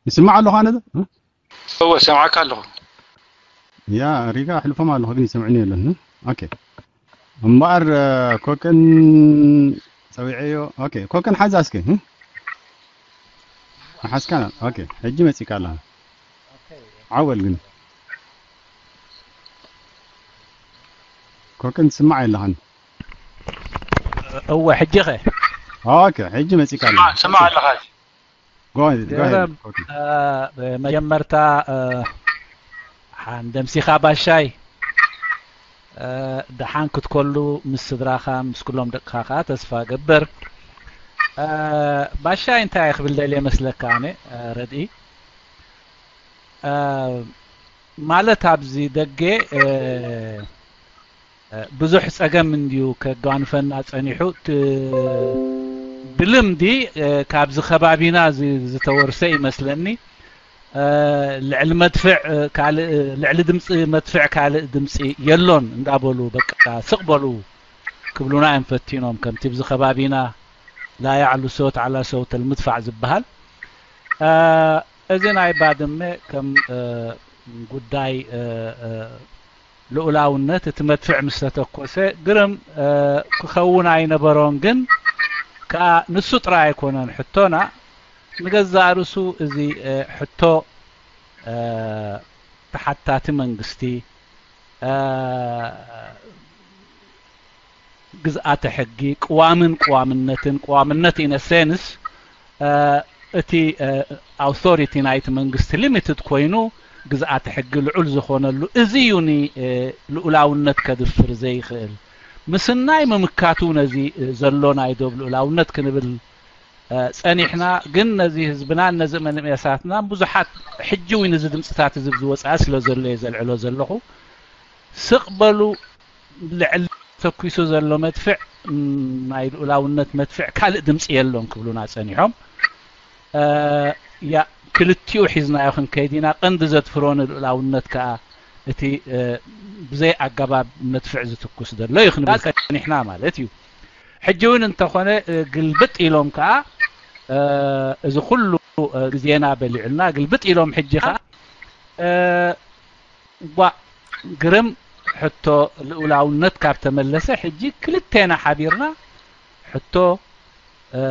ይስማዕ ኣለኹ ኣነ ዶ? እ? እወ፣ ሰምዓካ ኣለኹ። ያ ሪጋ ኣሕልፎም ኣለኹ ግን ይሰምዕኒ የለን። እ? ኦኬ። እምበኣር እ፣ ኮከን ጸዊዐዮ። ኦኬ፣ ኮከን ሓዛ እስኪ። እ? ሓዝካ? ኦኬ፣ ሕጂ መጺካ ኣለኻ። ዓወል ግን ኮከን ትስማዕ የለኻን። እወ፣ ሕጂ ኸ? ኦኬ፣ ሕጂ መጺካ ኣለኻ። ስማዕ ኣለኻ። Go ahead, go ahead. ገረም፣ እ፣ መጀመርታ፣ እ፣ ሓን ደምሲኻ ባሻይ፣ እ፣ ደሓን ክትኮሉ ምስ ስድራኻ ምስ ኩሎም ደቅኻ ከኣ ተስፋ ገብር። እ፣ ባሻይ እንታይ ክብል ደልየ መስለካ ኣነ፣ እ፣ ረድኢ? እ፣ ማለት ኣብዚ ደገ፣ እ፣ እ፣ ብዙሕ ጸገም እንድዩ ከጓንፈና ጸኒሑ። ት-፣ ብልምዲ፣ እ፣ ካብዚ ከባቢና ዚ-፣ ዝተወርሰ ይመስለኒ። እ፣ ልዕሊ መድፍዕ፣ እ፣ ካልእ፣ ልዕሊ ድምጺ መድፍዕ ካልእ ድምጺ የሎን እንዳበሉ በቃ ስቕ በሉ ክብሉና እዮም ፈቲኖም። ከምቲ ብዚ ከባቢና ላ ያዕሉ ሰውት ዓላ ሰውት ኣልምድፋዕ ዝበሃል። እ፣ እዚ ናይ ባድመ ከም፣ እ፣ ጉዳይ፣ እ፣ እ፣ ልኡላውነት እቲ መድፍዕ ምስ ተተኮሰ ግርም፣ እ፣ ክኸውን ኣይነበሮን። ግን ከኣ ንሱ ጥራይ ኣይኮነን ሕቶና፣ ንገዛእ ርእሱ እዚ፣ እ፣ ሕቶ፣ እ፣ ተሓታቲ መንግስቲ፣ እ፣ ግዝኣተ ሕጊ፣ ቅዋምን ቅዋምነትን፣ ቅዋምነት in a sense፣ እ፣ እቲ፣ እ፣ ኣውቶሪቲ ናይቲ መንግስቲ ሊሚትድ ኮይኑ ግዝኣተ ሕጊ ልዑል ዝኾነሉ፣ እዚ እዩ ኒ፣ እ፣ ልኡላውነት ከድፍር ዘይኽእል። ምስናይ ምምካቱ ነዚ፣ እ፣ ዘሎ ናይ ዶብ ልኡላውነት ክንብል፣ እ፣ ጸኒሕና። ግን ነዚ ህዝብናን ነዚ መንእሰያትናን ብዙሓት ሕጂ እውን እዚ ድምፅታት እዚ ዝወፅኣ ስለ ዘሎ እየ ዘልዕሎ ዘለኹ። ስቕ በሉ፣ ልዕሊ ተኩሱ ዘሎ መድፍዕ፣ ም፣ ናይ ልኡላውነት መድፍዕ ካልእ ድምፂ የሎን ክብሉና ጸኒሖም። እ፣ ያ፣ ክልቲኡ ሒዝናዮ ክንከይድ ኢና። ቀንዲ ዘድፍሮ ንልኡላውነት ከኣ እቲ፣ እ፣ ብዘይ ኣገባብ መድፍዕ ዝትኩስ ዘሎ እዩ ክንብል ጸኒሕና ማለት እዩ። ሕጂ እውን እንተኾነ፣ እ፣ ግልብጥ ኢሎም ከኣ፣ እ፣ እዚ ኩሉ፣ እ፣ ግዜና በሊዑልና ግልብጥ ኢሎም ሕጂ ከኣ፣ እ፣ ጓ ግርም ሕቶ ልኡላውነት ካብ ተመለሰ፣ ሕጂ ክልቴና ሓቢርና ሕቶ፣ እ፣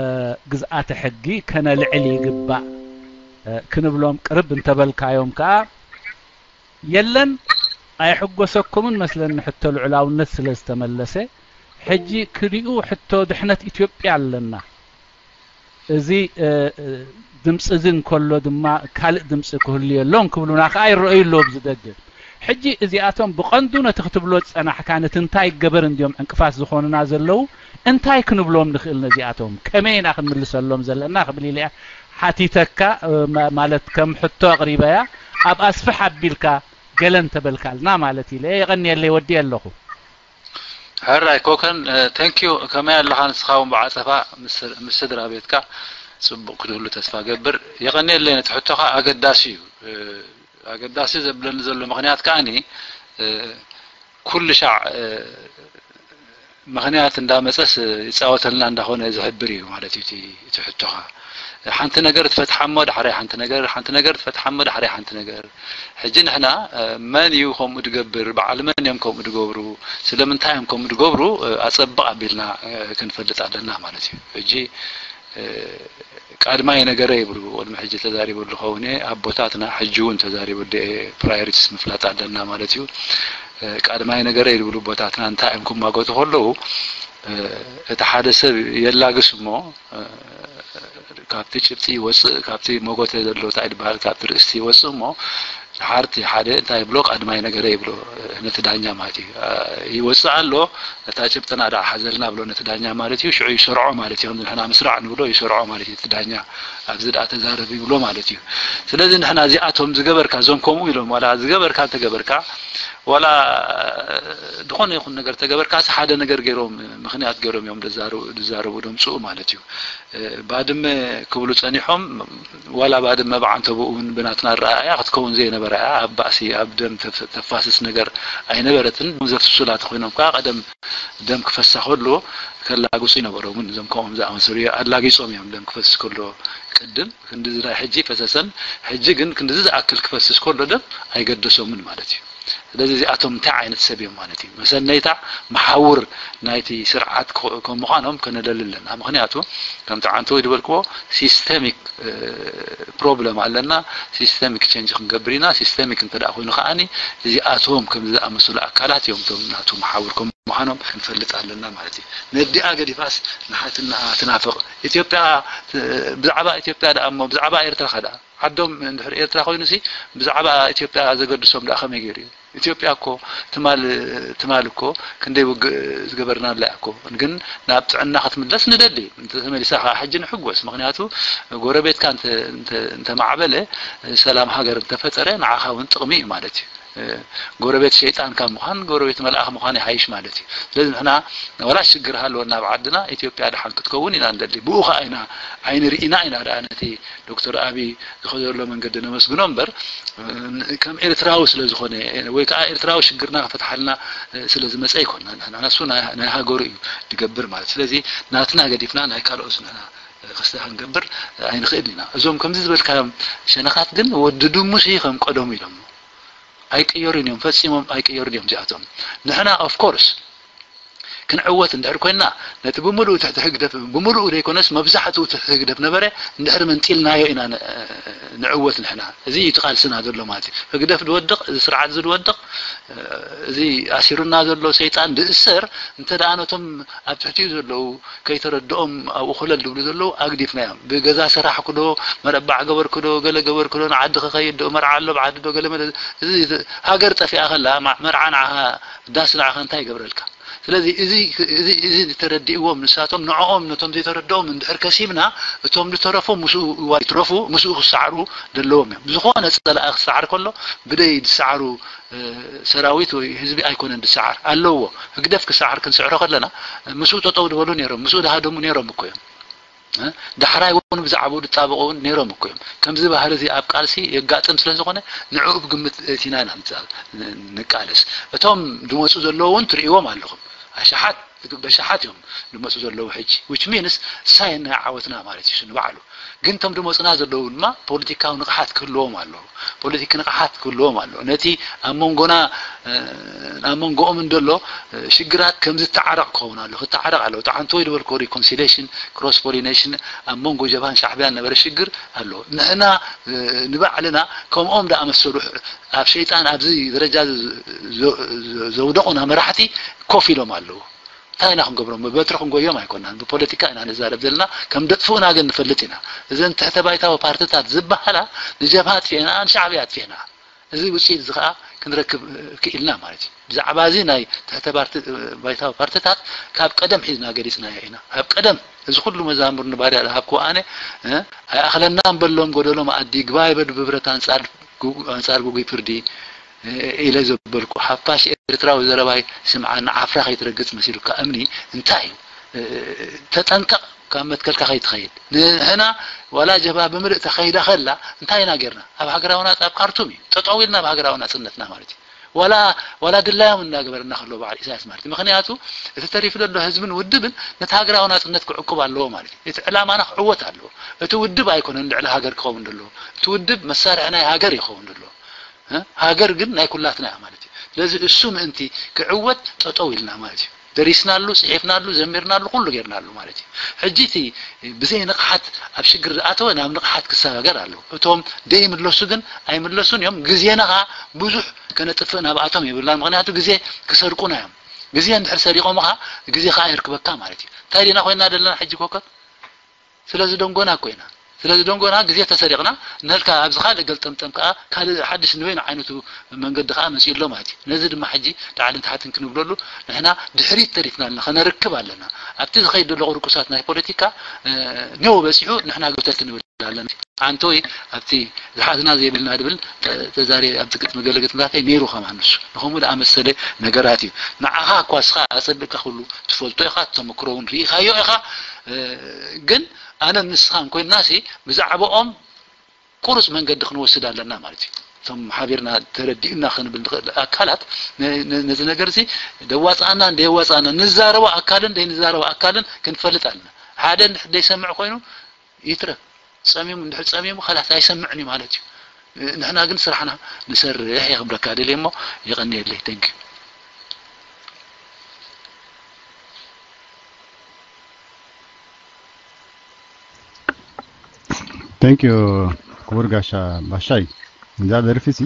ግዝኣተ ሕጊ ከነልዕል ይግባእ፣ እ፣ ክንብሎም ቅርብ እንተበልካዮም ከኣ፣ የለን ኣይሕጎሰኩምን መስለኒ ሕቶ ልዑላውነት ስለ ዝተመለሰ፣ ሕጂ ክሊኡ ሕቶ ድሕነት ኢትዮጵያ ኣለና። እዚ፣ እ፣ እ፣ ድምፂ እዚ እንከሎ ድማ ካልእ ድምፂ ክህሉ የሎን ክብሉና ከኣ ይረኣዩ ኣለዉ ኣብዚ ደገ። ሕጂ እዚኣቶም ብቐንዱ ነቲ ክትብሎ ዝጸናሕካ ነቲ እንታይ ይገበር እንድዮም ዕንቅፋት ዝኾኑና ዘለዉ እንታይ ክንብሎም ንኽእል ነዚኣቶም? ከመይ ኢና ክንምልሰሎም ዘለና ክብል ኢለ እያ ሓቲተካ፣ እ፣ ማ-፣ ማለት ከም ሕቶ ኣቕሪበያ ኣብ ኣስፍሕ ኣቢልካ ገለ እንተበልካልና ማለት ኢለ እየ። የቐንየለይ ወዲየ ኣለኹ። ሕራይ ኮከን፣ እ፣ thank you። ከመይ ኣለኻ ንስኻ እውን ብዓጸፋ ምስ፣ ምስ ስድራ ቤትካ ጽቡቕ ክትህሉ ተስፋ ገብር። የቐንየለይ ነቲ ሕቶኻ ኣገዳሲ እዩ። እ፣ ኣገዳሲ ዘብለኒ ዘሎ ምኽንያት ከኣኒ፣ እ፣ ኩሉ ሻዕ፣ እ፣ ምኽንያት እንዳመጸስ ይጻወተልና እንዳኾነ ዝሕብር እዩ ማለት እዩ እቲ፣ እቲ ሕቶኻ። ሓንቲ ነገር ትፈትሓሞ ዳሕራይ ሓንቲ ነገር፣ ሓንቲ ነገር ትፈትሓሞ ዳሕራይ ሓንቲ ነገር። ሕጂ ንሕና፣ እ፣ መን እዩ ከምኡ ድገብር፣ በዓል መን እዮም ከምኡ ድገብሩ፣ ስለምንታይ እዮም ከምኡ ድገብሩ፣ እ፣ ኣጸብቕ ኣቢልና፣ እ፣ ክንፈልጥ ኣለና ማለት እዩ። ሕጂ፣ እ፣ ቀድማይ ነገረ ይብሉ፣ ቅድሚ ሕጂ ተዛሪበሉ ኸውን እየ፣ ኣቦታትና ሕጂ እውን ተዛሪበሉ እየ፣ ፕራዮሪቲስ ምፍላጥ ኣለና ማለት እዩ። እ፣ ቀድማይ ነገረ ይብሉ ኣቦታትና እንታይ እዮም ክማጎቱ ከለዉ፣ እ፣ እቲ ሓደ ሰብ የላግስ እሞ፣ እ፣ ካብቲ ጭብጢ ይወፅእ፣ ካብቲ መጎተ ዘሎ እንታይ ይበሃል፣ ካብቲ ርእስቲ ይወፅእ እሞ፣ ሓርቲ ሓደ እንታይ ይብሎ፣ ቀድማይ ነገረ ይብሎ፣ እ፣ ነቲ ዳኛ ማለት እዩ። እ፣ ይወፅእ ኣሎ፣ እታ ጭብጥና ደኣ ሓዘልና ብሎ ነቲ ዳኛ ማለት እዩ። ሽዑ ይሰርዖ ማለት እዩ። ከምዚ ንሕና ምስራዕ ንብሎ ይሰርዖ ማለት እዩ። እቲ ዳኛ ኣብዚ ደኣ ተዛረብ ይብሎ ማለት እዩ። ስለዚ ንሕና እዚኣቶም ዝገበርካ፣ እዞም ከምኡ ኢሎም፣ ዋላ ዝገበርካ እንተገበርካ፣ ዋላ ዝኾነ ይኹን ነገር ተገበርካስ ሓደ ነገር ገይሮም፣ ምኽንያት ገይሮም እዮም ዝዛረቡ፣ ዝዛረቡ ደምፅኡ ማለት እዩ። እ፣ ባድመ ክብሉ ጸኒሖም፣ ዋላ ባድመ ብዓንተቦኡ እውን ብናትና ኣረኣእያ ክትከውን ዘይነበራ ኣይተራእያ፣ ኣብ ባእሲ ኣብ ደም ተፍ- ተፋስስ ነገር ኣይነበረትን። ዘፍስሱላ ተኾይኖም ከዓ ቀደም ደም ክፈሳ ከሎ ከላግጹ ይነበሮምን እዞም ከምኦም ዝኣመሰሉ ኣላጊጾም እዮም። ደም ክፈስስ ከሎ ቅድም ክንድዚ ናይ ሕጂ ፈሰሰን ሕጂ ግን ክንድዚ ዝኣክል ክፈስስ ከሎ ደም ኣይገደሶምን ማለት እዩ። ስለዚ እዚኣቶም እንታይ ዓይነት ሰብ እዮም ማለት እዩ? መሰነይታ መሓውር ናይቲ ስርዓት ከም ምዃኖም ከነደሊ ኣለና። ምክንያቱ ከምቲ ዓንተወይ ዝበልክዎ ሲስተሚክ ፕሮብለም ኣለና። ሲስተሚክ ቸንጅ ክንገብር ኢና። ሲስተሚክ እንተ ደኣ ኮይኑ ከዓኒ እዚኣቶም ከም ዝኣመሰሉ ኣካላት እዮም እቶም ናቱ መሓውር ከም ምዃኖም ክንፈልጥ ኣለና ማለት እዩ። ነዲኣ ገዲፋስ ንሓትነኣ ትናፍቕ ኢትዮጵያ። ብዛዕባ ኢትዮጵያ ደኣ እሞ ብዛዕባ ኤርትራ ከ ደኣ ዓዶም እንድሕር ኤርትራ ኮይኑሲ ብዛዕባ ኢትዮጵያ ዘገድሶም ደኣ ከመይ ገይሩ እዩ? ኢትዮጵያ እኮ ትማል ትማል እኮ ክንደይ ውግእ ዝገበርናላ እኮ። ግን ናብ ጥዕና ክትምለስ ንደሊ። እንተተመሊሳ ከዓ ሕጂ ንሕጎስ። ምክንያቱ ጎረቤትካ እንተ- እንተ- እንተማዕበለ፣ ሰላም ሃገር እንተፈጠረ ንዓኻ እውን ጥቕሚ እዩ ማለት እዩ። ጎረቤት ሸይጣን ካብ ምዃን ጎረቤት መልኣኽ ምዃን ይሃይሽ ማለት እዩ። ስለዚ ንሕና ዋላ ሽግር ሃለወና ኣብ ዓድና ኢትዮጵያ ደሓን ክትከውን ኢና ንደሊ። ብኡ ከዓ ኢና ዓይኒ ርኢና ኢና ደኣ ነቲ ዶክተር ኣብይ ዝኸዶ ዘሎ መንገዲ ነመስግኖ እምበር ከም ኤርትራዊ ስለ ዝኾነ ወይ ከዓ ኤርትራዊ ሽግርና ክፈትሓልና ስለ ዝመፀ ኣይኮንና። ንሕና ንሱ ናይ ናይ ሃገሩ እዩ ዝገብር ማለት። ስለዚ ናትና ገዲፍና ናይ ካልኦት ንሕና ክስተ ክንገብር ኣይንኽእልን ኢና። እዞም ከምዚ ዝበልካዮም ሸነኻት ግን ወዲ ድሙስ እዩ ከም ቀደሙ ኢሎም ኣይቅየሩን እዮም፣ ፈጺሞም ኣይቅየሩን እዮም እዚኣቶም። ንሕና ኦፍኮርስ ክንዕወት እንድሕር ኮይንና ነቲ ብምሉኡ ትሕቲ ህግደፍ ብምሉኡ ዘይኮነስ መብዛሕትኡ ትሕቲ ህግደፍ ነበረ እንድሕር መንጢልናዮ ኢና ን- ንዕወት ንሕና። እዚ እዩ እቲ ቃልስና ዘሎ ማለት እዩ። ህግደፍ ዝወድቕ፣ እዚ ስርዓት እዚ ዝወድቕ፣ እዚ ኣሲሩና ዘሎ ሰይጣን ዝእሰር እንተ ደኣ ነቶም ኣብ ትሕቲኡ ዘለዉ ከይተረድኦም ኣብኡ ኮለል ዝብሉ ዘለዉ ኣግዲፍናዮም። ብገዛ ሰራሕኩ ዶ፣ መረባዕ ገበርኩ ዶ፣ ገለ ገበርኩ ዶ፣ ንዓዲ ክኸይድ ዶ፣ መርዓ ኣሎ ኣብ ዓዲ ዶ፣ ገለ መለ እዚ ሃገር ጠፊኣ ከላ ማ- መርዓ ንዓኻ ዳስ ንዓኻ እንታይ ይገብረልካ? ስለዚ እዚ እዚ እዚ ተረዲእዎም ንሳቶም ንዕኦም ነቶም ዘይተረድኦም እንድሕር ከሲብና እቶም ዝተረፉ ምስኡ ይዋ- ይትረፉ ምስኡ ክሰዓሩ ዘለዎም እዮም። ዝኾነ ጸላኢ ክሰዓር ከሎ ብደይ ዝሰዓሩ ሰራዊት ወይ ህዝቢ ኣይኮነን ዝሰዓር ኣለዎ። ህግደፍ ክሰዓር ክንስዕሮ ከለና ምስኡ ጠጠው ዝበሉ ነይሮም፣ ምስኡ ዝሃደሙ ነይሮም እኮ እዮም። ዳሕራይ እውን ብዛዕባኡ ዝጣበቑ እውን ነይሮም እኮ እዮም። ከምዚ ባህሪ እዚ ኣብ ቃልሲ የጋጥም ስለ ዝኾነ ንዕኡ ብግምት እቲና ኢና ንቃለስ። እቶም ዝመፁ ዘለዉ እውን ትርእይዎም ኣለኹም። ኣሽሓት በሽሓት እዮም ዝመፁ ዘለዉ ሕጂ which means ሳይን ናይ ዓወትና ማለት እዩ ንባዕሉ። ግን እቶም ዝመፁና ዘለዉ ድማ ፖለቲካዊ ንቕሓት ክህልዎም ኣለዎ። ፖለቲክ ንቕሓት ክህልዎም ኣለዎ። ነቲ ኣብ መንጎና ኣብ መንጎኦም እንደሎ ሽግራት ከም ዝተዓረቕ ክኸውን ኣሎ ክተዓረቕ ኣለዎ። ተዓንቶ ወይ ዝበልኮ ሪኮንሲሌሽን ክሮስ ፖሊኔሽን ኣብ መንጎ ጀብሃን ሻዕብያን ነበረ ሽግር ኣሎ። ንሕና ንባዕልና ከምኦም ደኣመሰሉ ኣብ ሸይጣን ኣብዚ ደረጃ ዘውደቑና መራሕቲ ኮፍ ኢሎም ኣለዉ። እንታይ ኢና ክንገብሮም? ብበትሪ ክንጎዮም ኣይኮናን፣ ብፖለቲካ ኢና ንዛረብ ዘለና። ከም ደጥፍኡና ግን ንፈልጥ ኢና። እዘን ትሕተ ባይታዊ ፓርትታት ዝበሃላ ንጀብሃ ኣጥፊእና ንሻዕብያ ኣጥፊእና። እዚ ውፅኢት እዚ ከዓ ክንረክብ ክኢልና ማለት እዩ። ብዛዕባ እዚ ናይ ትሕተ ባይታዊ ፓርትታት ካብ ቀደም ሒዝና ገሊፅናዮ ኢና። ካብ ቀደም እዚ ኩሉ መዛሙር ንባርያ ዝሃብኩ ኣነ ኣይኣኽለናን በሎም ጎደሎ መኣዲ ግባይ በዱ ብብረት ኣንፃር ጉጉይ ፍርዲ ኢለ ዘበልኩ ሓፋሽ ኤርትራዊ ዘረባይ ስምዓ ንዓፍራ ከይትረግፅ መሲሉካ እምኒ እንታይ እዩ? ተጠንቀቕ ካብ መትከልካ ከይትኸይድ። ንሕና ዋላ ጀብሃ ብምልእ ተኸይዳ ከላ እንታይ ኢና ጌርና? ኣብ ሃገራዊ ናፅ ኣብ ካርቱም እዩ ጠጠው ኢልና ኣብ ሃገራዊ ናፅነትና ማለት እዩ። ዋላ ዋላ ድላዮም እናገበረና ከሎ በዓል ኢሳያስ ማለት እዩ። ምክንያቱ እቲ ተሪፉ ዘሎ ህዝብን ውድብን ነቲ ሃገራዊ ናፅነት ክዕቁብ ኣለዎ ማለት እዩ። እቲ ዕላማና ክዕወት ኣለዎ። እቲ ውድብ ኣይኮነን ልዕሊ ሃገር ክኸውን ዘለዎ። እቲ ውድብ መሳርሒ ናይ ሃገር ይኸውን ዘለዎ። ሃገር ግን ናይ ኩላትና እያ ማለት እዩ። ስለዚ እሱ ምእንቲ ክዕወት ጠጠው ኢልና ማለት እዩ። ደሪስናሉ፣ ፅሒፍናሉ፣ ዘሚርናሉ፣ ኩሉ ጌርናሉ ማለት እዩ። ሕጂ እቲ ብዘይ ንቕሓት ኣብ ሽግር ዝኣተወ ናብ ንቕሓት ክሰጋገር ኣለዎ። እቶም ደይምለሱ ግን ኣይምለሱን እዮም። ግዜና ከዓ ብዙሕ ከነጥፍእ ናብኣቶም የብልናን። ምክንያቱ ግዜ ክሰርቁና እዮም። ግዜ እንድሕር ሰሪቖምኻ ግዜ ከዓ የርክበካ ማለት እዩ። እንታይ ዲና ኮይና ዘለና ሕጂ ኮከብ? ስለዚ ደንጎና እኮ ኢና። ስለዚ ደንጎና ግዜ ተሰሪቕና ንህልካ ኣብዚ ካልእ ገልጠምጠም ከዓ ካልእ ሓድሽ ንበይኑ ዓይነቱ መንገዲ ከዓ መፂኡ ኣሎ ማለት እዩ። ነዚ ድማ ሕጂ ላዕልን ታሕትን ክንብለሉ ንሕና ድሕሪት ተሪፍና ኣለና፣ ከነርክብ ኣለና። ኣብቲ ዝኸይድ ዘሎ ቁርቁሳት ናይ ፖለቲካ ኔው በፂሑ ንሕና ገተት ንብል ኣለና። ኣንቶይ ኣብቲ ዝሓዝና ዘይብልና ድብል ተዛሪ ኣብቲ ግጥሚ ገለ ግጥምታተይ ነይሩ ከማን ንሱ ንኸምኡ ደኣ መሰለ ነገራት እዩ። ንዓኻ እኳ እስኻ ኣጸቢቕካ ኩሉ ትፈልጦ ኢኻ፣ ተመክሮ እውን ርኢኻዮ ኢኻ። ግን ኣነ ንስኻን ኮይንናሲ ብዛዕባኦም ቁሩጽ መንገዲ ክንወስድ ኣለና ማለት እዩ። እቶም ሓቢርና ተረዲኡና ክንብል ንኽእል ኣካላት ነ- ነ- ነዚ ነገር እዚ ደዋፅኣና እንደየዋፅኣና ንዛረቦ ኣካልን ዘይንዛረቦ ኣካልን ክንፈልጥ ኣለና። ሓደ እንድሕር ዘይሰምዕ ኮይኑ ይትረፍ፣ ጸሚሙ እንድሕር ጸሚሙ ከላስ ኣይሰምዕን እዩ ማለት እዩ። ንሕና ግን ስራሕና ንሰርሕ እየ ክብለካ ደልየ እሞ የቐንየለይ። Thank you። Thank you ክቡር ጋሻ ባሻይ። እዛ ደርፊ ሲ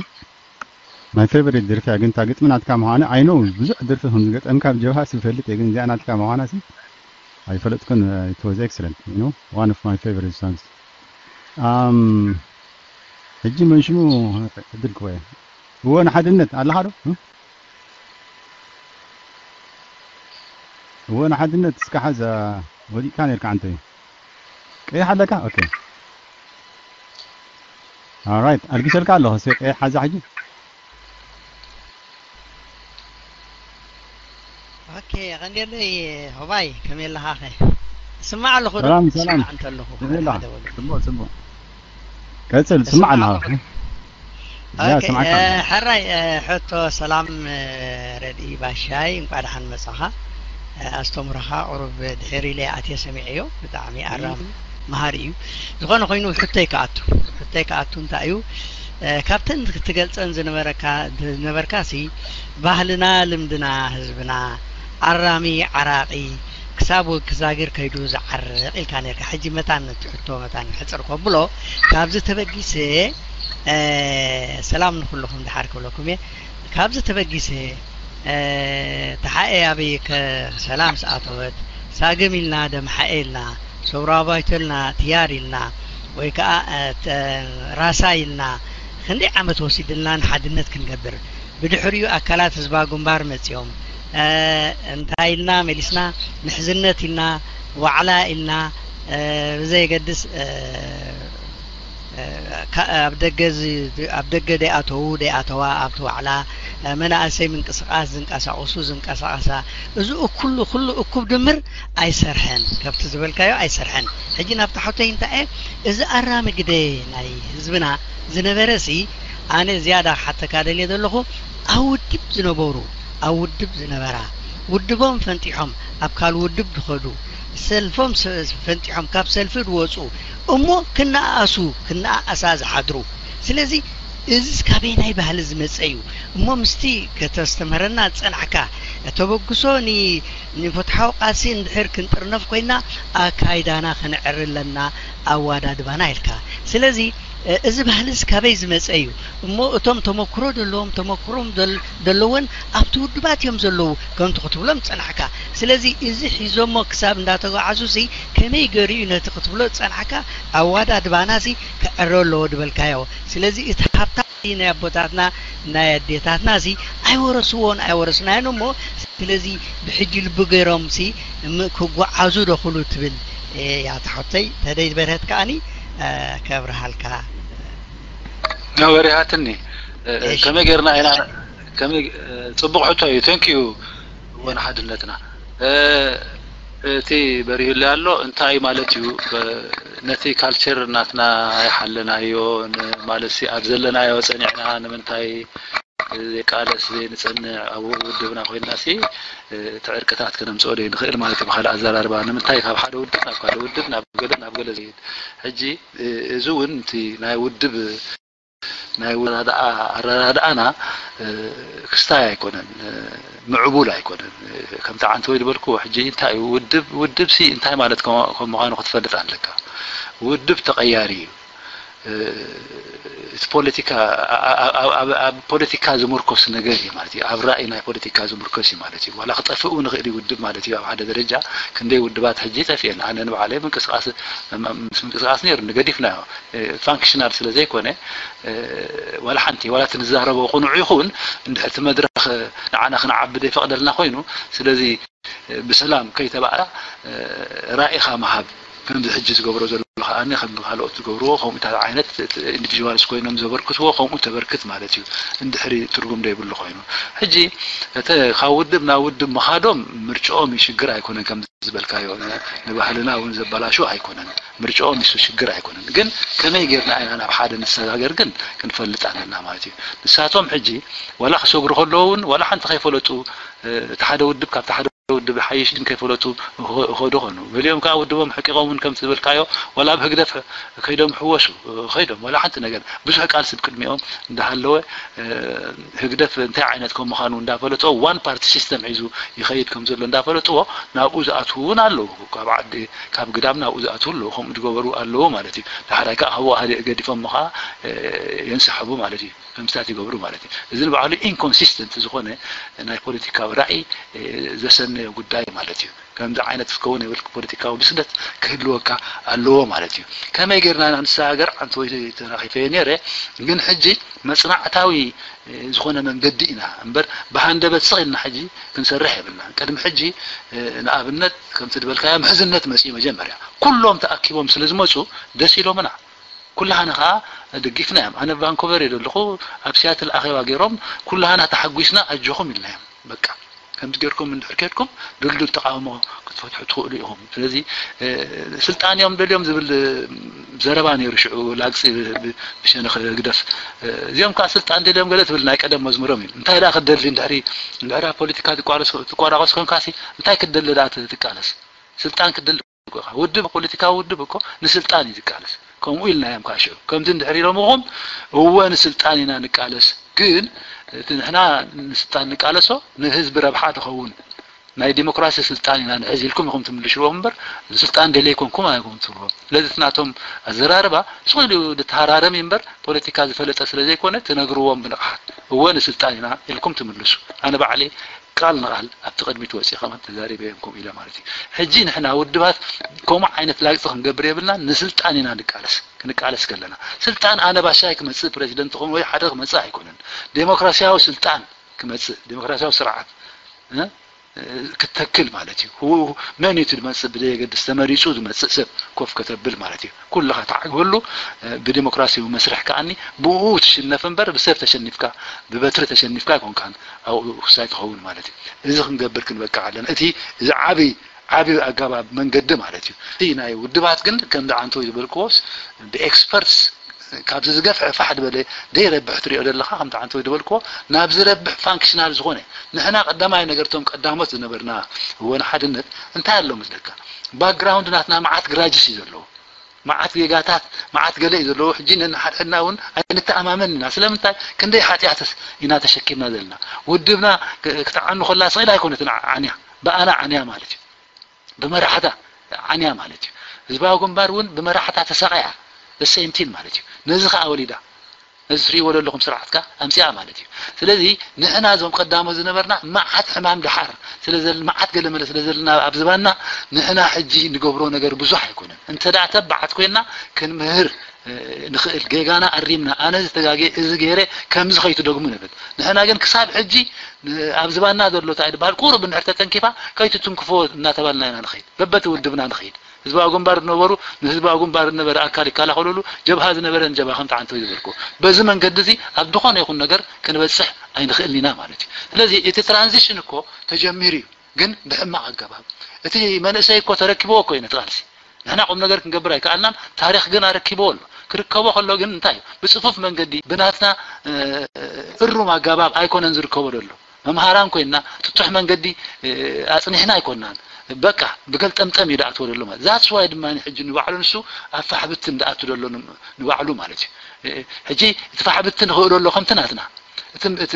my favorite ደርፊ እያ፣ ግን እታ ግጥሚ ናትካ ምዃና I know ብዙሕ ደርፊ ከም ዝገጠምካ ኣብ ጀብሃ ሲ ይፈልጥ እየ፣ ግን እዚኣ ናትካ ምዃና ሲ ኣይፈለጥኩን። It was excellent, you know, one of my favorite songs. Um ሕጂ መን ሽሙ ዕድል ክወ እወ ንሓድነት ኣለኻ ዶ? እወ ንሓድነት እስካ ሓዛ ወዲቅካ ነርካ ኣንተ ቀይሕ ኣለካ። Okay, alright፣ ኣልጊሰልካ ኣለኹ። እስኪ ቀይሕ ሓዛ ሕጂ። ኦኬ፣ ቀንዴለይ ሆባይ ከመይ ኣለኻ? ኸ ስማዕ ኣለኹ ዶ? ሰላም ሰላም። እንተ ኣለኹ ከመይ ኣለኻ? ሓደ በሉ። ጽቡቅ ጽቡቅ። ቀጽል፣ ስማዕ ኣለኻ። ያ ኦኬ፣ ስማዕካ። እ፣ ሕራይ፣ እ፣ ሕቶ ሰላም፣ እ፣ ረድኢ ባሻይ፣ እንቋዕ ደሓን መጻኻ። እ፣ ኣስተምሮኻ ቁሩብ ድሕር ኢለ ኣትየ ሰሚዐዮ፣ ብጣዕሚ ኣራም መሃሪ እዩ። ዝኾነ ኮይኑ ሕቶይ ክኣቱ፣ ሕቶይ ክኣቱ እንታይ እዩ? እ፣ ካብተን ክትገልጸን ዝነበረካ ዝነበርካ ሲ ባህልና፣ ልምድና፣ ህዝብና፣ ኣራሚ፣ ዓራቒ፣ ክሳብ ወግዛግር ከይዱ ዝዓርቕ ኢልካ ነርካ። ሕጂ መታን ነቲ ሕቶ መታን ሕጽር ከብሎ፣ ካብዚ ተበጊሰ፣ እ፣ ሰላም ንኹልኹም ድሓር ክብለኩም እየ። ካብዚ ተበጊሰ፣ እ፣ ተሓኤ ኣበይ ከ ሰላም ስኣተወት፣ ሳግም ኢልና ደምሓኤ ኢልና፣ ሰውራ ባይቶ ኢልና ትያር ኢልና፣ ወይ ከኣ፣ እ፣ ተ-፣ ራሳ ኢልና፣ ክንደይ ዓመት ወሲድልና ንሓድነት ክንገብር። ብድሕሪኡ ኣካላት ህዝባዊ ግንባር መጺኦም፣ እ፣ እንታይ ኢልና መሊስና፣ ምሕዝነት ኢልና፣ ዋዕላ ኢልና፣ እ፣ ብዘየገድስ፣ እ፣ እ፣ ካ-፣ ኣብ ደገ ዝ-፣ ኣብ ደገ ደይኣተዉ ደይኣተዋ፣ ኣብቲ ዋዕላ፣ እ፣ መናእሰይ ምንቅስቃስ ዝንቀሳቀሱ ዝንቀሳቀሳ፣ እዚ ኩሉ፣ ኩሉ እኩብ ድምር ኣይሰርሐን፣ ከብቲ ዝበልካዮ ኣይሰርሐን። ሕጂ ናብቲ ሓቶይ እንታይ እየ፣ እዚ ኣራሚ ግደ ናይ ህዝብና ዝነበረ ሲ፣ ኣነ ዝያዳ ክሓተካ ደልየ ዘለኹ፣ ኣብ ውድብ ዝነበሩ፣ ኣብ ውድብ ዝነበራ፣ ውድቦም ፈንጢሖም ኣብ ካልእ ውድብ ዝኸዱ፣ ሰልፎም ሰ-፣ ፈንጢሖም ካብ ሰልፊ ዝወፁ፣ እሞ ክነኣኣሱ፣ ክነኣኣሳ ዝሓድሩ። ስለዚ እዚስ ካበየናይ ባህሊ ዝመፀ እዩ? እሞ ምስቲ ከተስተምህረና ዝፀናሕካ ተበግሶ ን-፣ ንፍትሓዊ ቃልሲ እንድሕር ክንጥርነፍ ኮይና ኣካይዳና ክንዕሪ ኣለና፣ ኣዋዳድባና ኢልካ። ስለዚ እ፣ እዚ ባህልስ ካበይ ዝመፀ እዩ? እሞ እቶም ተመክሮ ዘለዎም ተመክሮም ዘል-፣ ዘለዎን ኣብቲ ውድባት እዮም ዘለዉ ከምቲ ክትብሎም ዝፀናሕካ። ስለዚ እዚ ሒዞሞ ክሳብ እንዳተጓዓዙ ሲ ከመይ ገይሩ እዩ ነቲ ክትብሎ ዝፀናሕካ ኣዋዳድባና ሲ ክዕረ ኣለዎ ዝበልካዮ። ስለዚ እቲ ሃብታ ናይ ኣቦታትና ናይ ኣዴታትና ሲ ኣይወረስዎን ኣይወረስናዮን እሞ ስለዚ ብሕጂ ልቢ ገይሮም ሲ ም-፣ ክጓዓዙ ዶ ክሉ ትብል እያ ትሕቶይ። ተደይ በርሀት ከኣኒ እ፣ ከብርሃልካ። ና በሪሃትኒ። እ፣ እ፣ እሺ። ከመይ ጌርና ኢና፣ ከመይ፣ እ፣ ጽቡቕ ሕቶ እዩ። Thank you። እወ ንሓድነትና። እ፣ እቲ በሪሁለይ ኣሎ እንታይ ማለት እዩ? እ፣ ነቲ ካልቸር ናትና ኣይሓለናዮ፣ ን-፣ ማለት ሲ ኣብ ዘለናዮ ጸኒዕና ንምንታይ ዘይቃለስ ዘይንጸንዕ ኣብ ውድብና ኮይንና ሲ፣ እ፣ እቲ ዕርቅታት ከነምጽኦ ዘይንኽእል ማለት እዩ። ብኻልእ ኣዘራርባ ንምንታይ ካብ ሓደ ውድብ ናብ ካልእ ውድብ ናብ ገለ ናብ ገለ ዘይድ። ሕጂ፣ እ፣ እዚ እውን እቲ ናይ ውድብ ናይ ኣረዳድኣ ኣረዳድኣና፣ እ፣ ክስታይ ኣይኮነን፣ እ፣ ምዕቡል ኣይኮነን። እ፣ ከምቲ ዓንተወይ ዝበልክዎ ሕጂ እንታይ እዩ ውድብ፣ ውድብ ሲ እንታይ ማለት ከም ከም ምዃኑ ክትፈልጥ ኣለካ። ውድብ ተቐያሪ እዩ። እ፣ እቲ ፖለቲካ ኣ-፣ ኣ-፣ ኣብ ኣብ ኣብ ፖለቲካ ዝምርኮስ ነገር እዩ ማለት እዩ። ኣብ ራእይ ናይ ፖለቲካ ዝምርኮስ እዩ ማለት እዩ። ዋላ ክጠፍእ እውን ይኽእል እዩ ውድብ ማለት እዩ። ኣብ ሓደ ደረጃ ክንደይ ውድባት ሕጂ ጠፊኤን። ኣነ ንባዕለይ ምንቅስቃስ ምስ ምንቅስቃስ ነይሩ ንገዲፍናዮ። ፋንክሽናል ስለ ዘይኮነ፣ እ፣ ዋላ ሓንቲ፣ ዋላ እቲ ንዛረቦ ቅኑዕ ይኹን፣ እንድሕር እቲ መድረኽ ንዓና ክንዓቢ ዘይፈቕደልና ኮይኑ፣ ስለዚ፣ እ፣ ብሰላም ከይተባእራ፣ እ፣ ራኢኻ ምሃብ፣ ከምዚ ሕጂ ዝገብሮ ዘሎ ከዓኒ ከም ካልኦት ዝገብርዎ ከምኡታት ዓይነት ኢንዲቪድዋልስ ኮይኖም ዘበርክትዎ ከምኡ ተበርክት ማለት እዩ። እንድሕሪ ትርጉም ዘይብሉ ኮይኑ ሕጂ እቲ ካብ ውድብ ናብ ውድብ ምኻዶም ምርጫኦም እዩ ሽግር ኣይኮነን። ከም ዝበልካዮ ንባህልና እውን ዘበላሹ ኣይኮነን። ምርጫኦም እሱ ሽግር ኣይኮነን። ግን ከመይ ጌርና ኢና ናብ ሓደ ንሰጋገር ግን ክንፈልጥ ኣለና ማለት እዩ። ንሳቶም ሕጂ ዋላ ክሰግሩ ከለዉ እውን ዋላ ሓንቲ ከይፈለጡ እቲ ሓደ ውድብ ካብቲ ሓደ ውድብ ሓይሽ ግን ከይፈለጡ ይኸዱ ኾኑ። ገሊኦም ከዓ ውድቦም ሕቂቖም እውን ከምቲ ዝበልካዮ ዋላ ኣብ ህግደፍ ከይዶም ሕወሱ ከይዶም ዋላ ሓንቲ ነገር ብዙሕ ቃልሲ ብቅድሚኦም እንዳሃለወ ህግደፍ እንታይ ዓይነት ከም ምዃኑ እንዳፈለጦ ዋን ፓርቲ ሲስተም ሒዙ ይኸይድ ከም ዘሎ እንዳፈለጥዎ ናብኡ ዝኣትዉ እውን ኣለዉ። ካብ ዓዲ ካብ ግዳም ናብኡ ዝኣትዉ ኣለዉ። ከምኡ ዝገበሩ ኣለዉ ማለት እዩ። ዳሕራይ ከዓ ካብኡ ሃደ ገዲፎም ከዓ የንስሕቡ ማለት እዩ። ከምስታት ይገብሩ ማለት እዩ። እዚ ንባዕሉ ኢንኮንሲስተንት ዝኾነ ናይ ፖለቲካዊ ራእይ ዘሰነዮ ጉዳይ ማለት እዩ። ከምዚ ዓይነት ክኸውን የብል ፖለቲካዊ ብስለት ክህልወካ ኣለዎ ማለት እዩ። ከመይ ጌርና ኢና ንሰጋገር ዓንተ ወይ ተራኺፈዮ ነይረ ግን ሕጂ መጽናዕታዊ ዝኾነ መንገዲ ኢና እምበር ብሃንደበት ስቕ ኢልና ሕጂ ክንሰርሕ የብልና። ቅድሚ ሕጂ ንኣብነት ከምቲ ዝበልካዮ ምሕዝነት መጽኡ መጀመርያ ኩሎም ተኣኪቦም ስለ ዝመጹ ደስ ኢሎምና። ኩላህና ከዓ ደጊፍና እዮም። ኣነ ቫንኮቨር እየ ዘለኹ ኣብ ሲያትል ኣኼባ ገይሮም ኩላህና ተሓጒስና ኣጆኹም ኢልና እዮም። በቃ ከምዚ ጌርኩም እንድሕር ኬድኩም ድልዱል ተቃውሞ ክትፈትሑ ትኽእሉ ኢኹም። ስለዚ ስልጣን እዮም ደልዮም ዝብል ዘረባ ነይሩ ሽዑ ላግፂ ብሸነኽ ህግደፍ። እዚኦም ከዓ ስልጣን ደልዮም ገለ ትብል ናይ ቀደም መዝሙሮም እዩ። እንታይ ደኣ ክትደሊ እንድሕሪ እንድሕሪ ኣብ ፖለቲካ ትቋረስ ትቋራቆስ ኮንካሲ እንታይ ክትደሊ ደኣ ትቃለስ? ስልጣን ክትደሊ ውድብ ፖለቲካዊ ውድብ እኮ ንስልጣን እዩ ዝቃለስ። ከምኡ ኢልና እዮም ከዓ ሽዑ ከምዚ እንድሕር ኢሎምኹም እወ ንስልጣን ኢና ንቃለስ ግን እቲ ንሕና ንስልጣን ንቃለሶ ንህዝቢ ረብሓ ትኸውን ናይ ዲሞክራሲ ስልጣን ኢና ንሕዝ ኢልኩም ኢኹም ትምልሽዎም እምበር ንስልጣን ደልየ ኣይኮንኩም ኣይኮም ትብልዎም። ስለዚ እቲ ናቶም ኣዘራርባ ስቕ ኢሉ ዝተሃራረም እዩ እምበር ፖለቲካ ዝፈለጠ ስለ ዘይኮነ ትነግርዎም ብንቕሓት እወ ንስልጣን ኢና ኢልኩም ትምልሱ። ኣነ ባዕለይ ቃል ንቓል ኣብቲ ቅድሚት ወፂእ ከማን ተዛሪበ እዮም ከምኡ ኢለ ማለት እዩ። ሕጂ ንሕና ውድባት ከምኡ ዓይነት ላግፂ ክንገብር የብልና። ንስልጣን ኢና ንቃለስ ክንቃለስ ከለና ስልጣን ኣነ ባሻይ ክመፅእ ፕሬዚደንት ኾን ወይ ሓደ ክመፅእ ኣይኮነን። ዴሞክራሲያዊ ስልጣን ክመፅእ ዴሞክራሲያዊ ስርዓት ክትተክል ማለት እዩ። መን እዩ ዝመፅእ ብዘየገድስ ተመሪፁ ዝመፅእ ሰብ ኮፍ ከተብል ማለት እዩ። ኩልኻ ተዓግበሉ ብዲሞክራሲያዊ መስርሕ ከዓኒ ብኡ ትሽነፍ እምበር ብሰብ ተሸኒፍካ ብበትሪ ተሸኒፍካ ኣይኮንካን ኣብኡ ክሳይ ትኸውን ማለት እዩ። እዚ ክንገብር ክንበቅዕ ኣለና። እቲ እዚ ዓብይ ዓብይ ኣገባብ መንገዲ ማለት እዩ። እቲ ናይ ውድባት ግን ከም ደዓንቶ ዝበልክዎስ ብኤክስፐርትስ ካብዚ ዝገፍሐ ፋሕ ዝበለ ደይረብሕ ትሪኦ ዘለኻ ከም ደዓንቶ ዝበልክዎ ናብ ዝረብሕ ፋንክሽናል ዝኾነ ንሕና ቀዳማይ ነገርቶም ቀዳሞት ዝነበርና እወን ሓድነት እንታይ ኣሎ መስለካ? ባክግራውንድ ናትና መዓት ግራጅስ እዩ ዘለዎ። መዓት ጌጋታት መዓት ገለ እዩ ዘለዎ። ሕጂ ነንሓድሕድና እውን ኣይንተኣማመን ኢና። ስለምንታይ ክንደይ ሓጢኣትስ ኢና ተሸኪምና ዘለና። ውድብና ክትዓኑ ከላ ስቕ ኢላ ኣይኮነትን ዓንያ ብኣና ዓንያ ማለት እዩ። ብመራሕታ ዓንያ ማለት እዩ። ህዝባዊ ግንባር እውን ብመራሕታ ተሳቐያ ሴምቲን ማለት እዩ። ነዚ ከዓ ወሊዳ ነዚ ትሪእዎ ዘለኹም ስርዓት ከዓ ኣምፅኣ ማለት እዩ። ስለዚ ንሕና እዞም ቀዳሞት ዝነበርና መዓት ሕማም ደሓር ስለዘል መዓት ገለመለ ስለ ዘለና ኣብ ዝባና ንሕና ሕጂ ንገብሮ ነገር ብዙሕ ኣይኮነን። እንተ ደኣ ተባዓት ኮይና ክንምህር ንኽእል ጌጋና ኣሪምና ኣነ ዝተጋጌ እዚ ገይረ ከምዚ ከይትደግሙ ንብል። ንሕና ግን ክሳብ ሕጂ ኣብ ዝባና ዘሎ እንታይ ዝበሃል ቁሩብ እንድሕር ተተንኪፋ ከይትትንክፎ እናተባልና ኢና ንኸይድ በበቲ ውድብና ንኸይድ። ህዝባዊ ግንባር ዝነበሩ ንህዝባዊ ግንባር ዝነበረ ኣካል ይከላኸሉሉ፣ ጀብሃ ዝነበረ ንጀብሃ ከም ተዓንቶ ይዝበርኩ። በዚ መንገዲ እዚ ኣብ ዝኾነ ይኹን ነገር ክንበፅሕ ኣይንኽእልን ኢና ማለት እዩ። ስለዚ እቲ ትራንዚሽን እኮ ተጀሚሩ እዩ፣ ግን ብሕማቕ ኣገባብ። እቲ መንእሰይ እኮ ተረኪብዎ እኮ እዩ ነቲ ቃልሲ። ንሕና ቁም ነገር ክንገብር ኣይከኣልናን፣ ታሪኽ ግን ኣረኪብዎ ኣሎ። ክርከቦ ከሎ ግን እንታይ እዩ? ብፅፉፍ መንገዲ ብናትና እሩም ኣገባብ ኣይኮነን ዝርከቦ ዘሎ። መምሃራን ኮይንና ጥጡሕ መንገዲ ኣፅኒሕና ኣይኮንናን። በቃ ብገልጠምጠም እዩ ደኣትዎ ዘሎ ማለት ዛትስ ዋይ ድማ ሕጂ ንባዕሉ ንሱ ኣብ ፋሕብትን ደኣቱ ዘሎ ንባዕሉ ማለት እዩ። ሕጂ እቲ ፋሕብቲ ንኽእሎ ኣሎ ከምቲ ናትና እቲ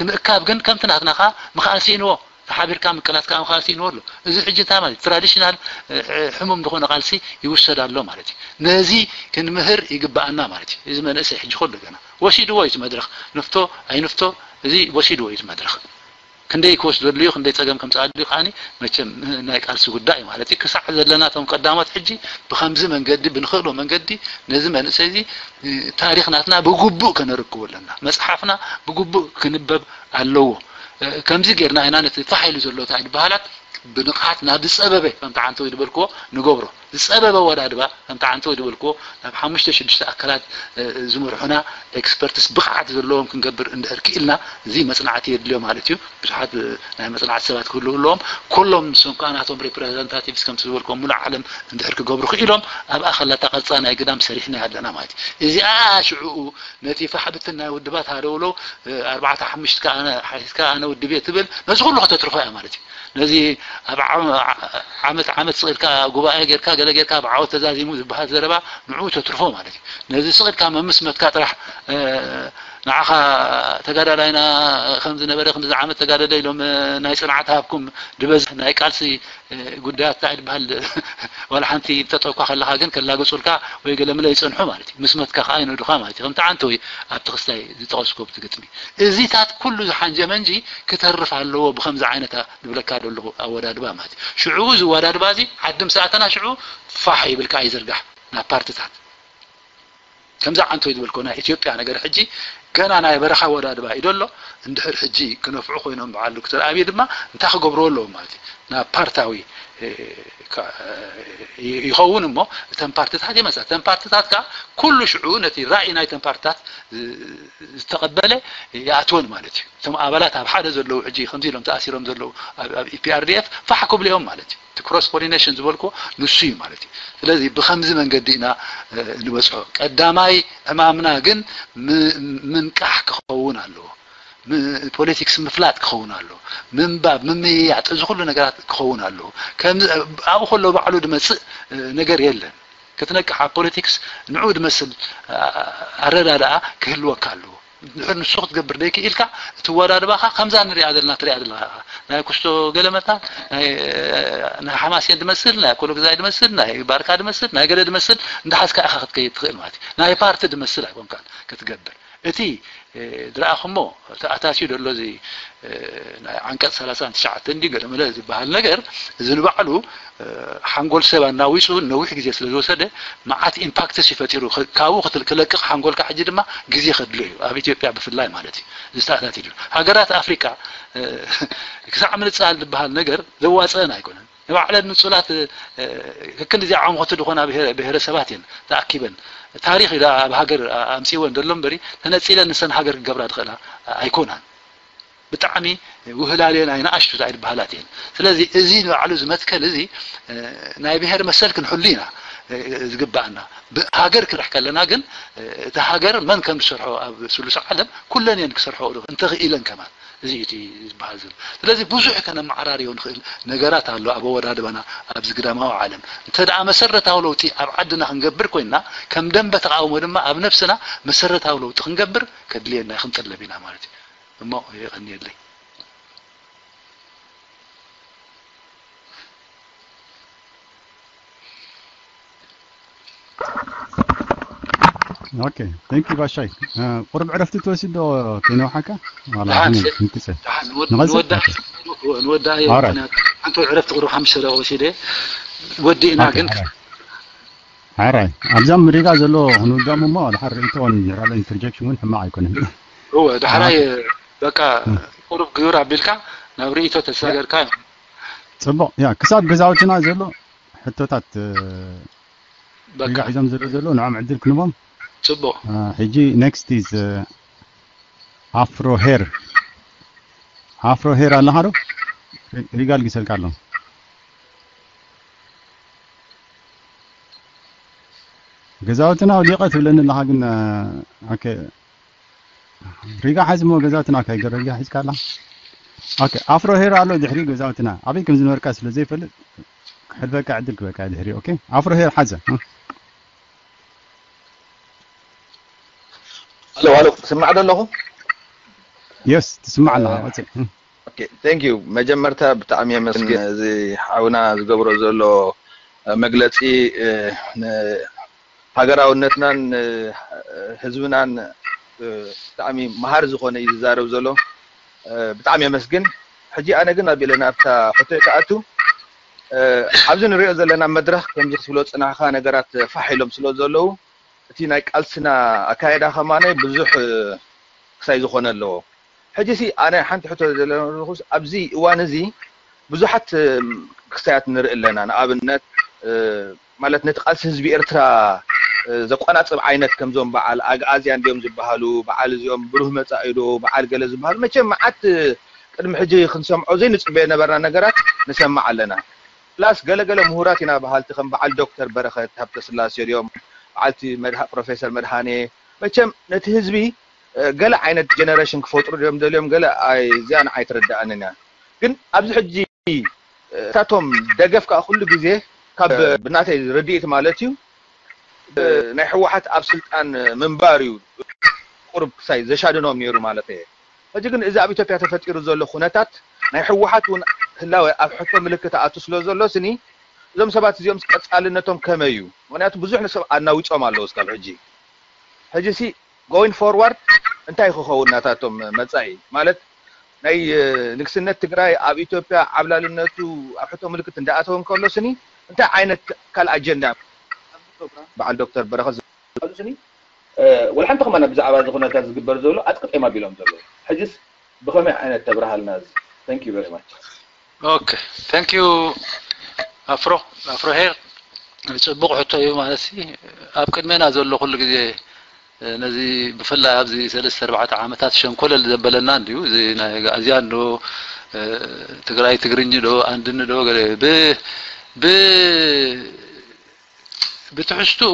ምእካብ ግን ከምቲ ናትና ከዓ ምኽኣል ስኢንዎ ተሓቢርካ ምቅላት ከዓ ምኽኣል ስኢንዎ ኣሎ። እዚ ሕጂ እንታይ ማለት ትራዲሽናል ሕሙም ዝኾነ ቃልሲ ይውሰድ ኣሎ ማለት እዩ። ነዚ ክንምህር ይግብኣና ማለት እዩ። እዚ መንእሰይ ሕጂ ከሎ ገና ወሲድዎ እዩ እቲ መድረኽ ንፍቶ ኣይንፍቶ እዚ ወሲድዎ እዩ እቲ መድረኽ። ክንደይ ክወስደሉ እዩ ክንደይ ፀገም ከምፅኣሉ እዩ ከዓኒ መቸም ናይ ቃልሲ ጉዳይ ማለት እዩ። ክሳዕ ዘለና እቶም ቀዳሞት ሕጂ ብከምዚ መንገዲ ብንኽእሎ መንገዲ ነዚ መንእሰይ እዚ ታሪኽ ናትና ብግቡእ ከነርክቦ ኣለና። መፅሓፍና ብግቡእ ክንበብ ኣለዎ። ከምዚ ጌርና ኢና ነቲ ፋሕ ኢሉ ዘሎ እንታይ ዝበሃላት ብንቕሓት ናብ ዝጸበበ፣ ከምቲ ዓንተወይ ዝበልክዎ፣ ንገብሮ። ዝጸበበ ኣወዳድባ፣ ከምቲ ዓንተወይ ዝበልክዎ፣ ናብ ሓሙሽተ ሽዱሽተ ኣካላት ዝመርሑና ኤክስፐርትስ ብቕዓት ዘለዎም ክንገብር እንድሕር ክኢልና፣ እዚ መጽናዕቲ የድልዮ ማለት እዩ። ብዙሓት ናይ መጽናዕቲ ሰባት ክህልዉ ኣለዎም። ኩሎም ንሶም ከኣ ናቶም ሪፕረዘንታቲቭስ ከምቲ ዝበልክዎም ሙሉእ ዓለም እንድሕር ክገብሩ ክኢሎም፣ ኣብኣ ከላ እታ ቅርጻ ናይ ግዳም ሰሪሕናያ ኣለና ማለት እዩ። እዚኣ ሽዕኡ ነቲ ፋሕ ብትን ናይ ውድባት ሃለውለው ኣርባዕተ ሓሙሽተ ከኣ ኣነ ሓቲትካ ኣነ ውድብ እየ ትብል፣ ነዚ ኩሉ ከተትርፎ እያ ማለት እዩ። ነዚ ኣብ ዓመት ዓመት ስቕ ኢልካ ጉባኤ ጌርካ ገለ ጌርካ ብዓወት ተዛዚሙ ዝበሃል ዘረባ ንዕኡ ተትርፎ ማለት እዩ። ነዚ ስቕ ኢልካ መምስ መትካ ጥራሕ ንዓኻ ተጋዳላይና ከም ዝነበረ ክንዲ ዝዓመት ተጋደለ ኢሎም ናይ ጽንዓት ሃብኩም ዝበዝሕ ናይ ቃልሲ ጉዳያት እንታይ ዝበሃል ዋላ ሓንቲ ተጠኳ ከለኻ ግን ከላግጹልካ ወይ ገለምለ ይጸንሑ ማለት እዩ። ምስ መትካ ከኣ ይነዱኻ ማለት እዩ። ከምቲ ዓንተወይ ኣብቲ ክስታይ ዝጠቐስኩ ኣብቲ ግጥሚ እዚታት ኩሉ ዝሓንጀመ እንጂ ክተርፍ ኣለዎ ብኸምዚ ዓይነታ ዝብለካ ዘለኹ ኣወዳድባ ማለት እዩ። ሽዑ እዚ ኣወዳድባ እዚ ዓዲ ምስ ኣተና ሽዑ ፋሕ ይብል ከኣ ይዝርጋሕ ናብ ፓርትታት። ከምዚ ዓንተወይ ዝበልኮ ናይ ኢትዮጵያ ነገር ሕጂ ገና ናይ በረኻ ኣወዳድባ እዩ ዘሎ። እንድሕር ሕጂ ክነፍዑ ኮይኖም በዓል ዶክተር ኣብይ ድማ እንታይ ክገብርዎ ኣለዎም ማለት እዩ። ናብ ፓርታዊ ይኸውን እሞ እተን ፓርትታት ይመፃ። እተን ፓርትታት ከዓ ኩሉ ሽዑ ነቲ ራእይ ናይተን ፓርትታት ዝተቐበለ ይኣትወን ማለት እዩ። እቶም ኣባላት ኣብ ሓደ ዘለዉ ሕጂ ከምዚ ኢሎም ተኣሲሮም ዘለዉ ኣብ ኢፒኣርዲኤፍ ፋሕ ክብሉ እዮም ማለት እዩ። እቲ ክሮስ ፖሊኔሽን ዝበልኩ ንሱ እዩ ማለት እዩ። ስለዚ ብኸምዚ መንገዲ ኢና ንበፅሖ። ቀዳማይ ዕማምና ግን ምንቃሕ ክኸውን ኣለዎ። ፖለቲክስ ምፍላጥ ክኸውን ኣለዎ። ምንባብ፣ ምምይያጥ፣ እዚ ኩሉ ነገራት ክኸውን ኣለዎ። ኣብኡ ከሎ ባዕሉ ድመፅእ ነገር የለን። ክትነቅሕ ኣብ ፖለቲክስ ንዑ ድመስል ኣረዳድኣ ክህልወካ ኣለዎ። ድሕር ንሱ ክትገብር ደይክኢልካ እቲ ኣወዳድባኻ ከምዛ ንሪኣ ዘለና ትሪኣ ዘለኻ ናይ ኩስቶ ገለመታ ናይ ሓማሴን ድመስል ናይ ኮሎግዛይ ድመስል ናይ ባርካ ድመስል ናይ ገለ ድመስል እንዳሓዝካ ኢኻ ክትከይድ ትኽእል ማለት እዩ። ናይ ፓርቲ ድመስል ኣይኮንካን ክትገብር። እቲ ዝረኣኹሞ ተኣታትዩ ዘሎ እዚ ናይ ዓንቀፅ ሰላሳን ትሽዓተን እንዲ ገለመለ ዝበሃል ነገር እዚ ንባዕሉ ሓንጎል ሰብ ኣናዊፁ ነዊሕ ግዜ ስለ ዝወሰደ መዓት ኢምፓክትስ እዩ ፈጢሩ። ካብኡ ክለቅቕ ሓንጎልካ ሕጂ ድማ ግዜ ከድሎ እዩ። ኣብ ኢትዮጵያ ብፍላይ ማለት እዩ። ዝተኣታትዩ ሃገራት ኣፍሪቃ ክሳዕ ምንፃል ዝበሃል ነገር ዘዋፅአን ኣይኮነን። ንባዕለን ንፁላት ከክንድዚ ዓምኾቲ ዝኾና ብሄረሰባት እየን ተኣኪበን ታሪኽ ኢላ ኣብ ሃገር ኣምፅወን ዘሎ እምበሪ ተነፂለን ንሰን ሃገር ክገብራ ዝኽእላ ኣይኮናን። ብጣዕሚ ውህላልየን ኣይነኣሽቱ ኣይበሃላት እየን። ስለዚ እዚ ንባዕሉ እዚ መትከል እዚ ናይ ብሄር መሰል ክንሕሉ ኢና ዝግባኣና። ሃገር ክንርሕ ከለና ግን እቲ ሃገር መን ከም ዝሰርሖ ኣብ ስሉስ ዓለም ኩለን እየን ክሰርሖ እንተኽኢለን ከማን እዚ እቲ ዝበሃል ዘሎ። ስለዚ ብዙሕ ከነመዓራርዮ ንኽእል ነገራት ኣሎ ኣብ ኣወዳድባና ኣብዚ ግዳማዊ ዓለም። እንተ ደኣ መሰረታዊ ለውጢ ኣብ ዓድና ክንገብር ኮይንና ከም ደንበ ተቃውሞ ድማ ኣብ ነብስና መሰረታዊ ለውጢ ክንገብር ከድልየና ክንጥለብ ኢና ማለት እዩ። እሞ የቐንየለይ። ኦኬ፣ ቴንክ ዩ ባሻይ። ቁርብ ዕረፍቲ ትወስድ ዶ ከይነውሓካ? ዋላ ደሓን፣ ክንክሰ። ደሓን፣ ንወድ-፣ ንቐጽል? ንወዳ-፣ ኦኬ። ንወዳ እየ፣ ኦራይት። ምኽንያቱ ሓንቲ ዕረፍቲ ቁርብ ሓሙሽተ ደቂቕ ወሲደ ወዲእና ኦኬ፣ ግን ኦራይት። ሓራይ ኣብዛ ምሪጋ ዘሎ ክንውዳሙ እሞ ድሓር ርእይቶ ንራለ ኢንተርጀክሽን እውን ሕማቕ ኣይኮነን። እወ፣ ዳሕራይ በቃ ቁሩብ ግብር ኣቢልካ ናብ ርእይቶ ተሰጋገርካ። ጽቡቕ። ያ፣ ክሳብ ገዛውትና ዘሎ ሕቶታት፣ እ፣ በቃ። ሪጋ ሒዞም ዘሎ ዘለዉ ንዖም ዕድል ክንቦም። ጽቡቕ። እ፣ ሕጂ ኔክስት ኢዝ፣ እ፣ ኣፍሮ ሄር። ኣፍሮ ሄር ኣለኻ ዶ? ሪ-፣ ሪጋ ኣልጊሰልካ ኣሎ። ገዛውትና ኣውሊቐ ትብለኒ ኣለኻ ግን፣ እ፣ ኦኬ። ሪጋ ሓዝ እሞ ገዛውትና ከይገረጃ ሒዝካ ኣላ። ኦኬ፣ ኣፍሮ ሄር ኣሎ ድሕሪ ገዛውትና። ኣበይ ከም ዝነበርካ ስለ ዘይፈልጥ ክሕልፈካ ዕድል ክበካ ድሕሪ። ኦኬ፣ ኣፍሮ ሄር ሓዘ። እ? ኣሎ፣ ኣሎ፣ ትስማዕ ዶ ኣለኹ? የስ፣ ትስማዕ ኣለኻ። እ፣ ቀጽል። እ። ኦኬ፣ ቴንክ ዩ። መጀመርታ ብጣዕሚ የመስግን። እዚ ሓውና ዝገብሮ ዘሎ መግለጺ፣ እ፣ ን-፣ ሃገራውነትናን፣ እ፣ ህዝብናን፣ እ፣ ብጣዕሚ መሃሪ ዝኾነ እዩ ዝዛረብ ዘሎ። እ፣ ብጣዕሚ የመስግን። ሕጂ ኣነ ግን ኣቢለ ናብታ ሕቶይ ክኣቱ፣ እ፣ ኣብዚ ንሪኦ ዘለና መድረኽ ከምዚ ክትብሎ ዝጸናሕካ ነገራት ፋሕ ኢሎም ስለ ዘለዉ፣ እቲ ናይ ቃልስና ኣካይዳ ከማነ ብዙሕ፣ እ፣ ክሳይ ዝኾነ ኣለዎ። ሕጂ ሲ ኣነ ሓንቲ ሕቶ ዘለኹስ ኣብዚ እዋን እዚ ብዙሓት ክስታያት ንርኢ ኣለና። ንኣብነት ማለት ነቲ ቃልሲ ህዝቢ ኤርትራ ዘቆናጽብ ዓይነት ከምዞም በዓል ኣግኣዝያን ድዮም ዝበሃሉ፣ በዓል እዚኦም ብሩህ መጻኢ ዶ በዓል ገለ ዝበሃሉ፣ መቸም መዓት ቅድሚ ሕጂ ክንሰምዖ ዘይንጽበዮ ነበርና ነገራት ንሰምዕ ኣለና። ፕላስ ገለገለ ምሁራት ኢና በሃልቲ ከም በዓል ዶክተር በረኸት ሃብተስላሴ ድዮም፣ በዓልቲ ፕሮፌሰር መድሃኔ፣ መቸም ነቲ ህዝቢ ገለ ዓይነት ጀነሬሽን ክፈጥሩ ድዮም ደልዮም ገለ እዚኣ ንዓይ ትርድኣንን እያ። ግን ኣብዚ ሕጂ እታቶም ደገፍ ከዓ ኩሉ ግዜ ካብ ብናተይ ርድኢት ማለት እዩ ናይ ህወሓት ኣብ ስልጣን ምንባር እዩ ቁሩብ ክሳይ ዘሻድኖም ነይሩ ማለት እየ። ሕጂ ግን እዚ ኣብ ኢትዮጵያ ተፈጢሩ ዘሎ ኩነታት ናይ ህወሓት እውን ህላወ ኣብ ሕቶ ምልክት ኣቱ ስለ ዘሎ ስኒ እዞም ሰባት እዚኦም ቀፃልነቶም ከመይ እዩ? ምክንያቱ ብዙሕ ሰብ ኣናዊፆም ኣለዉ እስካብ ሕጂ። ሕጂ ሲ going forward እንታይ ክኸውን ናታቶም መጻኢ ማለት ናይ ንግስነት ትግራይ ኣብ ኢትዮጵያ ዓብላልነቱ ኣብ ሕቶ ምልክት እንዳኣተወ እንከሎ ስኒ እንታይ ዓይነት ካል ኣጀንዳ በዓል ዶክተር በረኸት ዝብሉ ስኒ ወላ ሓንቲ ከማና ብዛዕባ እዚ ኩነታት ዝግበር ዘሎ ኣጥቅጤም ኣቢሎም ዘለዉ ሕጅስ ብኸመይ ዓይነት ተብርሃልና እዚ thank you very much okay thank you ኣፍሮ ኣፍሮ ሄር ጽቡቕ ሕቶ እዩ ማለት ኣብ ቅድሜና ዘሎ ኩሉ ግዜ ነዚ ብፍላይ ኣብዚ ሰለስተ ኣርባዕተ ዓመታት ሸንኮለል ዘበለና እንድዩ እዚ ናይ ኣግኣዝያን ዶ ትግራይ ትግርኝ ዶ ኣንድኒ ዶ ብ ብትሕዝትኡ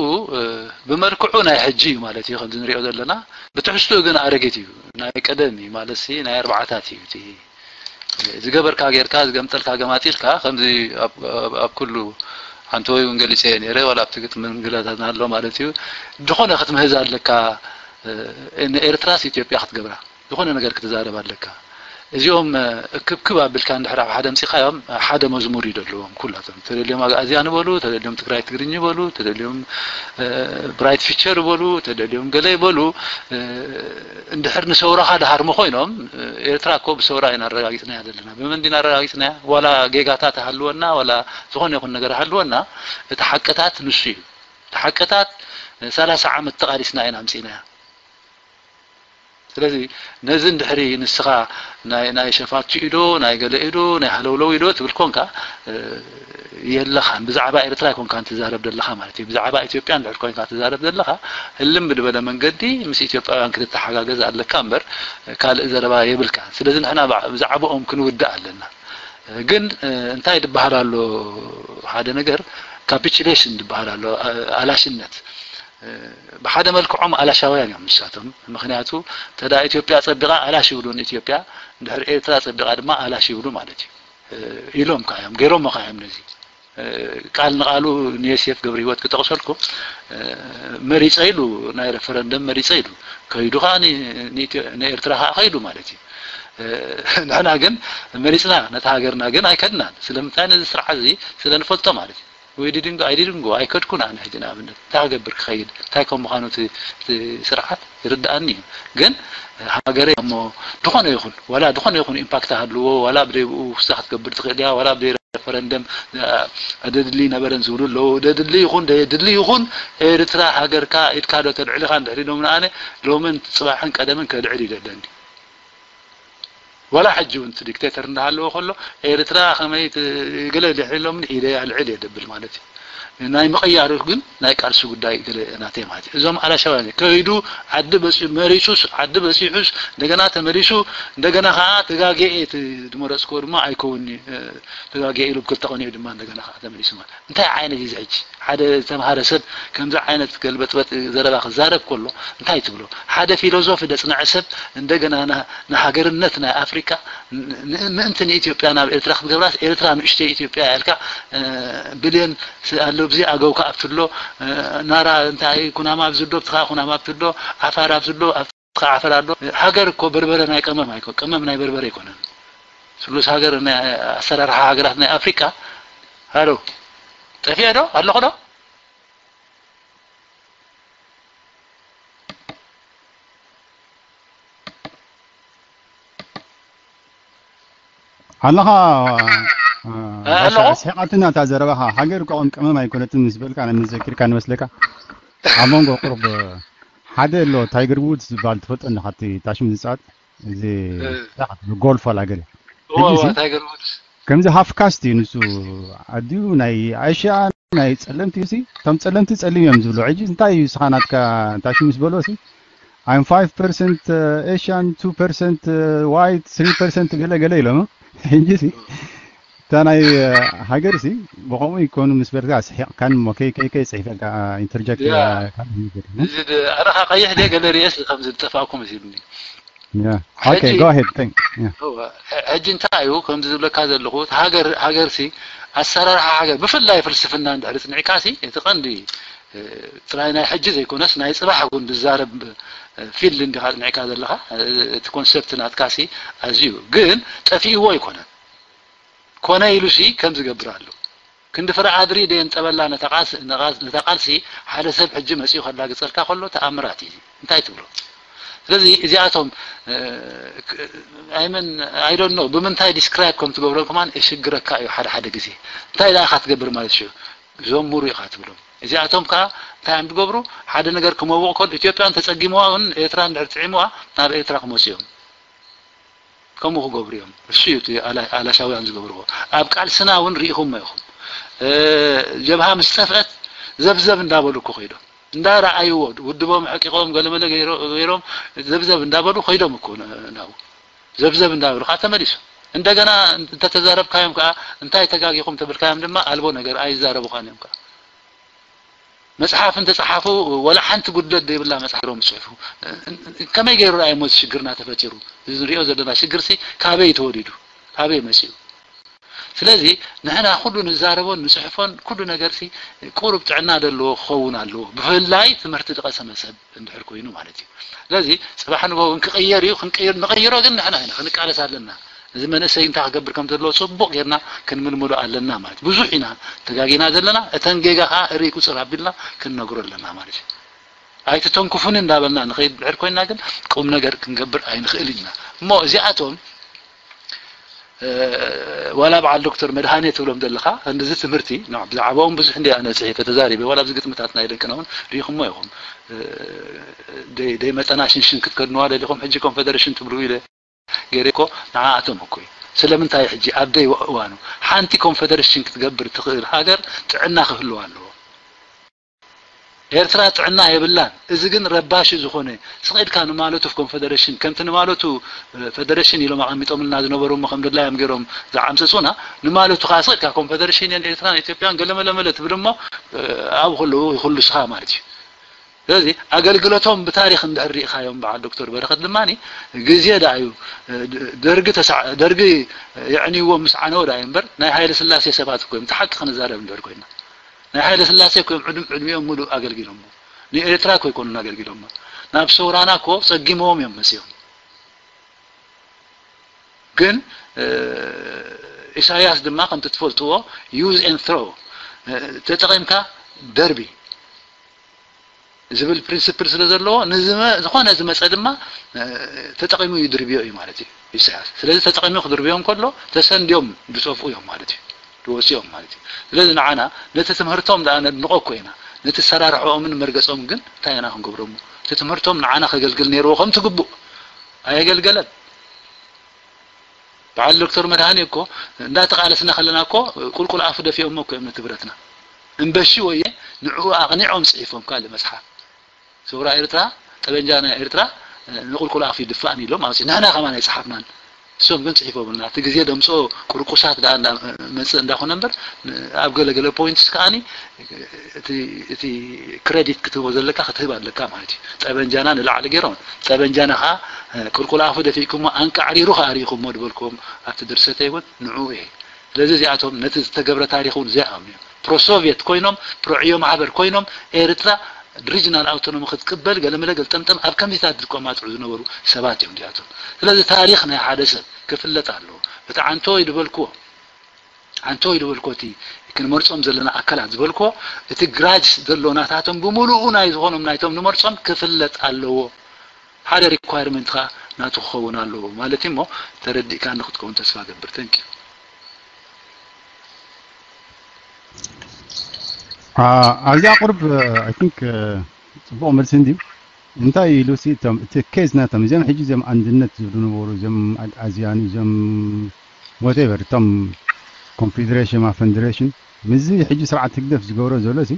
ብመልክዑ ናይ ሕጂ እዩ ማለት እዩ ከምዚ ንሪኦ ዘለና ብትሕዝትኡ ግን ኣረጊት እዩ ናይ ቀደም እዩ ማለት ናይ ኣርባዓታት እዩ ዝገበርካ ጌርካ ዝገምጠልካ ገማጢልካ ከምዚ ኣብ ኩሉ ሓንቲ ወይ እውን ገሊፀ ነረ ዋላ ኣብቲ ግጥሚ ምግላታትና ኣሎ ማለት እዩ ዝኾነ ክትምህዝ ኣለካ ንኤርትራስ ኢትዮጵያ ክትገብራ ዝኾነ ነገር ክትዛረብ ኣለካ እዚኦም እክብክብ ኣቢልካ እንድሕር ኣብ ሓደ ምፂኻዮም ሓደ መዝሙር እዩ ዘለዎም ኩላቶም ተደልዮም ኣግኣዝያን በሉ ተደልዮም ትግራይ ትግርኝ በሉ ተደልዮም ብራይት ፊቸር በሉ ተደልዮም ገለ በሉ እንድሕር ንሰውራኻ ድሃርሙ ኮይኖም ኤርትራ እኮ ብሰውራ ኢና ኣረጋጊፅናያ ዘለና ብመን ዲና ኣረጋጊፅናያ ዋላ ጌጋታት ሃልወና ዋላ ዝኾነ ይኹን ነገር ሃልወና እቲ ሓቅታት ንሱ እዩ እቲ ሓቅታት ሰላሳ ዓመት ተቓሊስና ኢና ኣምፂናያ ስለዚ ነዚ እንድሕሪ ንስኻ ናይ ናይ ሸፋቱ ኢዶ ናይ ገለ ኢዶ ናይ ሃለውለው ኢዶ ትብል ኮንካ የለኻን ብዛዕባ ኤርትራ ኮንካ ትዛረብ ዘለኻ ማለት እዩ ብዛዕባ ኢትዮጵያ እንድሕር ኮንካ ትዛረብ ዘለኻ ህልም ብድበለ መንገዲ ምስ ኢትዮጵያውያን ክትተሓጋገዝ ኣለካ እምበር ካልእ ዘረባ የብልካ ስለዚ ንሕና ብዛዕባኦም ክንውድእ ኣለና ግን እንታይ ድበሃል ኣሎ ሓደ ነገር capitulation ድበሃል ኣሎ ኣላሽነት ብሓደ መልክዖም ኣላሻውያን እዮም ንሳቶም ምክንያቱ ተዳ ኢትዮጵያ ፀቢቓ ኣላሽ ይብሉ ንኢትዮጵያ እንድሕር ኤርትራ ፀቢቓ ድማ ኣላሽ ይብሉ ማለት እዩ ኢሎም ካዮም ገይሮም ካዮም ነዚ ቃል ንቃሉ ንየሴፍ ገብረ ህይወት ክጠቕሰልኩ መሪፀ ኢሉ ናይ referendum መሪፀ ኢሉ ከይዱ ከዓ ንኤርትራ ከዓ ከይዱ ማለት እዩ ንሕና ግን መሪፅና ነቲ ሃገርና ግን ኣይከድናን ስለምንታይ ነዚ ስርዓት እዚ ስለ ንፈልጦ ማለት እዩ ወይ didn't go I didn't go ኣይከድኩን ኣነ ሕጂ ንኣብነት እንታይ ክገብር ክኸይድ እንታይ ከም ምዃኑ እቲ ስርዓት ይርድኣኒ እዩ ግን ሃገረይ እሞ ዝኾነ ይኹን ዋላ ዝኾነ ይኹን impact ሃልዎ ዋላ ብደይብኡ ውስታ ክትገብር ትኽእል እያ ዋላ ብደይ referendum ደድሊ ነበረን ዝብሉ ኣለዉ ደድሊ ይኹን ደየድሊ ይኹን ኤርትራ ሃገርካ ኢድካ ዶ ተልዕልኻ እንድሕር ኢሎም ንኣነ ሎምን ፅባሕን ቀደምን ከልዕል ይደለኒ ዋላ ሕጂ እውን እቲ dictator እንዳሃለወ ከሎ ኤርትራ ከመይ ገለ ድሕር ኢሎምኒ ኢደይ ኣልዕል እየ ደብል ማለት እዩ ናይ ምቕያሩ ግን ናይ ቃልሲ ጉዳይ ገለ ናተይ ማለት እዩ እዞም ኣላሻውያን ከይዱ ዓዲ በፂሑ መሪፁስ ዓዲ በፂሑስ እንደገና ተመሊሱ እንደገና ከዓ ተጋጌ እቲ ዝመረፅክዎ ድማ ኣይከውን ተጋጌ ኢሉ ብክልተ ቀኒዑ ድማ እንደገና ከዓ ተመሊሱ ማለት እንታይ ዓይነት እዩ ሕጂ ሓደ ዝተምሃረ ሰብ ከምዚ ዓይነት ገልበጥበጥ ዘረባ ክዛረብ ከሎ እንታይ ትብሎ ሓደ ፊሎዞፊ ደፅንዐ ሰብ እንደገና ንሃገርነት ናይ ኣፍሪካ ምእንቲ ንኢትዮጵያ ናብ ኤርትራ ክትገብራስ ኤርትራ ንእሽተይ ኢትዮጵያ ያልካ ብልየን ኣሎ ብዚ ኣገውካ ኣብትሎ ናራ እንታይ ኩናማ ኣብዝዶ ብትኻ ኩናማ ኣብትሎ ዓፋር ኣብዝሎ ኣብትኻ ዓፈር ኣሎ ሃገር እኮ በርበረ ናይ ቀመም ኣይኮ ቀመም ናይ በርበረ ኣይኮነን ስሉስ ሃገር ኣሰራርሓ ሃገራት ናይ ኣፍሪካ ሃሎ ጠፊአ ዶ ኣለኹ ዶ ኣለኻ ኣለኹ ስሒቓትና እታ ዘረባኻ ሃገር እኮ ከም ቀመም ኣይኮነትን ምስ በልካ ንዘኪርካ ንመስለካ ኣብ መንጎ ቁርብ ሓደ ኣሎ ታይገር ውድስ ዝበሃል ትፈልጦ ኣለኻ እቲ ታሽም ዝፃወት እዚ ጎልፍ ዋላ ገለ ታይገር ውድስ ከምዚ ሃፍ ካስት እዩ ንሱ። ኣዲኡ ናይ ኣሽያ ናይ ጸለምቲ እዩ ሲ። እቶም ጸለምቲ ጸሊም እዮም ዝብሉ። ሕጂ እንታይ እዩ ንስኻ ናትካ እንታይ ሽምስ በሎ ሲ? I'm five percent Asian, two percent white, three percent ገለ ገለ ኢሎም። ሕጂ ሲ እታ ናይ ሃገር ሲ ብኸምኡ ይኮኑ ምስ በልካ ስሒቕካን እሞ ከይ ከይ ከይ ጽሒፈልካ ኢንተርጀክት ያ። ካልእ ነገር። እዚ ድ- ኣነ ኸዓ ቀይሕ ድየ ገለ ርእየስ ከምዚ ዝጠፋእኩም መሲሉኒ። Yeah. Okay, ሕጂ- go ahead. Thank. Yeah. እወ፣ ሕ- ሕጂ እንታይ እዩ ከምዚ ዝብለካ ዘለኹ፣ እቲ ሃገር ሃገር ሲ ኣሰራርሓ ሃገር ብፍላይ ፍልስፍና እንድሕር ጽኒዕካ ሲ እቲ ቀንዲ እ፣ ጥራይ ናይ ሕጂ ዘይኮነስ ናይ ጽባሕ እውን ዝዛረብ እ፣ ፊልድ እንዲኻ ጽኒዕካ ዘለኻ። እ፣ እቲ ኮንሰፕት ናትካ ሲ ኣዝዩ ግን ጠፊእዎ ኣይኮነን። ኮነ ኢሉ ሲ ከም ዝገብር ኣሎ። ክንዲ ፍረ ኣድሪ ደየንጠበላ ነታ ቃልሲ ነታ ቃልሲ ሓደ ሰብ ሕጂ መጺኡ ከላግጸልካ ከሎ ተኣምራት እዩ። እንታይ ትብሎ? ስለዚ እዚኣቶም ኣይመን ኣይ ዶንት ኖ ብምንታይ ዲስክራይብ ከም ትገብሮም ከማን እሽግረካ እዩ። ሓደ ሓደ ግዜ እንታይ ደኣ ኢኻ ትገብር ማለት እዩ። ዘሙሩ ኢኻ ትብሎም። እዚኣቶም ከዓ እንታይ እዮም ዝገብሩ? ሓደ ነገር ክመውቕ ከሎ ኢትዮጵያ እንተጸጊምዋ እውን ኤርትራ እንድሕር ጥዒምዋ ናብ ኤርትራ ክመፁ እዮም። ከምኡ ክገብሩ እዮም። እሱ እዩ እቲ ኣላ- ኣላሻውያን ዝገብርዎ። ኣብ ቃልስና እውን ርኢኹሞ ኢኹም። እ፣ ጀብሃ ምስ ጠፍአት ዘብዘብ እንዳበሉ እኮ ከይዶም እንዳረኣይዎ ውድቦም ሕቂቖም ገለመለ ገይሮ- ገይሮም ዘብዘብ እንዳበሉ ከይዶም እኮ ን- ናብኡ ዘብዘብ እንዳበሉ ከዓ ተመሊሱ። እንደገና እንተተዛረብካዮም ከዓ እንታይ ተጋጊኹም ተብልካዮም ድማ ኣልቦ ነገር ኣይዛረቡኻን እዮም ከዓ። መፅሓፍ እንተፀሓፉ ወላ ሓንቲ ጉድለት ዘይብላ መፅሓፍ ሮም ዝፅሕፉ። ከመይ ገይሩ ረኣይሞ እዚ ሽግርና ተፈጢሩ? እዚ ንሪኦ ዘለና ሽግርሲ ካበይ ተወሊዱ? ካበይ መፂኡ? ስለዚ ንሕና ኩሉ ንዛረቦን ንፅሕፎን ኩሉ ነገርሲ ቁሩብ ጥዕና ዘለዎ ክኸውን ኣለዎ። ብፍላይ ትምህርቲ ዝቐሰመ ሰብ እንድሕር ኮይኑ ማለት እዩ። ስለዚ ፅባሕ ንግሆ እውን ክቕየር እዩ። ክንቅይር ንቐይሮ ግን ንሕና ኢና ክንቃለስ ኣለና። እዚ መንእሰይ እንታይ ክገብር ከም ዘለዎ ፅቡቕ ጌርና ክንምልምሎ ኣለና ማለት እዩ። ብዙሕ ኢና ተጋጊና ዘለና። እተን ጌጋ ከዓ እርይ ቁፅር ኣቢልና ክንነግሮ ኣለና ማለት እዩ። ኣይትተንኩፉኒ እንዳበልና ንኸይድ ድሕር ኮይና ግን ቁም ነገር ክንገብር ኣይንኽእል ኢና። እሞ እዚኣቶም እ፣ ዋላ በዓል ዶክተር መድሃኔ ትብሎም ዘለኻ እንደዚ ትምህርቲ ና- ብዛዕባኦም ብዙሕ እንዲ ኣነ ፅሒፈ ተዛሪበ ዋላ ኣብዚ ግጥምታት ናይ ደቅና እውን ሪኢኹሞ ኢኹም። እ፣ ደይ- ደይ መጠና ሽንሽን ክትከድንዋ ደሊኹም ሕጂ ኮንፌደሬሽን ትብሉ ኢለ ገይረ እኮ ንዓኣቶም እኮ እዩ። ስለምንታይ ሕጂ ኣብ ደይ እዋኑ ሓንቲ ኮንፌደሬሽን ክትገብር ትኽእል ሃገር ጥዕና ክህልዋ ኣለዎ። ኤርትራ ጥዕና የብላን። እዚ ግን ረባሺ ዝኾነ ስቕ ኢልካ ንማለቱ ኮንፌደሬሽን ከምቲ ንማለቱ እ፣ ፌደሬሽን ኢሎም ኣቐሚጦምልና ዝነበሩ እሞ ከም ድላዮም ገይሮም ዝዓምፀፁና ንማለቱ ከዓ ስቕ ኢልካ ኮንፌደሬሽን እየን ኤርትራን ኢትዮጵያን ገለመለመለ ትብል እሞ እ፣ ኣብኡ ከለዉ ይኹልስኻ ማለት እዩ። ስለዚ ኣገልግሎቶም ብታሪክ እንድሕር ርኢኻዮም በዓል ዶክተር በረኸት ድማ ግዜ ደኣ እዩ እ፣ ደርጊ ተሳ- ደርጊ የዕንይዎም ምስ ዓነወ ደኣ እዩ እምበር ናይ ሃይለ ስላሴ ሰባት እኮ እዮም። እቲ ሓቂ ክንዛረብ እንድሕር ኮይና ናይ ሃይለ ስላሴ እኮ እዮም ዕድም- ዕድሚኦም ሙሉእ ኣገልጊሎሞ። ንኤርትራ እኮ ኣይኮኑን ኣገልጊሎሞ። ናብ ሰውራና እኮ ጸጊሞም እዮም መጺኦም። ግን እ፣ ኢሳያስ ድማ ከምቲ ትፈልጥዎ use and throw እ፣ ተጠቒምካ ደርቢ ዝብል ፕሪንስፕል ስለ ዘለዎ ንዝመ- ዝኾነ ዝመጸ ድማ እ፣ ተጠቒሙ ይድርብዮ እዩ ማለት እዩ ኢሳያስ። ስለዚ ተጠቒሙ ክድርብዮም ከሎ ተሰንድዮም ዝጠፍኡ እዮም ማለት እዩ። ዝወፅኦም ማለት እዩ። ስለዚ ንዓና ነቲ ትምህርቶም ደኣ ነድንቆ እኮ ኢና። ነቲ ሰራርሖኦምን መርገፆም ግን እንታይ ኢና ክንገብሮም? እቲ ትምህርቶም ንዓና ከገልግል ነይርዎ ከም ትግቡእ ኣየገልገለን። በዓል ዶክተር መድሃኒ እኮ እንዳተቃለስና ከለና እኮ ቁልቁል ኣፉ ደፊኦሞ እኮ እዮም ነቲ ብረትና። እምበሺ ወየ ንዕኡ ኣቕኒዖም ፅሒፎም ካልእ መፅሓፍ። ሰውራ ኤርትራ ጠበንጃ ናይ ኤርትራ ንቁልቁል ኣፉ ይድፋእን ኢሎም ኣውፂ ንሕና ከማን ኣይፀሓፍናን። እሶም ግን ፅሒፎምልና እቲ ግዜ ደምፅኦ ቁርቁሳት ደኣ መፅእ እንዳኾነ እምበር ኣብ ገለገለ ፖይንትስ ከዓኒ እቲ ክሬዲት ክትህቦ ዘለካ ክትህብ ኣለካ ማለት እዩ። ጠበንጃና ንላዕሊ ገይሮም ጠበንጃና ከዓ ቁልቁል ኣፉ ደፊእኩሞ ኣንቃዕሪሩ ከዓ ርኢኹሞ ዝበልኩዎም ኣብቲ ድርሰተይ እውን ንዑ እየ። ስለዚ እዚኣቶም ነቲ ዝተገብረ ታሪክ እውን ዘይኣምኑ እዮም። ፕሮሶቭየት ኮይኖም ፕሮዕዮ ማሕበር ኮይኖም ኤርትራ ሪጅናል ኣውቶኖሚ ክትቅበል ገለመለ ገልጠምጠም ኣብ ከምዚታት ዝቆማጥዑ ዝነበሩ ሰባት እዮም እዚኣቶም። ስለዚ ታሪክ ናይ ሓደ ሰብ ክፍለጥ ኣለዎ። እቲ ዓንቶ ይድበልክዎ ዓንቶ ይድበልኮ እቲ ክንመርጾም ዘለና ኣካላት ዝበልኮ እቲ ግራጅ ዘሎ ናታቶም ብምሉኡ ናይ ዝኾኖም ናይቶም ንመርጾም ክፍለጥ ኣለዎ። ሓደ ሪኳየርመንት ኻ ናቱ ክኸውን ኣለዎ ማለት እሞ ተረዲእካ ንክትከውን ተስፋ ገብር። ተንኪ ኣብዚኣ ቁርብ ኣይ ቲንክ ጽቡቕ መልሲ እንድዩ። እንታይ ኢሉ ሲ እቶም እቲ ኬዝ ናቶም እዚኦም ሕጂ እዚኦም ኣንድነት ዝብሉ ነበሩ እዚኦም ኣግኣዝያን እዚኦም ወቴቨር እቶም ኮንፌዴሬሽን ማ ፈንደሬሽን ምስዚ ሕጂ ስርዓት ህግደፍ ዝገብሮ ዘሎ ሲ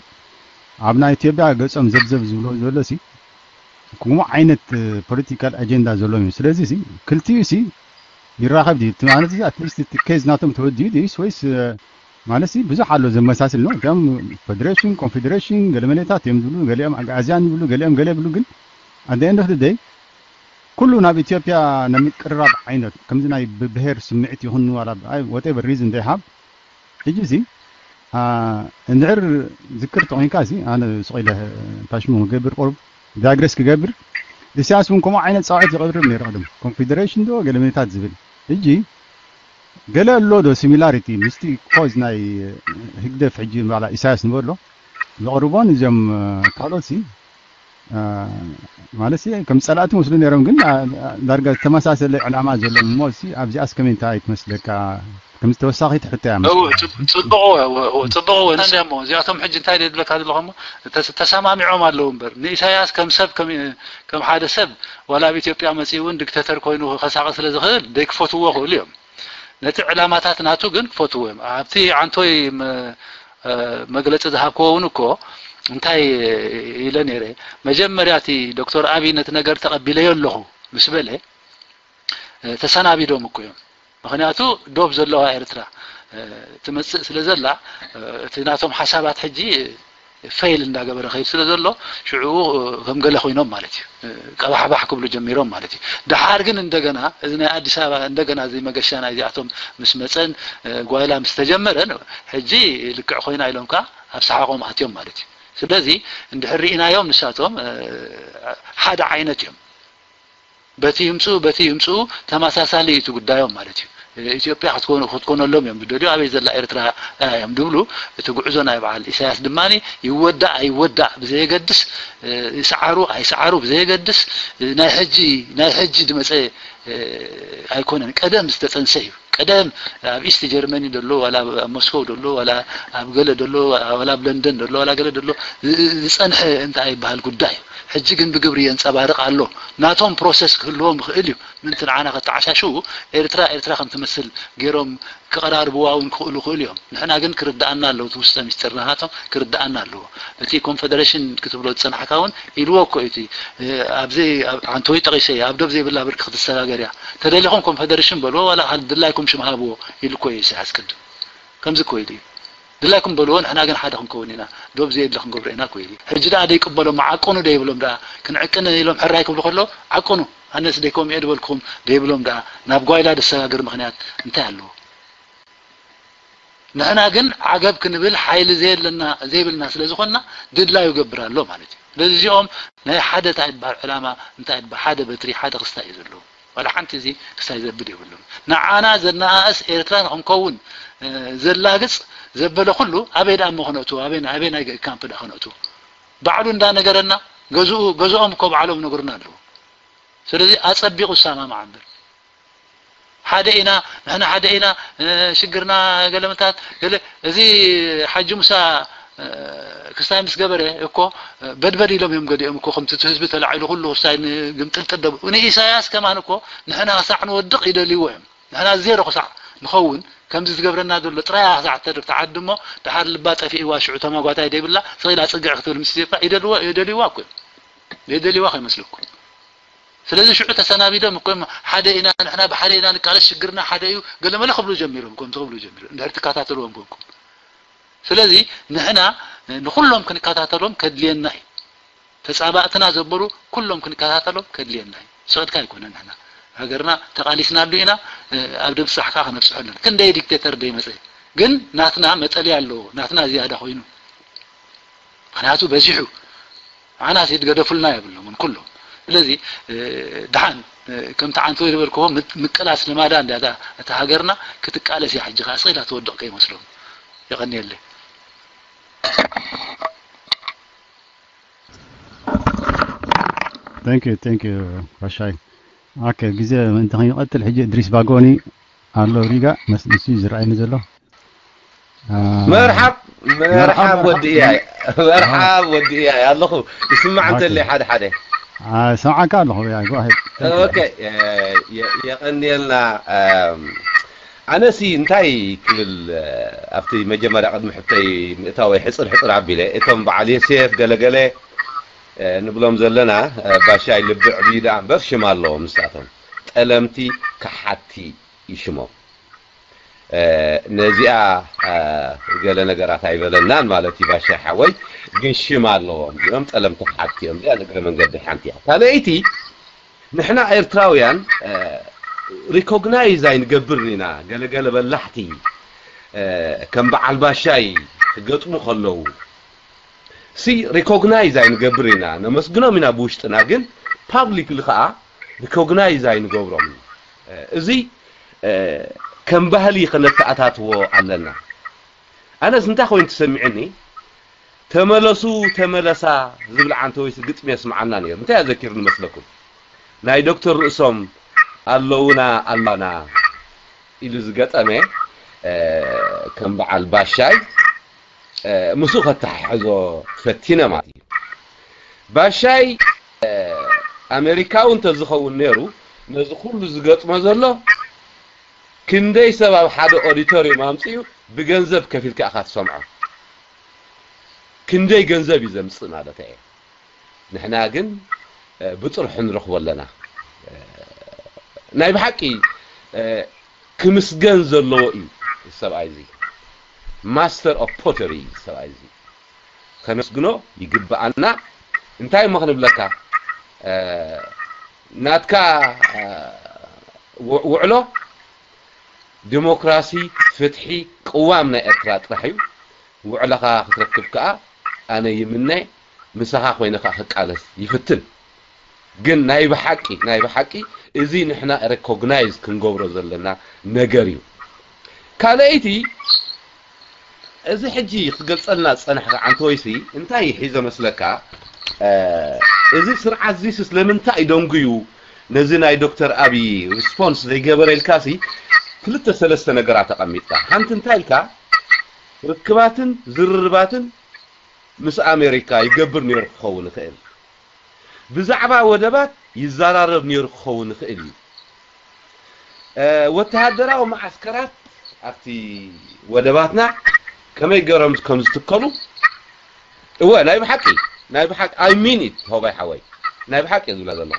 ኣብ ናይ ኢትዮጵያ ገጾም ዘብዘብ ዝብሎ ዘሎ ሲ ከምኡ ዓይነት ፖለቲካል ኣጀንዳ ዘለዎም እዩ። ስለዚ ሲ ክልቲኡ ሲ ይራኸብ ድዩ? እቲ ማለት እዚ ኣትሊስት እቲ ኬዝ ናቶም ተወዲኡ ድዩስ ወይስ ማለት ሲ ብዙሕ ኣሎ ዘመሳስል ነው። ከም ፌዴሬሽን ኮንፌዴሬሽን ገለመሌታት እዮም ዝብሉ፣ ገሊኦም ኣግኣዝያን ይብሉ፣ ገሊኦም ገለ ይብሉ። ግን ኣት ኤንድ ኦፍ ደይ ኩሉ ናብ ኢትዮጵያ ንምቅርራብ ዓይነት ከምዚ ናይ ብብሄር ስምዒት ይኹን ዋላ whatever reason they have ሕጂ ሲ እንድሕር ዝክር ተኮይንካ ሲ ኣነ ስቕ ኢለ ፓሽሙ ክገብር ቁሩብ ዳግረስ ክገብር ኢሳያስ እውን ከምኡ ዓይነት ፃውዒት ይቐርብ ነይሩ ቅድም ኮንፌዴሬሽን ዶ ገለመሌታት ዝብል ሕጂ ገለ ኣሎ ዶ ሲሚላሪቲ ምስቲ ኮዝ ናይ ህግደፍ ሕጂ ባላ ኢሳያስ ንበሎ ዘቕርቦን እዚኦም ካልኦት ሲ ማለት ከም ጸላእቲ መስሉ ነይሮም ግን ዳርጋ ዝተመሳሰለ ዕላማ ዘለዎም እሞ ኣብዚኣስ ከመይ እንታይ ትመስለካ? ከም ተወሳኺ ትሕቶ እያ። ጽቡቕ ጽቡቕ ንስያ እሞ እዚኣቶም ሕጂ እንታይ ደድለካ ዘለኹ እሞ ተሰማሚዖም ኣለዉ እምበር ንኢሳያስ ከም ሰብ ከም ሓደ ሰብ ዋላ ኣብ ኢትዮጵያ መጺኡ እውን ዲክተተር ኮይኑ ከሳቕ ስለ ዝኽእል ደይክፈትዎ ክእሉ እዮም። ነቲ ዕላማታት ናቱ ግን ክፈትዎ እዮም። ኣብቲ ዓንቶይ መግለፂ ዝሃብክዎ እውን እኮ እንታይ ኢለ ነይረ፣ መጀመርያ እቲ ዶክተር ኣብይ ነቲ ነገር ተቐቢለዮ ኣለኹ ምስ በለ ተሰናቢዶም እኮ እዮም። ምክንያቱ ዶብ ዘለዋ ኤርትራ ትመፅእ ስለ ዘላ እቲ ናቶም ሓሳባት ሕጂ ፌል እንዳገበረ ከይድ ስለ ዘሎ ሽዑ ከም ገለ ኮይኖም ማለት እዩ። ቀባሕባሕ ክብሉ ጀሚሮም ማለት እዩ። ደሓር ግን እንደገና እዚ ናይ ኣዲስ ኣበባ እንደገና እዚ መገሻ ናይዚኣቶም ምስ መፀን ጓይላ ምስ ተጀመረ ሕጂ ልክዕ ኮይና ኢሎም ከዓ ኣብ ሰሓቆም ኣትዮም ማለት እዩ። ስለዚ እንድሕር ርኢናዮም ንሳቶም ሓደ ዓይነት እዮም። በቲ ይምፅኡ በቲ ይምፅኡ ተመሳሳሊ እዩ እቲ ጉዳዮም ማለት እዩ። ኢትዮጵያ ክትኮኑ ክትኮነሎም እዮም ዝደልዩ ኣበይ ዘላ ኤርትራ እዮም ዝብሉ። እቲ ጉዕዞ ናይ በዓል ኢሳያስ ድማ ይወዳእ ኣይወዳእ ብዘየገድስ ይስዓሩ ኣይስዓሩ ብዘየገድስ ናይ ሕጂ ናይ ሕጂ ዝመፀ ኣይኮነን ቀደም ዝተፀንሰ እዩ። ቀደም ኣብ ኢስት ጀርመኒ ደሎ ዋላ ኣብ ሞስኮው ደሎ ዋላ ኣብ ገለ ደሎ ዋላ ኣብ ለንደን ደሎ ዋላ ገለ ደሎ ዝፀንሐ እንታይ ይበሃል ጉዳይ እዩ። ሕጂ ግን ብግብሪ የንፀባርቕ ኣሎ። ናቶም ፕሮሰስ ክህልዎም ይኽእል እዩ። ምንቲ ንዓና ከተዓሻሽዉ ኤርትራ ኤርትራ ከም ትመስል ገይሮም ክቐራርብዋ እውን ክኽእሉ ይኽእሉ እዮም። ንሕና ግን ክርድኣና ኣለዎ እቲ ውስጠ ሚስጥር ናሃቶም ክርድኣና ኣለዎ። እቲ ኮንፈደሬሽን ክትብሎ ዝፀናሕካ እውን ኢልዎ እኮ እዩ እቲ ኣብዚ ዓንተወይ ጠቒሰ ኣብ ዶብ ዘይብላ ብርኪ ክትሰጋገር እያ። ተደሊኹም ኮንፈደሬሽን በልዎ ዋላ ድላይኩም ሽም ሃብዎ ኢሉ እኮ እዩ ኢሳያስ ቅድም። ከምዚ እኮ ኢሉ እዩ። ድላይኩም በልዎ ንሕና ግን ሓደ ክንከውን ኢና ዶብ ዘየድሊ ክንገብሮ ኢና እኮ ኢሉ እዩ። ሕጂ ደኣ ደይቅበሎም ዓቅኑ ደይብሎም ደኣ ክንዕቅን ኢሎም ሕራይ ክብሉ ከለዉ ዓቅኑ ኣነስ ደይከምኡ እየ ዝበልኩም ደይብሎም ደኣ ናብ ጓይላ ደሰጋግር ምኽንያት እንታይ ኣለዎ? ንሕና ግን ዓገብ ክንብል ሓይሊ ዘየለና ዘይብልና ስለ ዝኾንና ድላዩ ይገብር ኣሎ ማለት እዩ። ስለዚ እዚኦም ናይ ሓደ እንታይ ይበሃል ዕላማ እንታይ ይበሃል ሓደ በትሪ ሓደ ክስታይ እዩ ዘለዎም። ዋላ ሓንቲ እዚ ክስታይ ዘብል የብሉን። ንዓና ዘነኣእስ ኤርትራ ንክንከውን ዘላግፅ ዘበለ ኩሉ ኣበይ ደኣ እሞ ክነእትዎ ኣበይ ኣበይ ናይ ካምፕ ደኣ ክነእትዎ? ባዕሉ እንዳነገረና ገዝኡ ገዝኦም እኮ ባዕሎም ነግሩና ኣለዉ። ስለዚ ኣፀቢቑ ይሰማማዕ እምበር ሓደ ኢና ንሕና ሓደ ኢና ሽግርና ገለመታት ገለ እዚ ሓጂ ሙሳ ክስታይ ምስ ገበረ እኮ በድበድ ኢሎም እዮም ገዲኦም እኮ ከምቲ ህዝቢ ተላዒሉ ኩሉ ክስታይ ግምጥልጥል ደብ ንኢሳያስ ከማን እኮ ንሕና ክሳዕ ንወድቕ ይደልይዎ እዮም። ንሕና ዜሮ ክሳዕ ንኸውን ከምዚ ዝገብረና ዘሎ ጥራይ ክሳዕ ተርፍ ተዓዲ እሞ ደሓር ልባ ጠፊእዋ ሽዑ ተማጓታይ ደይብላ ስቕ ኢላ ፅግዕ ክትብል ምስ ኢትዮጵያ ይደልይዋ እኮ እዮም። የደልይዋ ከይመስለኩም። ስለዚ ሽዑ ተሰናቢዶም እኮ ሓደ ኢና ንሕና ብሓደ ኢና ንቃለስ ሽግርና ሓደ እዩ ገለመለ ክብሉ ጀሚሮም ከምዚ ክብሉ ጀሚሮም እንድሕር ትከታተልዎም ኮንኩም። ስለዚ ንሕና ንኩሎም ክንከታተሎም ከድልየና እዩ። ተፃባእትና ዘበሉ ኩሎም ክንከታተሎም ከድልየና እዩ። ስቕድካ ኣይኮነን ንሕና ሃገርና ተቓሊስናሉ ኢና ኣብ ድብፃሕ ከዓ ክነብፅሖ ኣለና። ክንደይ ዲክቴተር ደይመፀ ግን ናትና መጠልያ ኣለዎ ናትና ዝያዳ ኮይኑ ምክንያቱ በዚሑ ዓናሲት ገደፉልና የብሎምን ኩሎም። ስለዚ ድሓን ከምቲ ዓንተወይ ዝበልክዎ ምቅላስ ልማዳ እንዳ እታ ሃገርና ክትቃለስ እያ ሕጂ ከዓ ስቕ ኢላ ትወድቕ ከይመስሎም። የቐንየለይ። Thank you, thank you ራሻይ። ኦኬ ግዜ ምእንቲ ከይንቐትል ሕጂ እድሪስ ባጎኒ ኣሎ ሪጋ ምስ ንሱ እዩ ዝረኣየኒ ዘሎ። መርሓብ መርሓብ ወዲ እያይ መርሓብ ወዲ እያይ ኣለኹ ይስማዕ እንተለይ ሓደ ሓደ ሰምዓካ ኣለኹ ያ go ahead okay የቐንየልና ኣነሲ እንታይ ክብል ኣብቲ መጀመርያ ቅድሚ ሕቶይ ምእታወይ ሕፅር ሕፅር ኣቢለ እቶም በዓል የሴፍ ገለገለ ንብሎም ዘለና ባሻይ ልቢ ዕብዩ ደኣ እምበር ሽም ኣለዎም ንሳቶም ጠለምቲ ከሓቲ ይሽሞም ነዚኣ ገለ ነገራት ኣይበለናን ማለት እዩ ባሻይ ሓወይ ግን ሽም ኣለዎም እዚኦም ጠለምቲ ከሓቲ እዮም እዚኣ ንግረ መንገዲ ሓንቲ እያ ካልኣይቲ ንሕና ኤርትራውያን ሪኮግናይዝ ኣይንገብርን ኢና ገለገለ በላሕቲ ከም በዓል ባሻይ ክገጥሙ ከለዉ ሲ ሪኮግናይዝ ኣይንገብር ኢና ነመስግኖም ኢና ብውሽጥና ግን ፓብሊክሊ ከዓ ሪኮግናይዝ ኣይንገብሮም እዚ ከም ባህሊ ከነተኣታትዎ ኣለና ኣነስ እንታይ ኮይኑ ትሰሚዕኒ ተመለሱ ተመለሳ ዝብል ዓንተ ወይስ ግጥሚ የስምዓና ነይሩ እንታይ ኣዘኪሩ ንመስለኩም ናይ ዶክተር ርእሶም ኣለውና ኣላና ኢሉ ዝገጠመ ከም በዓል ባሻይ ምስኡ ከተሓሕዞ ፈቲነ ማለት እዩ ባሻይ ኣሜሪካዊ እንተዝኸውን ነይሩ ነዚ ኩሉ ዝገጥሞ ዘሎ ክንደይ ሰብ ኣብ ሓደ ኦዲቶሪየም ኣምፅኡ ብገንዘብ ከፊልካ ኢኻ ትሰምዖ ክንደይ ገንዘብ እዩ ዘምፅእ ማለት እየ ንሕና ግን ብጥርሑ ንረኽቦ ኣለና ናይ ብሓቂ ክምስገን ዘለዎ እዩ ሰብኣይ እዚ master of pottery ሰብኣይ እዚ ከነስግኖ ይግብኣና እንታይ እሞ ክንብለካ ናትካ ውዕሎ ዲሞክራሲ ፍትሒ ቅዋም ናይ ኤርትራ ጥራሕ እዩ ውዕለኻ ክትረክብ ከዓ ኣነ ይምነ ምሳኻ ኮይነ ከዓ ክቃለስ ይፍትን ግን ናይ ብሓቂ ናይ ብሓቂ እዚ ንሕና ሬኮግናይዝ ክንገብሮ ዘለና ነገር እዩ ካልኣይቲ እዚ ሕጂ ክትገልፀልና ዝፀናሕካ ዓንተወይሲ እንታይ ሒዘ መስለካ እዚ ስርዓት ዚስስ ለምንታይ ደንጉዩ ነዚ ናይ ዶክተር ኣብይ ሪስፖንስ ዘይገበረ ኢልካሲ ክልተ ሰለስተ ነገራት ኣቐሚጥካ ሓንቲ እንታይ ኢልካ ርክባትን ዝርርባትን ምስ ኣሜሪካ ይገብር ነይሩ ክኸውን ይኽእል ብዛዕባ ወደባት ይዘራረብ ነይሩ ክኸውን ይኽእል እዩ ወተሃደራዊ መዓስከራት ኣብቲ ወደባትና ከመይ ገሮም ከም ዝትከሉ እወ ናይ ብሓቂ ናይ ብሓቂ I mean it ሆባይ ሓወይ ናይ ብሓቂ ዝብላ ዘለኹ